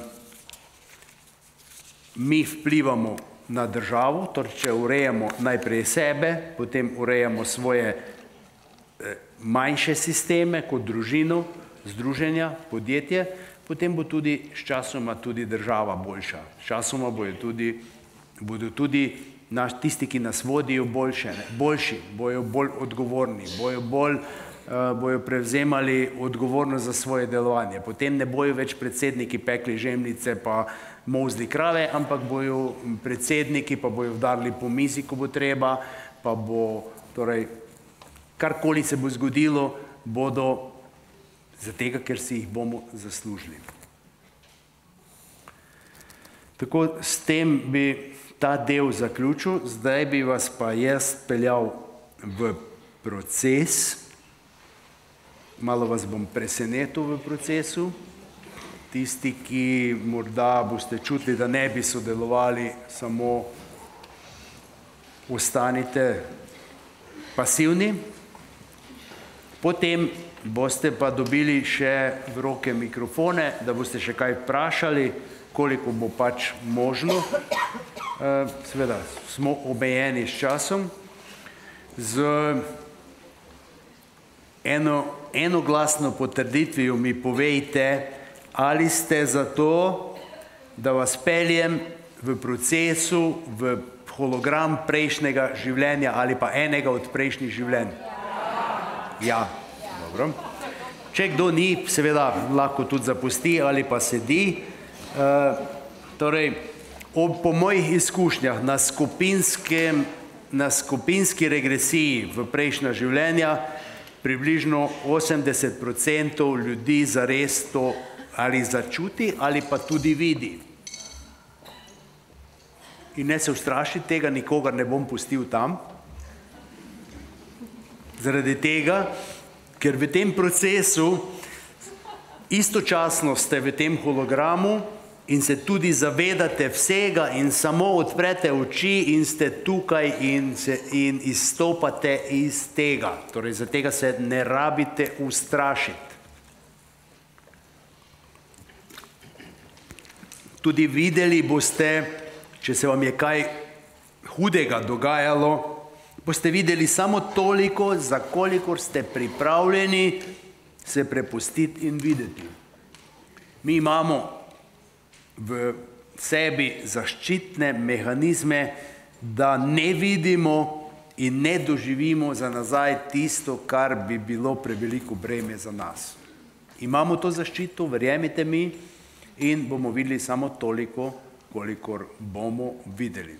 mi vplivamo na državo, torej če urejamo najprej sebe, potem urejamo svoje eh, manjše sisteme kot družino, združenja, podjetje, potem bo tudi s časoma tudi država boljša. S časoma bojo tudi, bodo tudi naš, tisti, ki nas vodijo, boljše, ne, boljši, bojo bolj odgovorni, bojo bolj uh, bojo prevzemali odgovornost za svoje delovanje. Potem ne bojo več predsedniki pekli žemljice pa molzli krave, ampak bojo predsedniki pa bojo vdarili po mizi, ko bo treba, pa bo, torej, karkoli se bo zgodilo, bodo zato, ker si jih bomo zaslužili. Tako s tem bi ta del zaključil, zdaj bi vas pa jaz peljal v proces, malo vas bom presenetil v procesu, tisti, ki morda boste čutili, da ne bi sodelovali, samo ostanite pasivni, potem boste pa dobili še v roke mikrofone, da boste še kaj vprašali, koliko bo pač možno. Seveda, smo omejeni s časom. Z eno, enoglasno potrditvijo mi povejte, ali ste za to, da vas peljem v procesu, v hologram prejšnjega življenja ali pa enega od prejšnjih življenj. Ja. Dobro. Če kdo ni, seveda lahko tudi zapusti ali pa sedi. E, torej, ob, po mojih izkušnjah na, na skupinski regresiji v prejšnja življenja približno osemdeset procentov ljudi zares to ali začuti ali pa tudi vidi. In ne se ustrašiti tega, nikogar ne bom pustil tam. Zaradi tega, ker v tem procesu istočasno ste v tem hologramu in se tudi zavedate vsega in samo odprete oči in ste tukaj in, se, in izstopate iz tega. Torej, za tega se ne rabite ustrašiti. Tudi videli boste, če se vam je kaj hudega dogajalo, boste videli samo toliko, za kolikor ste pripravljeni se prepustiti in videti. Mi imamo v sebi zaščitne mehanizme, da ne vidimo in ne doživimo za nazaj tisto, kar bi bilo preveliko breme za nas. Imamo to zaščito, verjemite mi, in bomo videli samo toliko, kolikor bomo videli.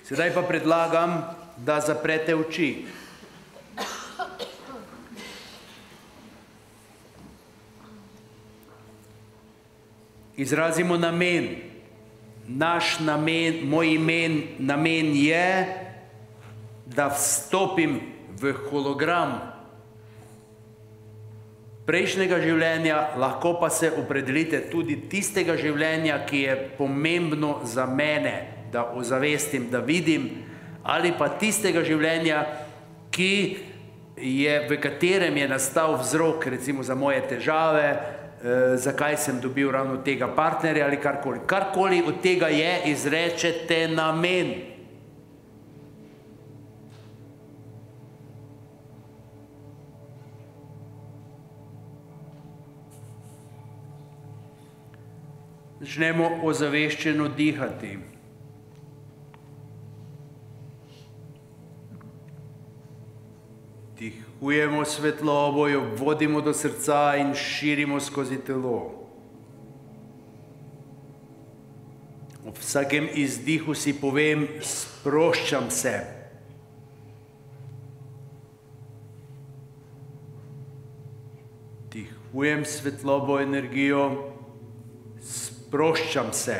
Sedaj pa predlagam, da zaprete oči. Izrazimo namen. Naš namen, moj imen, namen je, da vstopim v hologram prejšnjega življenja, lahko pa se opredelite tudi tistega življenja, ki je pomembno za mene, da ozavestim, da vidim, ali pa tistega življenja, ki je, v katerem je nastal vzrok, recimo za moje težave, eh, zakaj sem dobil ravno tega partnerja ali karkoli. Karkoli od tega je, izrečete namen. Začnemo ozaveščeno dihati. Dihujemo svetlobo, jo vodimo do srca in širimo skozi telo. Ob vsakem izdihu si povem, sproščam se. Dihujem svetlobo, energijo, sproščam se.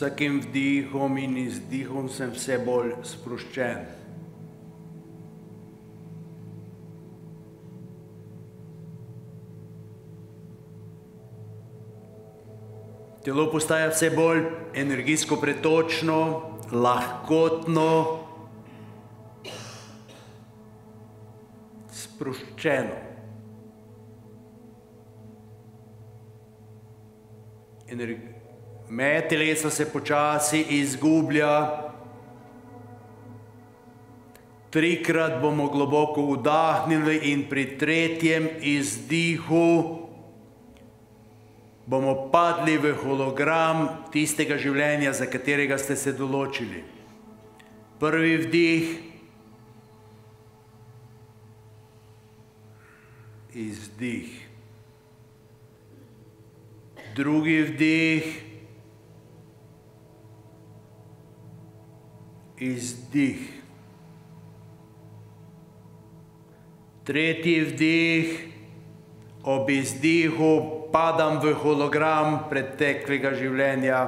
vsakim vdihom in izdihom sem vse bolj sproščen. Telo postaja vse bolj energijsko pretočno, lahkotno, sproščeno. Meja telesa se počasi izgublja. Trikrat bomo globoko vdahnili in pri tretjem izdihu bomo padli v hologram tistega življenja, za katerega ste se določili. Prvi vdih, izdih. Drugi vdih, izdih. Tretji vdih, ob izdihu padam v hologram preteklega življenja.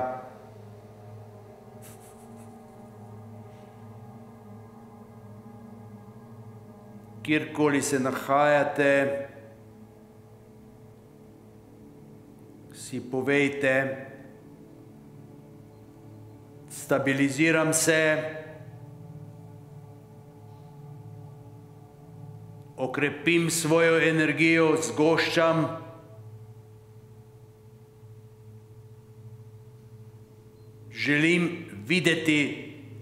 Kjerkoli se nahajate, si povejte, stabiliziram se, okrepim svojo energijo, zgoščam, želim videti,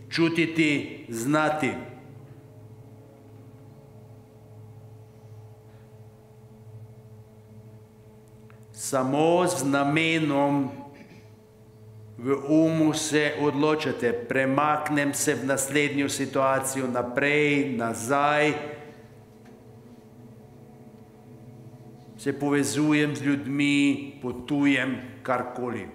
čutiti, znati. Samo z namenom v umu se odločate, premaknem se v naslednjo situacijo, naprej, nazaj, se povezujem z ljudmi, potujem, karkoli.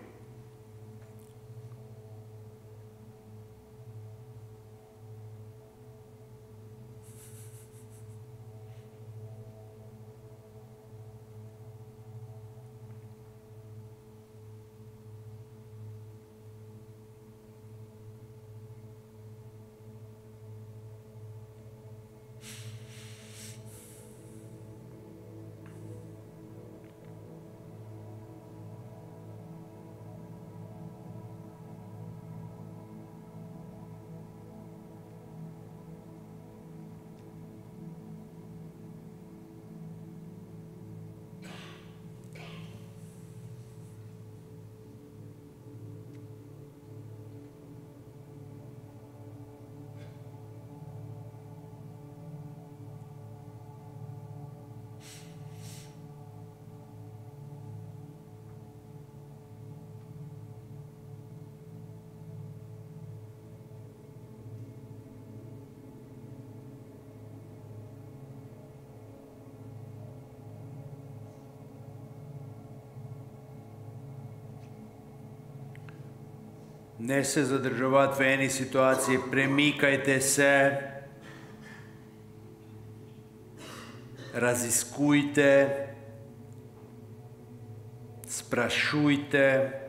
Ne se zadrževati v eni situaciji, premikajte se, raziskujte, sprašujte.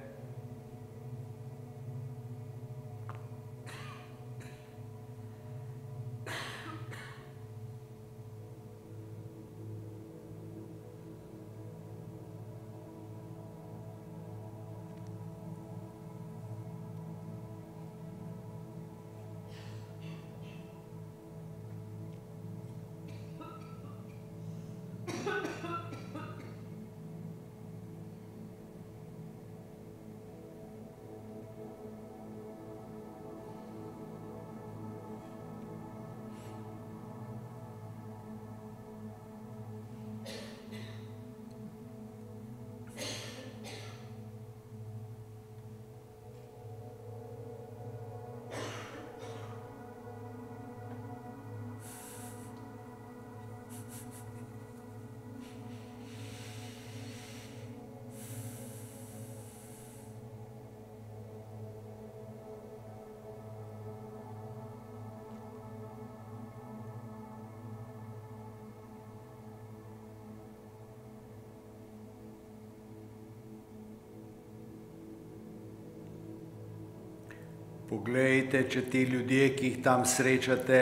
Poglejte, če ti ljudje, ki jih tam srečate,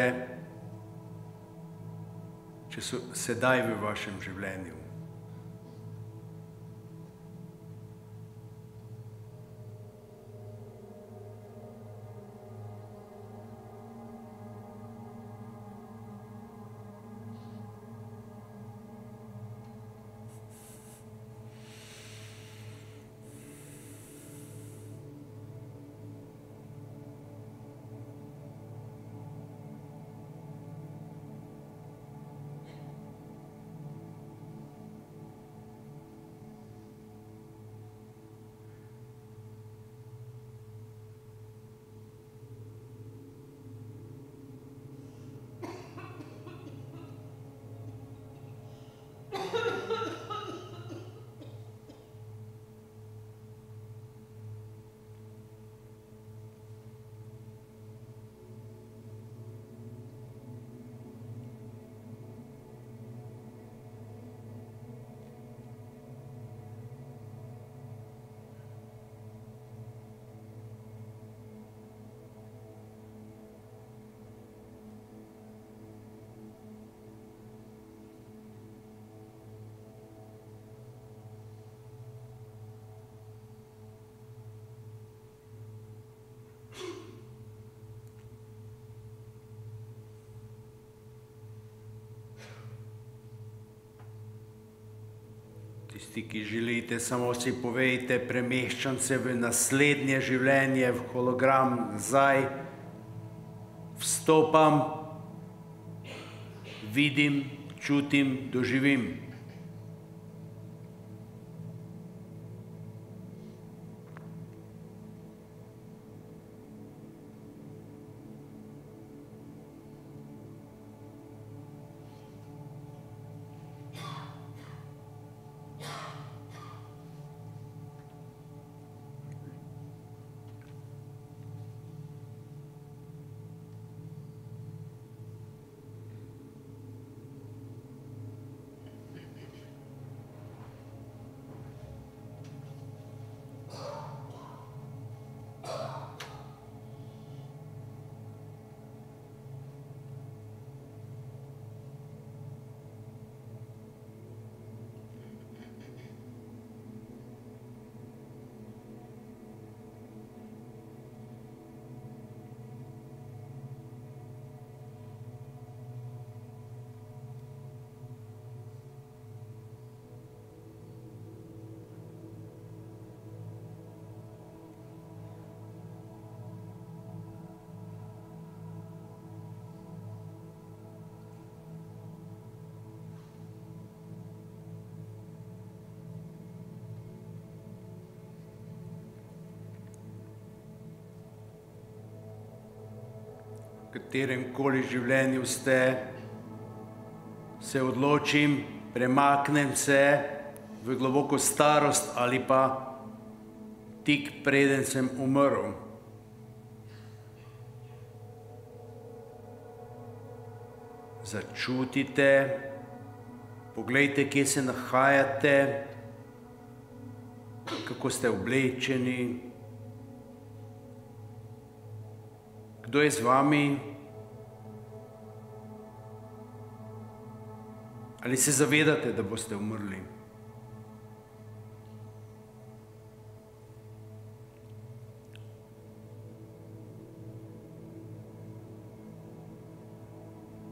če so sedaj v vašem življenju. Tisti, ki želite, samo si povejte, premeščam se v naslednje življenje, v hologram nazaj, vstopam, vidim, čutim, doživim. V katerem koli življenju ste, se odločim, premaknem se v globoko starost ali pa tik preden sem umrl. Začutite, poglejte, kje se nahajate, kako ste oblečeni, kdo je z vami, ali se zavedate, da boste umrli.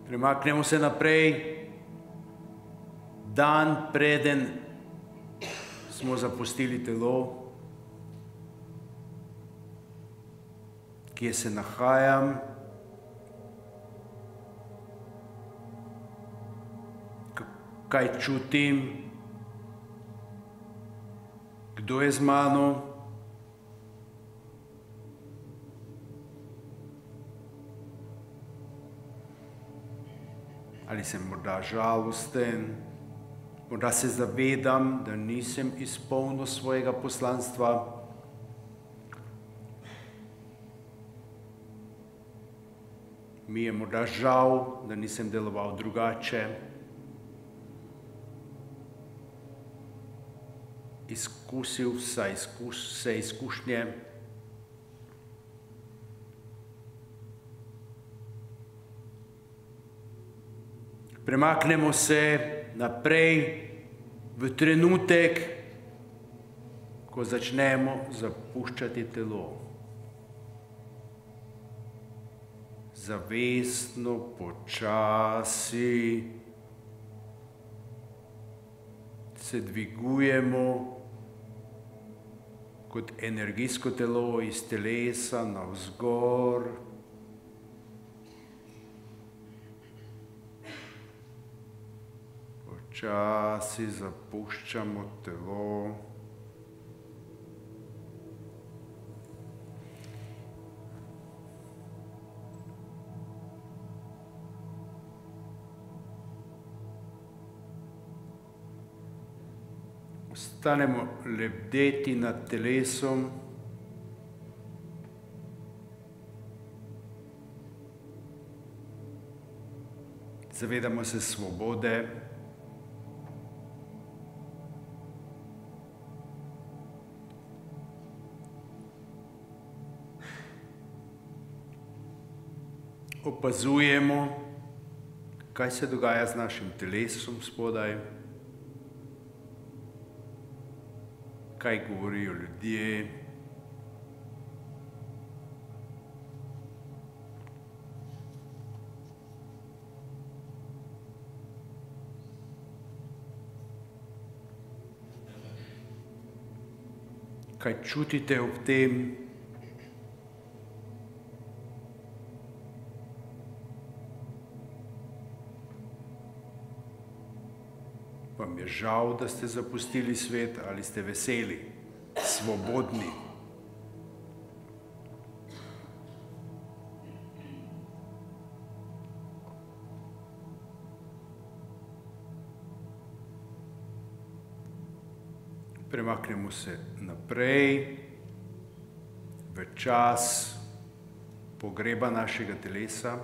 Premaknemo se naprej, dan preden smo zapustili telo, kje se nahajam, kaj čutim, kdo je z mano, ali sem morda žalosten, morda se zavedam, da nisem izpolnil svojega poslanstva. Mi je morda žal, da nisem deloval drugače. Izkusil vse, izkuš, vse izkušnje. Premaknemo se naprej v trenutek, ko začnemo zapuščati telo. Zavestno, počasi se dvigujemo kot energijsko telo iz telesa navzgor. Počasi zapuščamo telo. Ostanemo lebdeti nad telesom. Zavedamo se svobode. Opazujemo, kaj se dogaja z našim telesom spodaj. Kaj govorijo ljudje. Kaj čutite ob tem. Vam je žal, da ste zapustili svet, ali ste veseli, svobodni? Premaknemo se naprej v čas pogreba našega telesa.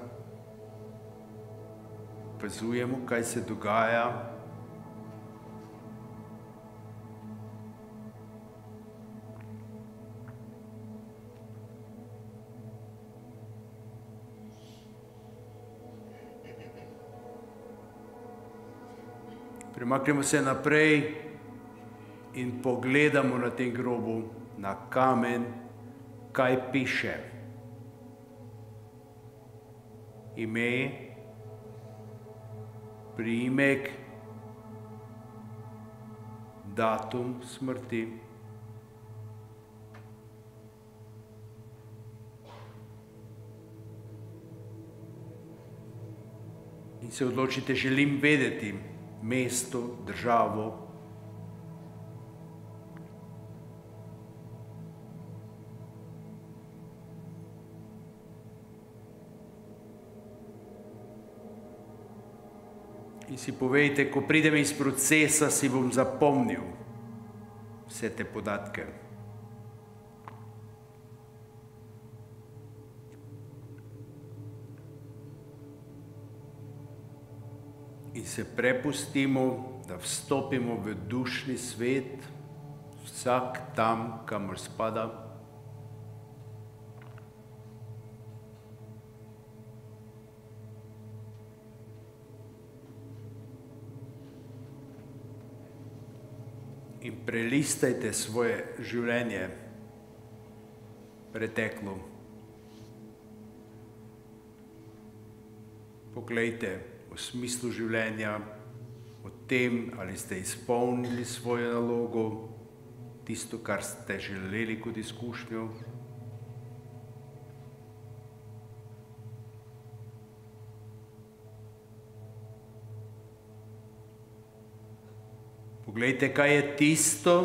Opazujemo, kaj se dogaja. Premaknemo se naprej in pogledamo na tem grobu, na kamen, kaj piše. Ime, priimek, datum smrti. In se odločite, želim vedeti mesto, državo. In si povejte, ko pridem iz procesa, si bom zapomnil vse te podatke. In se prepustimo, da vstopimo v dušni svet, vsak tam, kamor spada. In prelistajte svoje življenje, preteklo. Poglejte o smislu življenja, o tem, ali ste izpolnili svojo nalogo, tisto, kar ste želeli kot izkušnjo. Poglejte, kaj je tisto,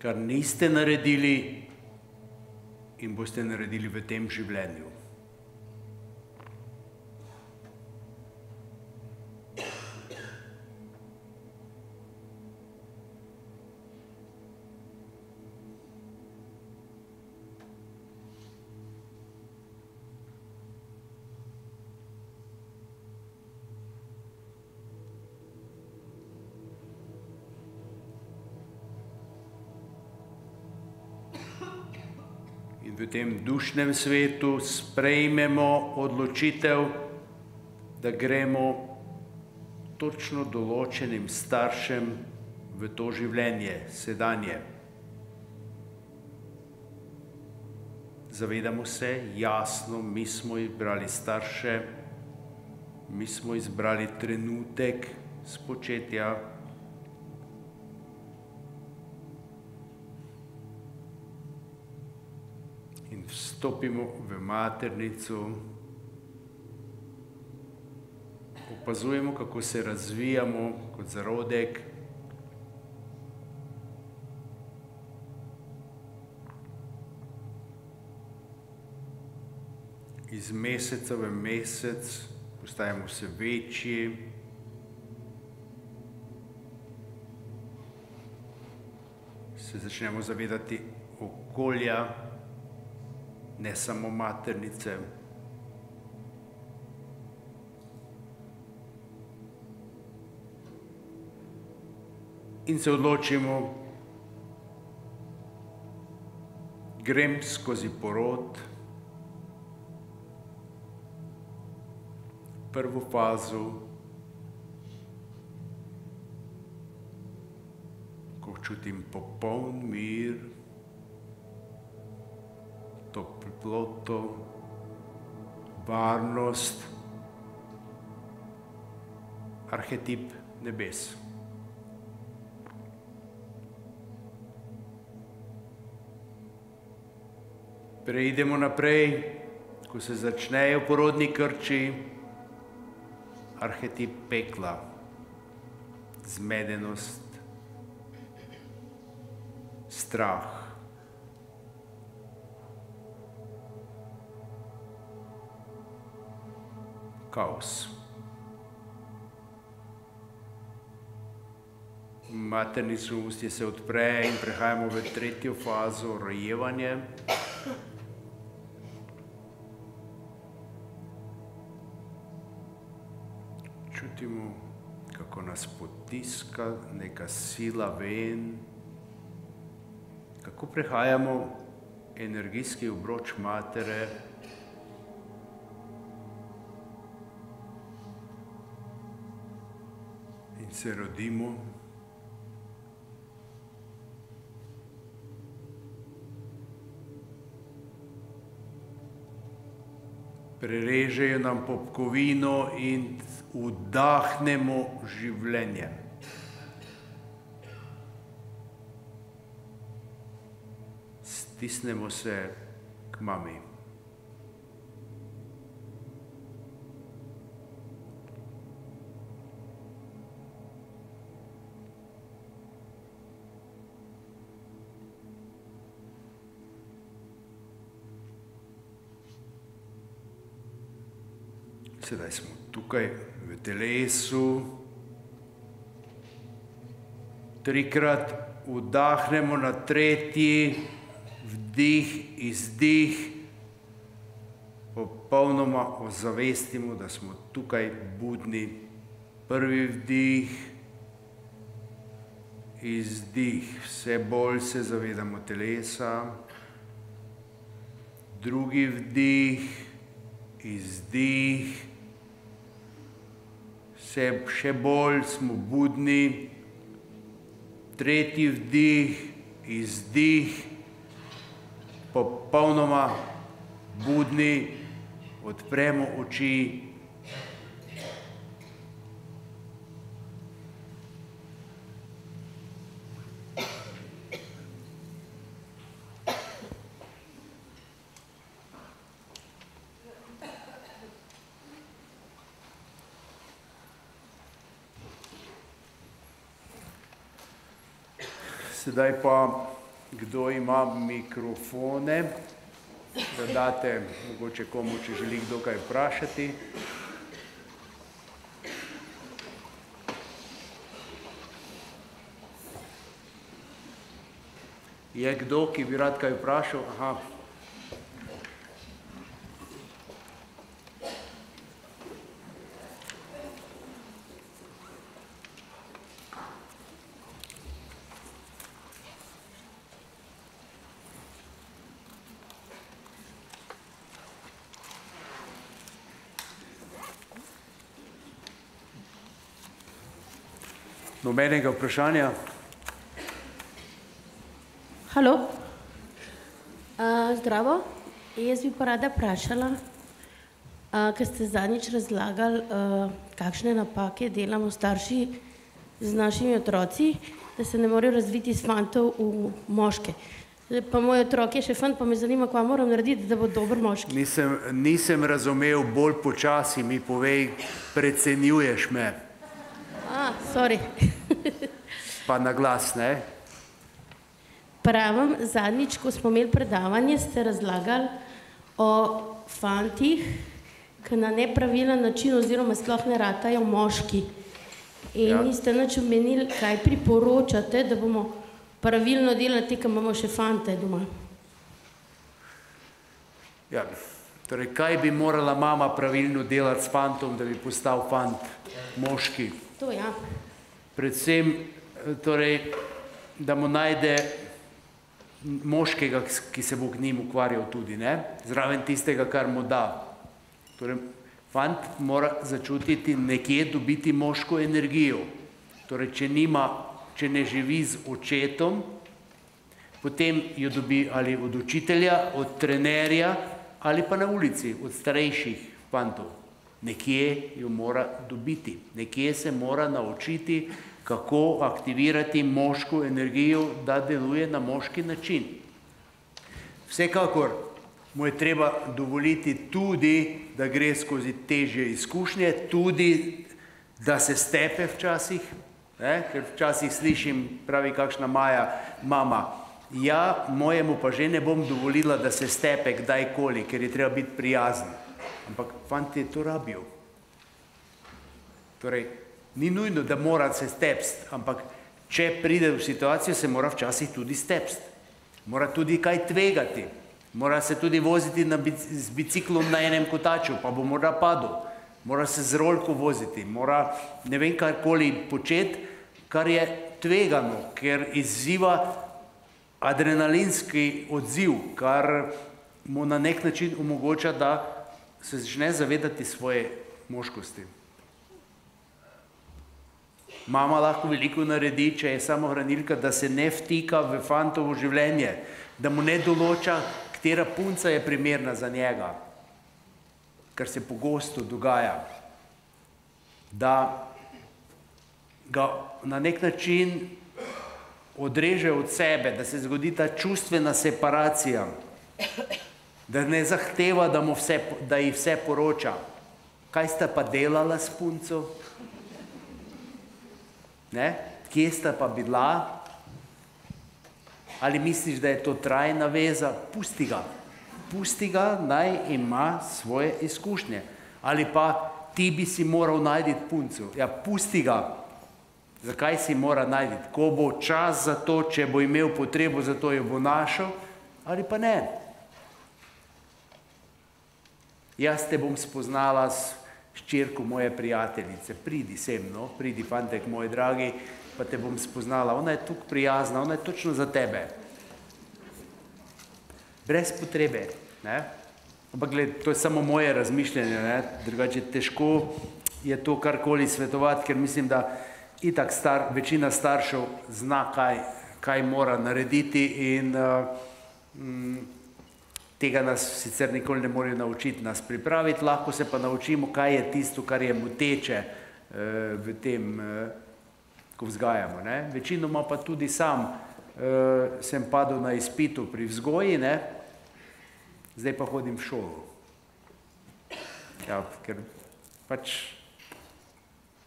kar niste naredili in boste naredili v tem življenju. In v tem dušnem svetu sprejmemo odločitev, da gremo točno določenim staršem v to življenje, sedanje. Zavedamo se, jasno, mi smo izbrali starše, mi smo izbrali trenutek spočetja. In vstopimo v maternico, opazujemo, kako se razvijamo kot zarodek. Iz meseca v mesec postajamo vse večji. Se začnemo zavedati okolja, ne samo maternice. In se odločimo, grem skozi porod, prvo fazo, ko čutim popoln mir, toploto, varnost, arhetip nebes. Preidemo naprej, ko se začnejo porodni krči, arhetip pekla, zmedenost, strah. Kaos. Maternično ustje se odpre in prehajamo v tretjo fazo, rojevanje. Čutimo, kako nas potiska neka sila ven, kako prehajamo energijski obroč matere. In se rodimo. Prerežejo nam popkovino in vdahnemo življenje. Stisnemo se k mami. Sedaj smo tukaj v telesu. Trikrat vdahnemo, na tretji vdih, izdih. Popolnoma ozavestimo, da smo tukaj budni. Prvi vdih, izdih. Vse bolj se zavedamo telesa. Drugi vdih, izdih. Še bolj smo budni, tretji vdih, izdih, popolnoma budni, odpremo oči. Sedaj pa, kdo ima mikrofone, da date mogoče komu, če želi kdo kaj vprašati. Je kdo, ki bi rad kaj vprašal? Aha. Nobenega vprašanja? Halo. Uh, zdravo. Jaz bi pa rada vprašala, uh, ker ste zadnjič razlagali, uh, kakšne napake delamo starši z našimi otroci, da se ne morejo razviti iz fantov v moške. Pa moj otrok je še fant, pa me zanima, kaj moram narediti, da bo dober moški. Nisem, nisem razumel, bolj počasi mi povej, precenjuješ me. A, sorry. Pa na glas, ne? Pravim, zadnjič, ko smo imeli predavanje, ste razlagali o fantih, ki na nepravilen način oziroma sploh ne ratajo moški. In ja. Niste nič omenili, kaj priporočate, da bomo pravilno delati, ki imamo še fante doma. Ja, torej, kaj bi morala mama pravilno delati s fantom, da bi postal fant moški? To ja. Predvsem, torej, da mu najde moškega, ki se bo k njim ukvarjal tudi, ne? Zraven tistega, kar mu da. Torej, fant mora začutiti nekje dobiti moško energijo. Torej, če nima, če ne živi z očetom, potem jo dobi ali od učitelja, od trenerja, ali pa na ulici, od starejših fantov. Nekje jo mora dobiti. Nekje se mora naučiti, kako aktivirati moško energijo, da deluje na moški način. Vsekakor mu je treba dovoliti tudi, da gre skozi težje izkušnje, tudi, da se stepe včasih, ne? Ker včasih slišim, pravi kakšna Maja, mama, ja, mojemu pa že ne bom dovolila, da se stepe kdajkoli, ker je treba biti prijazen. Ampak fanti to rabijo. Torej, ni nujno, da mora se stepst, ampak če pride v situacijo, se mora včasih tudi stepst. Mora tudi kaj tvegati. Mora se tudi voziti na bic z biciklom na enem kotaču, pa bo morda padel. Mora se z rolko voziti, mora ne vem karkoli početi, kar je tvegano, ker izziva adrenalinski odziv, kar mu na nek način omogoča, da se začne zavedati svoje moškosti. Mama lahko veliko naredi, če je samohranilka, da se ne vtika v fantovo življenje, da mu ne določa, katera punca je primerna za njega, kar se pogosto dogaja, da ga na nek način odreže od sebe, da se zgodi ta čustvena separacija, da ne zahteva, da, mu vse, da ji vse poroča. Kaj sta pa delala s punco? Ne? Kje sta pa bila? Ali misliš, da je to trajna veza? Pusti ga. Pusti ga, naj ima svoje izkušnje. Ali pa ti bi si moral najti punco. Ja, pusti ga. Zakaj si mora najti? Ko bo čas za to, če bo imel potrebo za to, jo bo našel, ali pa ne. Jaz te bom spoznala s hčerko moje prijateljice. Pridi sem, no, pridi, fantek moj dragi, pa te bom spoznala. Ona je tukaj prijazna, ona je točno za tebe. Brez potrebe, ne? Ampak gled, to je samo moje razmišljanje, ne? Drugače težko je to karkoli svetovati, ker mislim, da itak star, večina staršev zna, kaj, kaj mora narediti in uh, m, tega nas sicer nikoli ne morejo naučiti, nas pripraviti, lahko se pa naučimo, kaj je tisto, kar je moteče uh, v tem, uh, ko vzgajamo. Ne? Večinoma pa tudi sam uh, sem padel na izpitu pri vzgoji, ne? Zdaj pa hodim v šolo. Ja, ker pač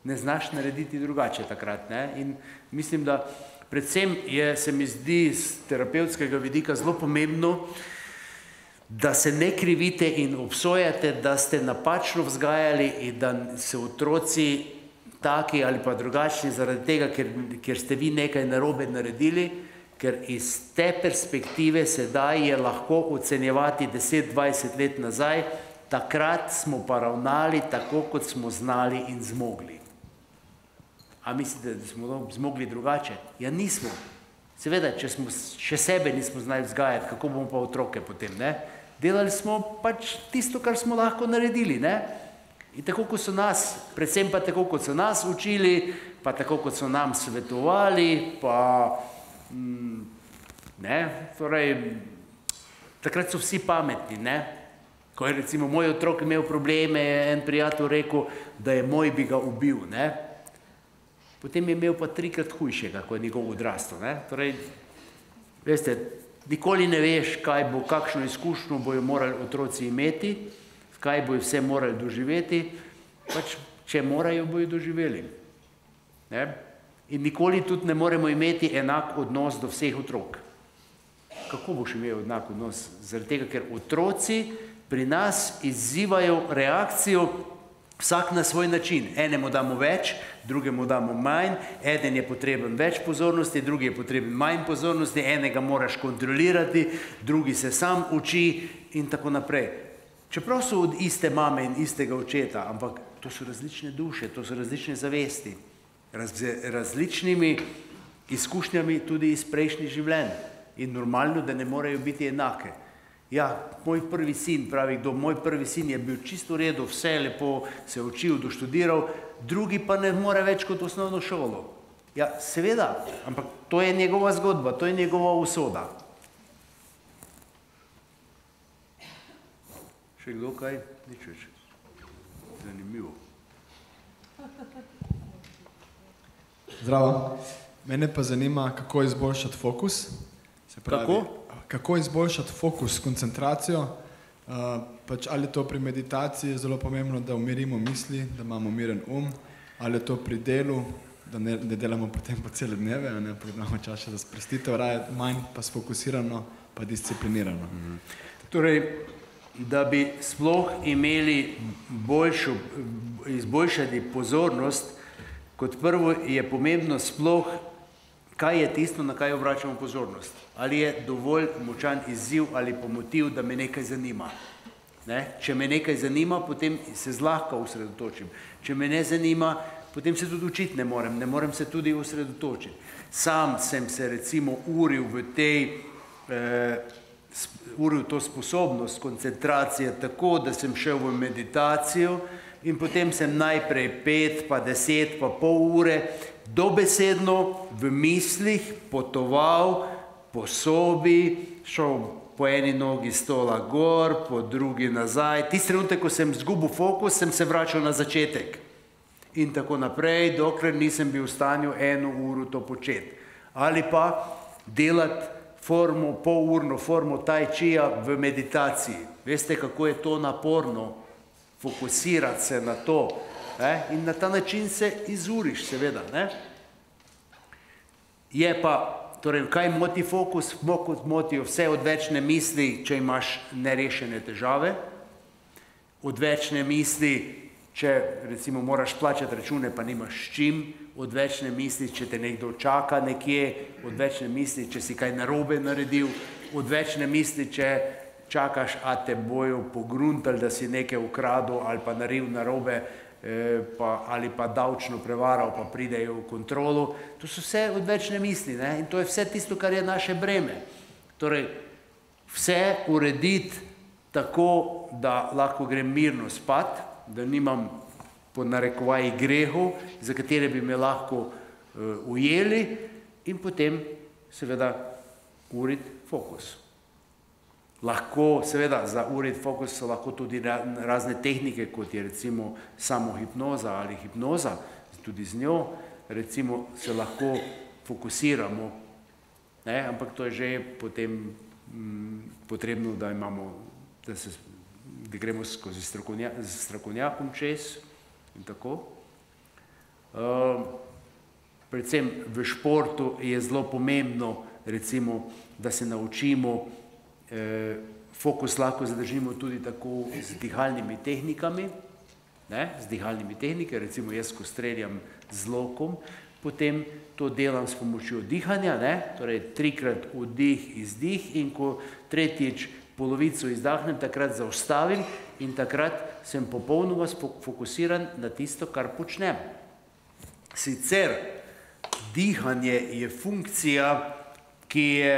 ne znaš narediti drugače takrat. Ne? In mislim, da predvsem je, se mi zdi z terapevtskega vidika zelo pomembno, da se ne krivite in obsojate, da ste napačno vzgajali in da se otroci taki ali pa drugačni zaradi tega, ker, ker ste vi nekaj narobe naredili, ker iz te perspektive sedaj je lahko ocenjevati deset dvajset let nazaj, takrat smo pa ravnali tako, kot smo znali in zmogli. A mislite, da smo zmogli drugače? Ja, nismo. Seveda, če smo še sebe nismo znali vzgajati, kako bomo pa otroke potem, ne? Delali smo pač tisto, kar smo lahko naredili, ne? In tako, kot so nas, predvsem pa tako, kot so nas učili, pa tako, kot so nam svetovali, pa ne, torej, takrat so vsi pametni, ne. Ko je recimo moj otrok imel probleme, je en prijatelj rekel, da je moj bi ga ubil, ne. Potem je imel pa trikrat hujšega, ko je njegov odrastel, ne. Torej, veste, nikoli ne veš, kaj bo, kakšno izkušnjo bojo morali otroci imeti, kaj bojo vse morali doživeti, pač, če morajo, bojo doživeli. Ne? In nikoli tudi ne moremo imeti enak odnos do vseh otrok. Kako boš imel enak odnos? Zaradi tega, ker otroci pri nas izzivajo reakcijo vsak na svoj način. Enemu damo več, drugemu damo manj, eden je potreben več pozornosti, drugi je potreben manj pozornosti, enega moraš kontrolirati, drugi se sam uči in tako naprej. Čeprav so od iste mame in istega očeta, ampak to so različne duše, to so različne zavesti, z različnimi izkušnjami tudi iz prejšnjih življenj. In normalno, da ne morejo biti enake. Ja, moj prvi sin, pravi kdo, moj prvi sin je bil čisto v redu, vse lepo se učil, doštudiral, drugi pa ne more več kot osnovno šolo. Ja, seveda, ampak to je njegova zgodba, to je njegova usoda. Še kdo kaj? Nič več. Zanimivo. Zdravo. Mene pa zanima, kako izboljšati fokus. Se pravi, Kako? Kako izboljšati fokus, koncentracijo. Uh, pač ali je to pri meditaciji zelo pomembno, da umirimo misli, da imamo miren um, ali je to pri delu, da ne, ne delamo potem po cele dneve, a ne, pa imamo čas še za sprostitev, raje manj pa sfokusirano, pa disciplinirano. Mhm. Torej, da bi sploh imeli boljšo, izboljšati pozornost, kot prvo je pomembno sploh, kaj je tisto, na kaj obračamo pozornost. Ali je dovolj močan izziv ali pa motiv, da me nekaj zanima. Ne? Če me nekaj zanima, potem se zlahka osredotočim. Če me ne zanima, potem se tudi učiti ne morem, ne morem se tudi osredotočiti. Sam sem se recimo uril v tej eh, uril to sposobnost koncentracije tako, da sem šel v meditacijo in potem sem najprej pet, pa deset, pa pol ure dobesedno v mislih potoval po sobi, šel po eni nogi stola gor, po drugi nazaj. Tisti trenutek, ko sem zgubil fokus, sem se vračal na začetek. In tako naprej, dokler nisem bil v stanju eno uro to početi. Ali pa delati formo, polurno formo tai čija v meditaciji. Veste, kako je to naporno, fokusirati se na to. Ne? In na ta način se izuriš, seveda. Ne? Je pa, torej, kaj moti fokus? Fokus motijo vse odvečne misli, če imaš nerešene težave. Odvečne misli, če recimo moraš plačati račune, pa nimaš s čim. Odvečne misli, če te nekdo čaka nekje, odvečne misli, če si kaj narobe naredil, odvečne misli, če čakaš, a te bojo pogruntali, da si nekaj ukradil ali pa naredil narobe, eh, pa, ali pa davčno prevaral, pa pridejo v kontrolo. To so vse odvečne misli, ne? In to je vse tisto, kar je naše breme. Torej, vse urediti tako, da lahko grem mirno spat, da nimam po narekovaji grehov, za katere bi me lahko uh, ujeli in potem seveda uriti fokus. Lahko, seveda, za uriti fokus so lahko tudi razne tehnike, kot je recimo samohipnoza ali hipnoza, tudi z njo recimo se lahko fokusiramo, ne? Ampak to je že potem mm, potrebno, da imamo, da, se, da gremo skozi strokovnja, strokovnjakom čez, in tako. Uh, predvsem v športu je zelo pomembno, recimo, da se naučimo, eh, fokus lahko zadržimo tudi tako z dihalnimi tehnikami, ne, z dihalnimi tehnike, recimo jaz, ko streljam z lokom, potem to delam s pomočjo dihanja, ne, torej trikrat vdih, izdih in ko tretjič polovico izdahnem, takrat zaustavim in takrat sem popolnoma fokusiran na tisto, kar počnem. Sicer dihanje je funkcija, ki je,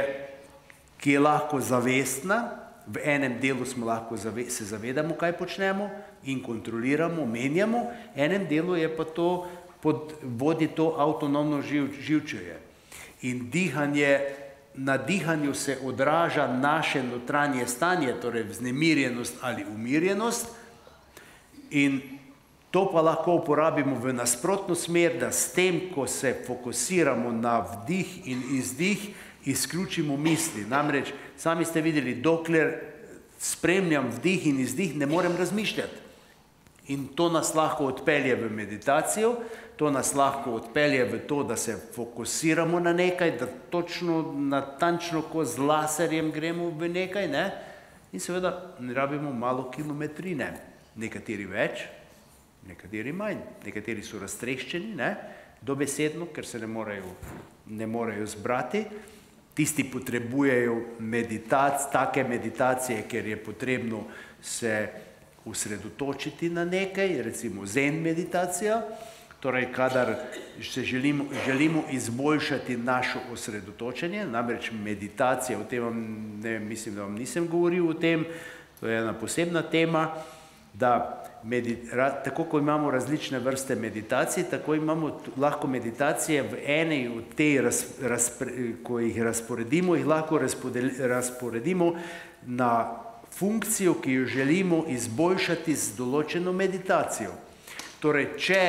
ki je lahko zavestna v enem delu smo lahko zave, se zavedamo, kaj počnemo in kontroliramo, menjamo, enem delu je pa to, pod, vodi to avtonomno živ, živčevje. In dihanje, na dihanju se odraža naše notranje stanje, torej vznemirjenost ali umirjenost, in to pa lahko uporabimo v nasprotno smer, da s tem, ko se fokusiramo na vdih in izdih, izključimo misli. Namreč, sami ste videli, dokler spremljam vdih in izdih, ne morem razmišljati. In to nas lahko odpelje v meditacijo, to nas lahko odpelje v to, da se fokusiramo na nekaj, da točno, natančno, ko z laserjem gremo v nekaj, ne? In seveda ne rabimo malo kilometrine. Nekateri več, nekateri manj. Nekateri so raztreščeni, ne? Dobesedno, ker se ne morejo, ne morejo zbrati. Tisti potrebujejo meditac, take meditacije, ker je potrebno se usredotočiti na nekaj, recimo zen meditacija, torej kadar se želimo, želimo izboljšati našo osredotočenje, namreč meditacija, o tem vam, ne, mislim, da vam nisem govoril o tem, to je ena posebna tema, da medit, ra, tako ko imamo različne vrste meditacij, tako imamo lahko meditacije v eni od tej, raz, razpre, ko jih razporedimo, jih lahko razpodel, razporedimo na funkcijo, ki jo želimo izboljšati z določeno meditacijo. Torej, če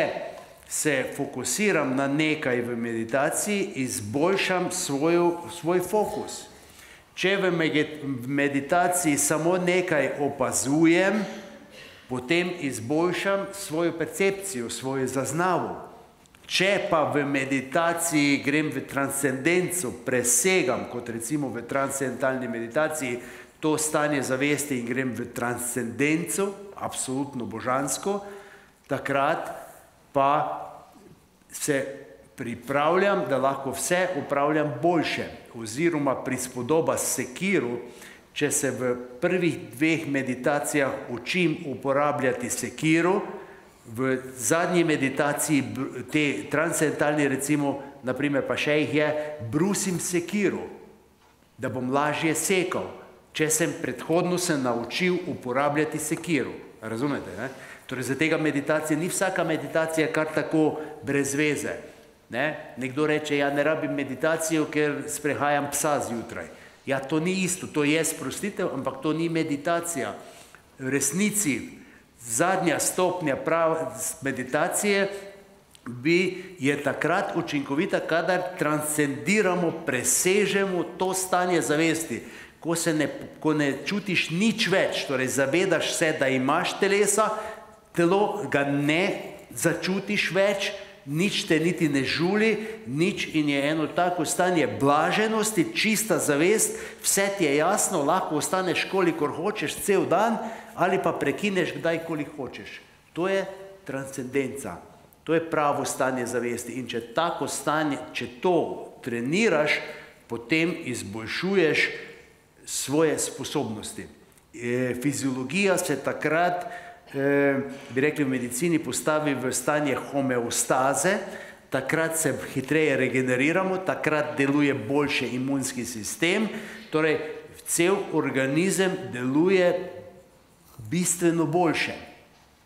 se fokusiram na nekaj v meditaciji, izboljšam svojo, svoj fokus. Če v meditaciji samo nekaj opazujem, potem izboljšam svojo percepcijo, svojo zaznavo. Če pa v meditaciji grem v transcendenco, presegam, kot recimo v transcendentalni meditaciji, to stanje zavesti in grem v transcendenco, absolutno božansko, takrat pa se pripravljam, da lahko vse upravljam boljše, oziroma prispodoba sekiro, če se v prvih dveh meditacijah učim uporabljati sekiro, v zadnji meditaciji, te transcendentalni recimo, naprimer pa še jih je, brusim sekiro, da bom lažje sekal, če sem predhodno se naučil uporabljati sekiro. Razumete, ne? Torej, za tega meditacija ni vsaka meditacija kar tako brez veze. Ne? Nekdo reče, ja, ne rabim meditacijo, ker sprehajam psa zjutraj. Ja, to ni isto, to je sprostitev, ampak to ni meditacija. V resnici, zadnja stopnja prave meditacije bi je takrat učinkovita, kadar transcendiramo, presežemo to stanje zavesti. Ko se ne, ko ne čutiš nič več, torej zavedaš se, da imaš telesa, telo ga ne začutiš več, nič te niti ne žuli, nič, in je eno tako stanje blaženosti, čista zavest, vse ti je jasno, lahko ostaneš kolikor hočeš cel dan ali pa prekineš kdajkoli hočeš. To je transcendenca, to je pravo stanje zavesti, in če tako stanje, če to treniraš, potem izboljšuješ svoje sposobnosti. E, fiziologija se takrat, e, bi rekli v medicini, postavi v stanje homeostaze, takrat se hitreje regeneriramo, takrat deluje boljše imunski sistem, torej cel organizem deluje bistveno boljše.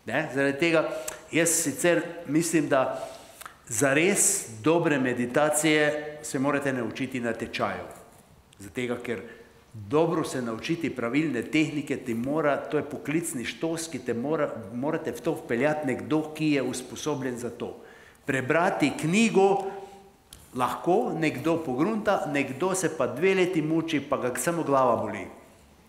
Ne? Zaradi tega jaz sicer mislim, da za res dobre meditacije se morate naučiti na tečaju. Zato tega, ker dobro se naučiti pravilne tehnike, ti mora, to je poklicni štos, ki te mora, morate v to vpeljati nekdo, ki je usposobljen za to. Prebrati knjigo lahko, nekdo pogrunta, nekdo se pa dve leti muči, pa ga samo glava boli.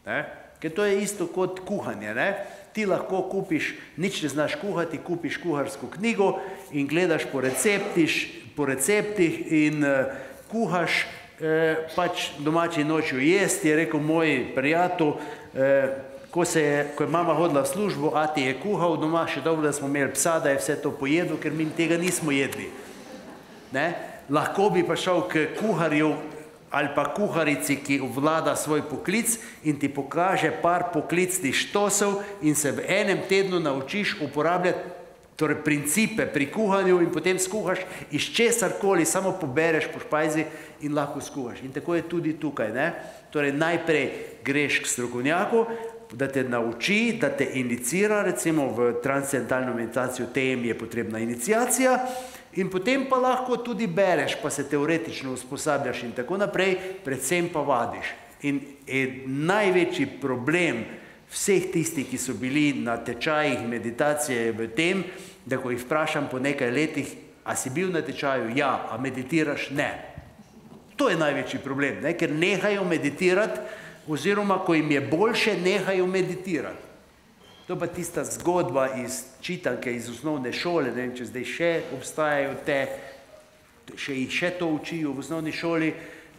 Ne? Ker to je isto kot kuhanje. Ne? Ti lahko kupiš, nič ne znaš kuhati, kupiš kuharsko knjigo in gledaš po receptih, po receptih in uh, kuhaš, eh, pač domači nočjo jesti, je rekel moj prijatelj, eh, ko, se je, ko je mama hodila v službo, ati je kuhal doma, še dobro, da smo imeli psa, da je vse to pojedel, ker mi tega nismo jedli. Ne? Lahko bi pa šel k kuharju ali pa kuharici, ki vlada svoj poklic in ti pokaže par poklicnih štosov in se v enem tednu naučiš uporabljati torej principe pri kuhanju in potem skuhaš iz česarkoli, samo pobereš po špajzi in lahko skuhaš. In tako je tudi tukaj, ne? Torej najprej greš k strokovnjaku, da te nauči, da te inicira, recimo v transcendentalno meditacijo tem je potrebna iniciacija, in potem pa lahko tudi bereš, pa se teoretično usposabljaš in tako naprej, predvsem pa vadiš. In največji problem vseh tistih, ki so bili na tečajih meditacije v tem, da ko jih vprašam po nekaj letih, a si bil na tečaju? Ja. A meditiraš? Ne. To je največji problem, ne? Ker nehajo meditirati, oziroma ko jim je boljše, nehajo meditirati. To pa tista zgodba iz čitanke, iz osnovne šole, ne vem, če zdaj še obstajajo te, še jih še to učijo v osnovni šoli,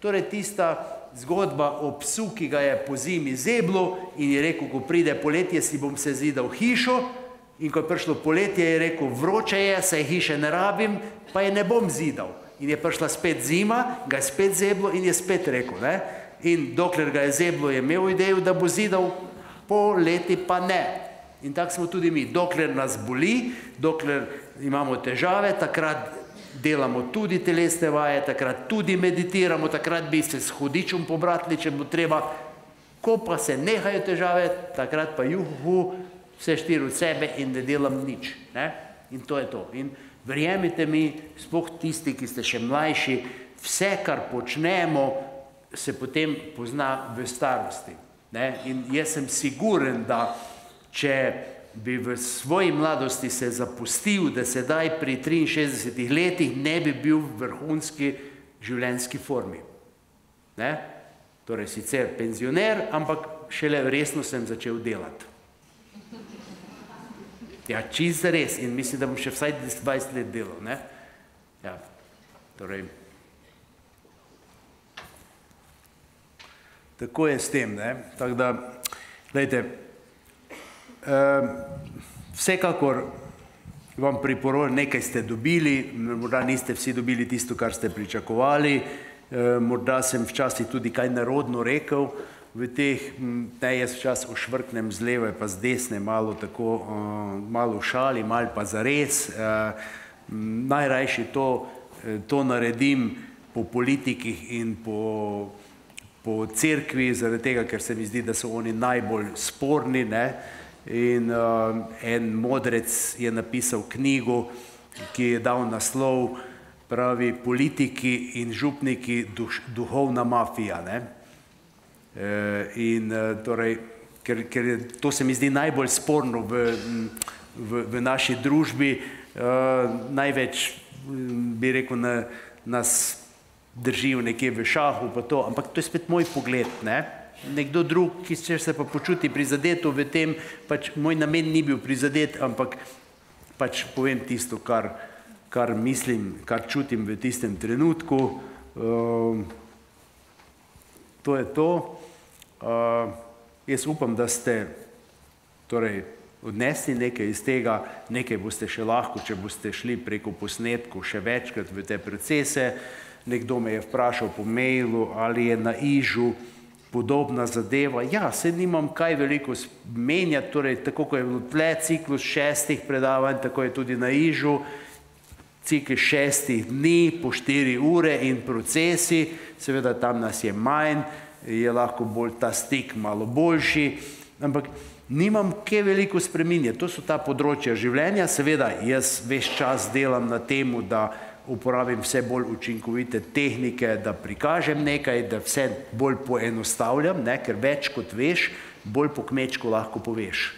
torej tista zgodba o psu, ki ga je po zimi zeblo in je rekel, ko pride poletje, si bom se zidal hišo, in ko je prišlo poletje, je rekel, vroče je, saj hiše ne rabim, pa je ne bom zidal. In je prišla spet zima, ga je spet zeblo in je spet rekel, ne? In dokler ga je zeblo, je imel idejo, da bo zidal, po leti pa ne. In tako smo tudi mi. Dokler nas boli, dokler imamo težave, takrat delamo tudi telesne vaje, takrat tudi meditiramo, takrat bi se s hudičem pobratili, če bo treba. Ko pa se nehajo težave, takrat pa juhu, vse štiri od sebe in ne delam nič. Ne? In to je to. In verjemite mi, sploh tisti, ki ste še mlajši, vse, kar počnemo, se potem pozna v starosti. Ne? In jaz sem siguren, da če bi v svoji mladosti se zapustil, da sedaj pri triinšestdesetih letih ne bi bil v vrhunski življenjski formi. Ne? Torej sicer penzioner, ampak šele resno sem začel delati. Ja, čisto res. In mislim, da bom še vsaj dvajset let delal. Ne? Ja, torej... Tako je s tem, ne? Tako da, gledajte, vsekakor vam priporočam, nekaj ste dobili, morda niste vsi dobili tisto, kar ste pričakovali, morda sem včasih tudi kaj narodno rekel v teh, ne, jaz včasih ošvrknem z leve pa z desne, malo tako, malo v šali, malo pa zares. Najrajši to, to naredim po politikih in po po cerkvi, zaradi tega, ker se mi zdi, da so oni najbolj sporni, ne? In uh, en modrec je napisal knjigo, ki je dal naslov, pravi, politiki in župniki duš, duhovna mafija, ne? E, in uh, torej, ker, ker to se mi zdi najbolj sporno v, v, v naši družbi, uh, največ, bi rekel, na, nas držijo nekje v šahu, pa to, ampak to je spet moj pogled, ne? Nekdo drug, ki se pa počuti prizadeto v tem, pač moj namen ni bil prizadet, ampak pač povem tisto, kar, kar mislim, kar čutim v tistem trenutku. Uh, to je to. Uh, jaz upam, da ste torej odnesli nekaj iz tega, nekaj boste še lahko, če boste šli preko posnetkov še večkrat v te procese. Nekdo me je vprašal po mailu, ali je na Ižu podobna zadeva. Ja, se nimam kaj veliko menjati, torej tako, ko je bilo tle ciklus šestih predavanj, tako je tudi na Ižu, ciklus šestih dni, po štiri ure in procesi, seveda tam nas je manj, je lahko bolj ta stik malo boljši, ampak nimam kaj veliko spreminjati. To so ta področja življenja, seveda jaz ves čas delam na temu, da uporabim vse bolj učinkovite tehnike, da prikažem nekaj, da vse bolj poenostavljam, ne? Ker več kot veš, bolj po kmečku lahko poveš.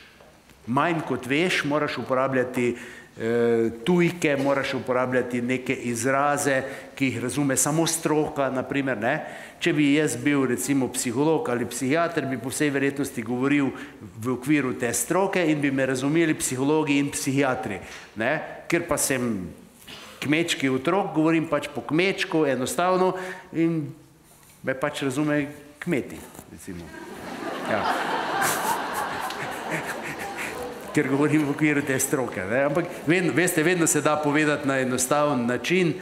Manj kot veš, moraš uporabljati eh, tujke, moraš uporabljati neke izraze, ki jih razume samo stroka, naprimer, ne? Če bi jaz bil recimo psiholog ali psihiater, bi po vsej verjetnosti govoril v okviru te stroke in bi me razumeli psihologi in psihiatri, ne? Ker pa sem kmečki otrok, govorim pač po kmečku, enostavno, in me pač razume kmeti, recimo. Ja. Ker govorim v okviru te stroke, ne? Ampak vedno, veste, vedno se da povedati na enostaven način.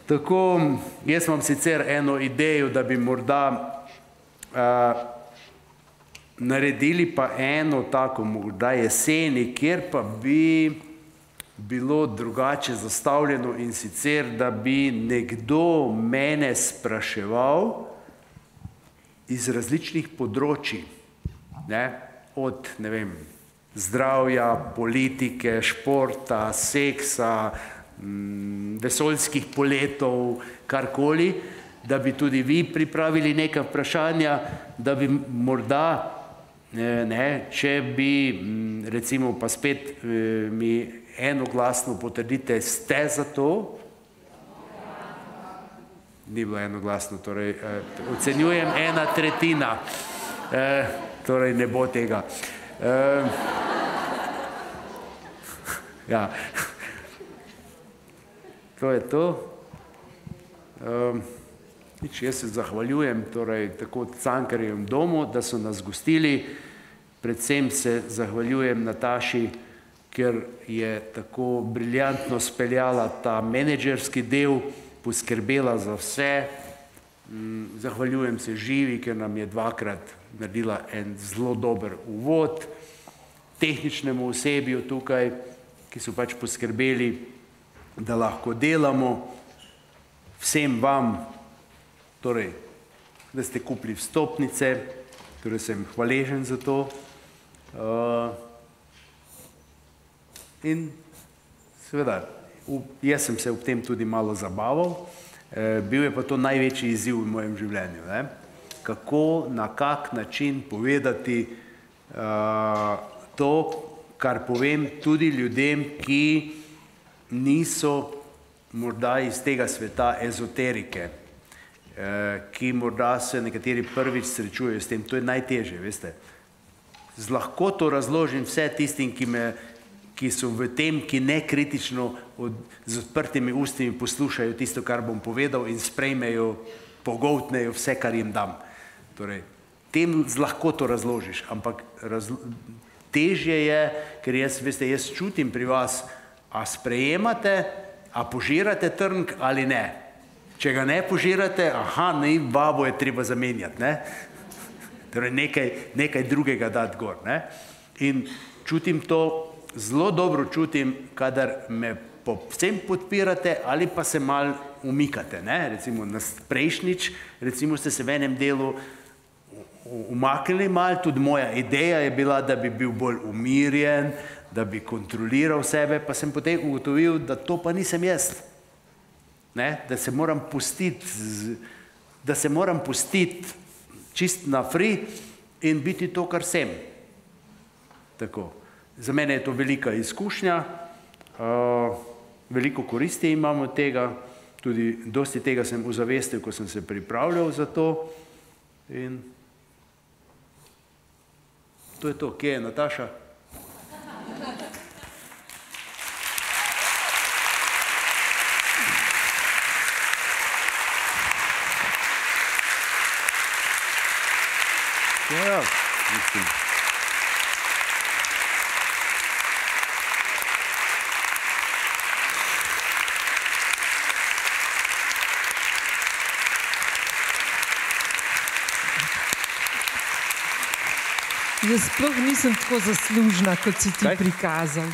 Tako, jaz imam sicer eno idejo, da bi morda uh, naredili pa eno tako, morda jeseni, kjer pa bi bilo drugače zastavljeno, in sicer, da bi nekdo mene spraševal iz različnih področji, ne, od, ne vem, zdravja, politike, športa, seksa, vesoljskih poletov, karkoli, da bi tudi vi pripravili neka vprašanja, da bi morda, ne, če bi, recimo pa spet mi enoglasno potrdite, ste za to? Ni bilo enoglasno, torej ocenjujem ena tretjina, torej ne bo tega. Ja, to je to. Nič, jaz se zahvaljujem torej tako Cankarjevem domu, da so nas gostili, predvsem se zahvaljujem Nataši, ker je tako briljantno speljala ta menedžerski del, poskrbela za vse. Zahvaljujem se Živi, ker nam je dvakrat naredila en zelo dober uvod, tehničnemu osebju tukaj, ki so pač poskrbeli, da lahko delamo, vsem vam, torej, da ste kupili vstopnice, torej sem hvaležen za to. In seveda, jaz sem se ob tem tudi malo zabaval, bil je pa to največji izziv v mojem življenju. Kako, na kak način povedati to, kar povem tudi ljudem, ki niso morda iz tega sveta ezoterike, ki morda se nekateri prvič srečujejo s tem. To je najtežje, veste. Z lahkoto razložim vse tistim, ki me ki so v tem, ki nekritično z odprtimi ustmi poslušajo tisto, kar bom povedal, in sprejmejo, pogoltnejo vse, kar jim dam. Torej, tem z lahkoto razložiš, ampak težje je, ker jaz, veste, jaz čutim pri vas, a sprejemate, a požirate trnk ali ne. Če ga ne požirate, aha, ne, babo je treba zamenjati, ne. Torej, nekaj drugega dati gor, ne. In čutim to, zelo dobro čutim, kadar me povsem podpirate ali pa se malo umikate, ne, recimo na prejšnjič, recimo ste se v enem delu umaknili malo, tudi moja ideja je bila, da bi bil bolj umirjen, da bi kontroliral sebe, pa sem potem ugotovil, da to pa nisem jaz, ne, da se moram pustiti, da se moram pustiti čist na free in biti to, kar sem. Tako. Za mene je to velika izkušnja, veliko koristi imam od tega, tudi dosti tega sem ozavestil, ko sem se pripravljal za to. In to je to. Kje je Nataša? Ja, mislim. Jaz sploh nisem tako zaslužna, kot si ti prikazal.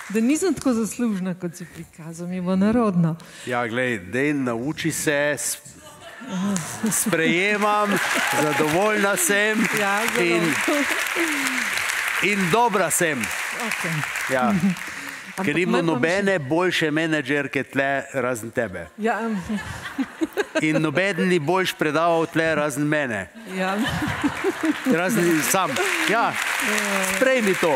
Da nisem tako zaslužna, kot si prikazal, mi bo narodno. Ja, glej, dej, nauči se, sprejemam, zadovoljna sem in, in dobra sem. Ja. Ker nima nobene boljše menedžerke tle razen tebe. Ja. In noben ni boljš predaval tle razen mene. Ja. Razen sam. Ja, sprejmi to.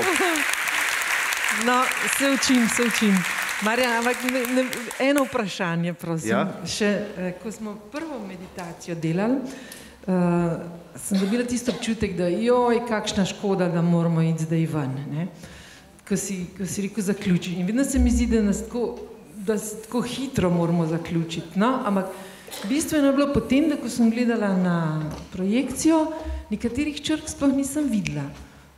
No, se učim, se učim. Marjan, ampak ne, eno vprašanje, prosim. Ja? Še, ko smo prvo meditacijo delali, uh, sem dobila tisto občutek, da joj, kakšna škoda, da moramo iti zdaj ven, ne? Ko si, ko si rekel zaključiti. In vedno se mi zdi, da nas tako, da se tako hitro moramo zaključiti. No, ampak bistveno je bilo potem, da ko sem gledala na projekcijo, nekaterih črk sploh nisem videla.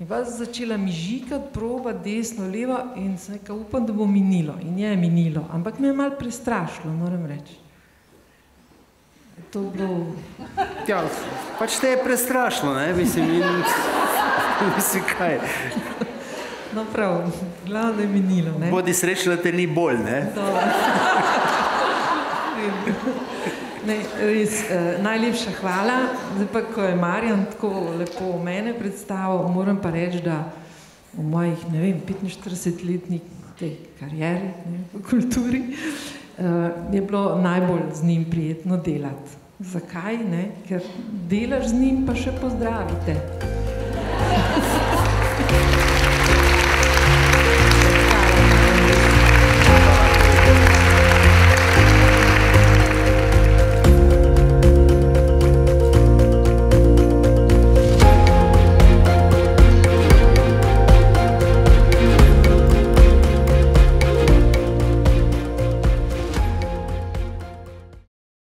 In pa začela mi žikati, proba, desno, levo in sem rekla, upam, da bo minilo. In je minilo, ampak me je malo prestrašilo, moram reči. To bilo... Ja, pač te je prestrašilo, ne, mislim, in... mislim, kaj. No prav, glavno je minilo, ne? Bodi srečna, da te ni bolj, ne? Ne, res, eh, najlepša hvala. Zdaj pa, ko je Marjan tako lepo mene predstavil, moram pa reči, da v mojih, ne vem, petinštiridesetletni tej karieri, ne, v kulturi, eh, je bilo najbolj z njim prijetno delati. Zakaj, ne? Ker delaš z njim, pa še pozdravite.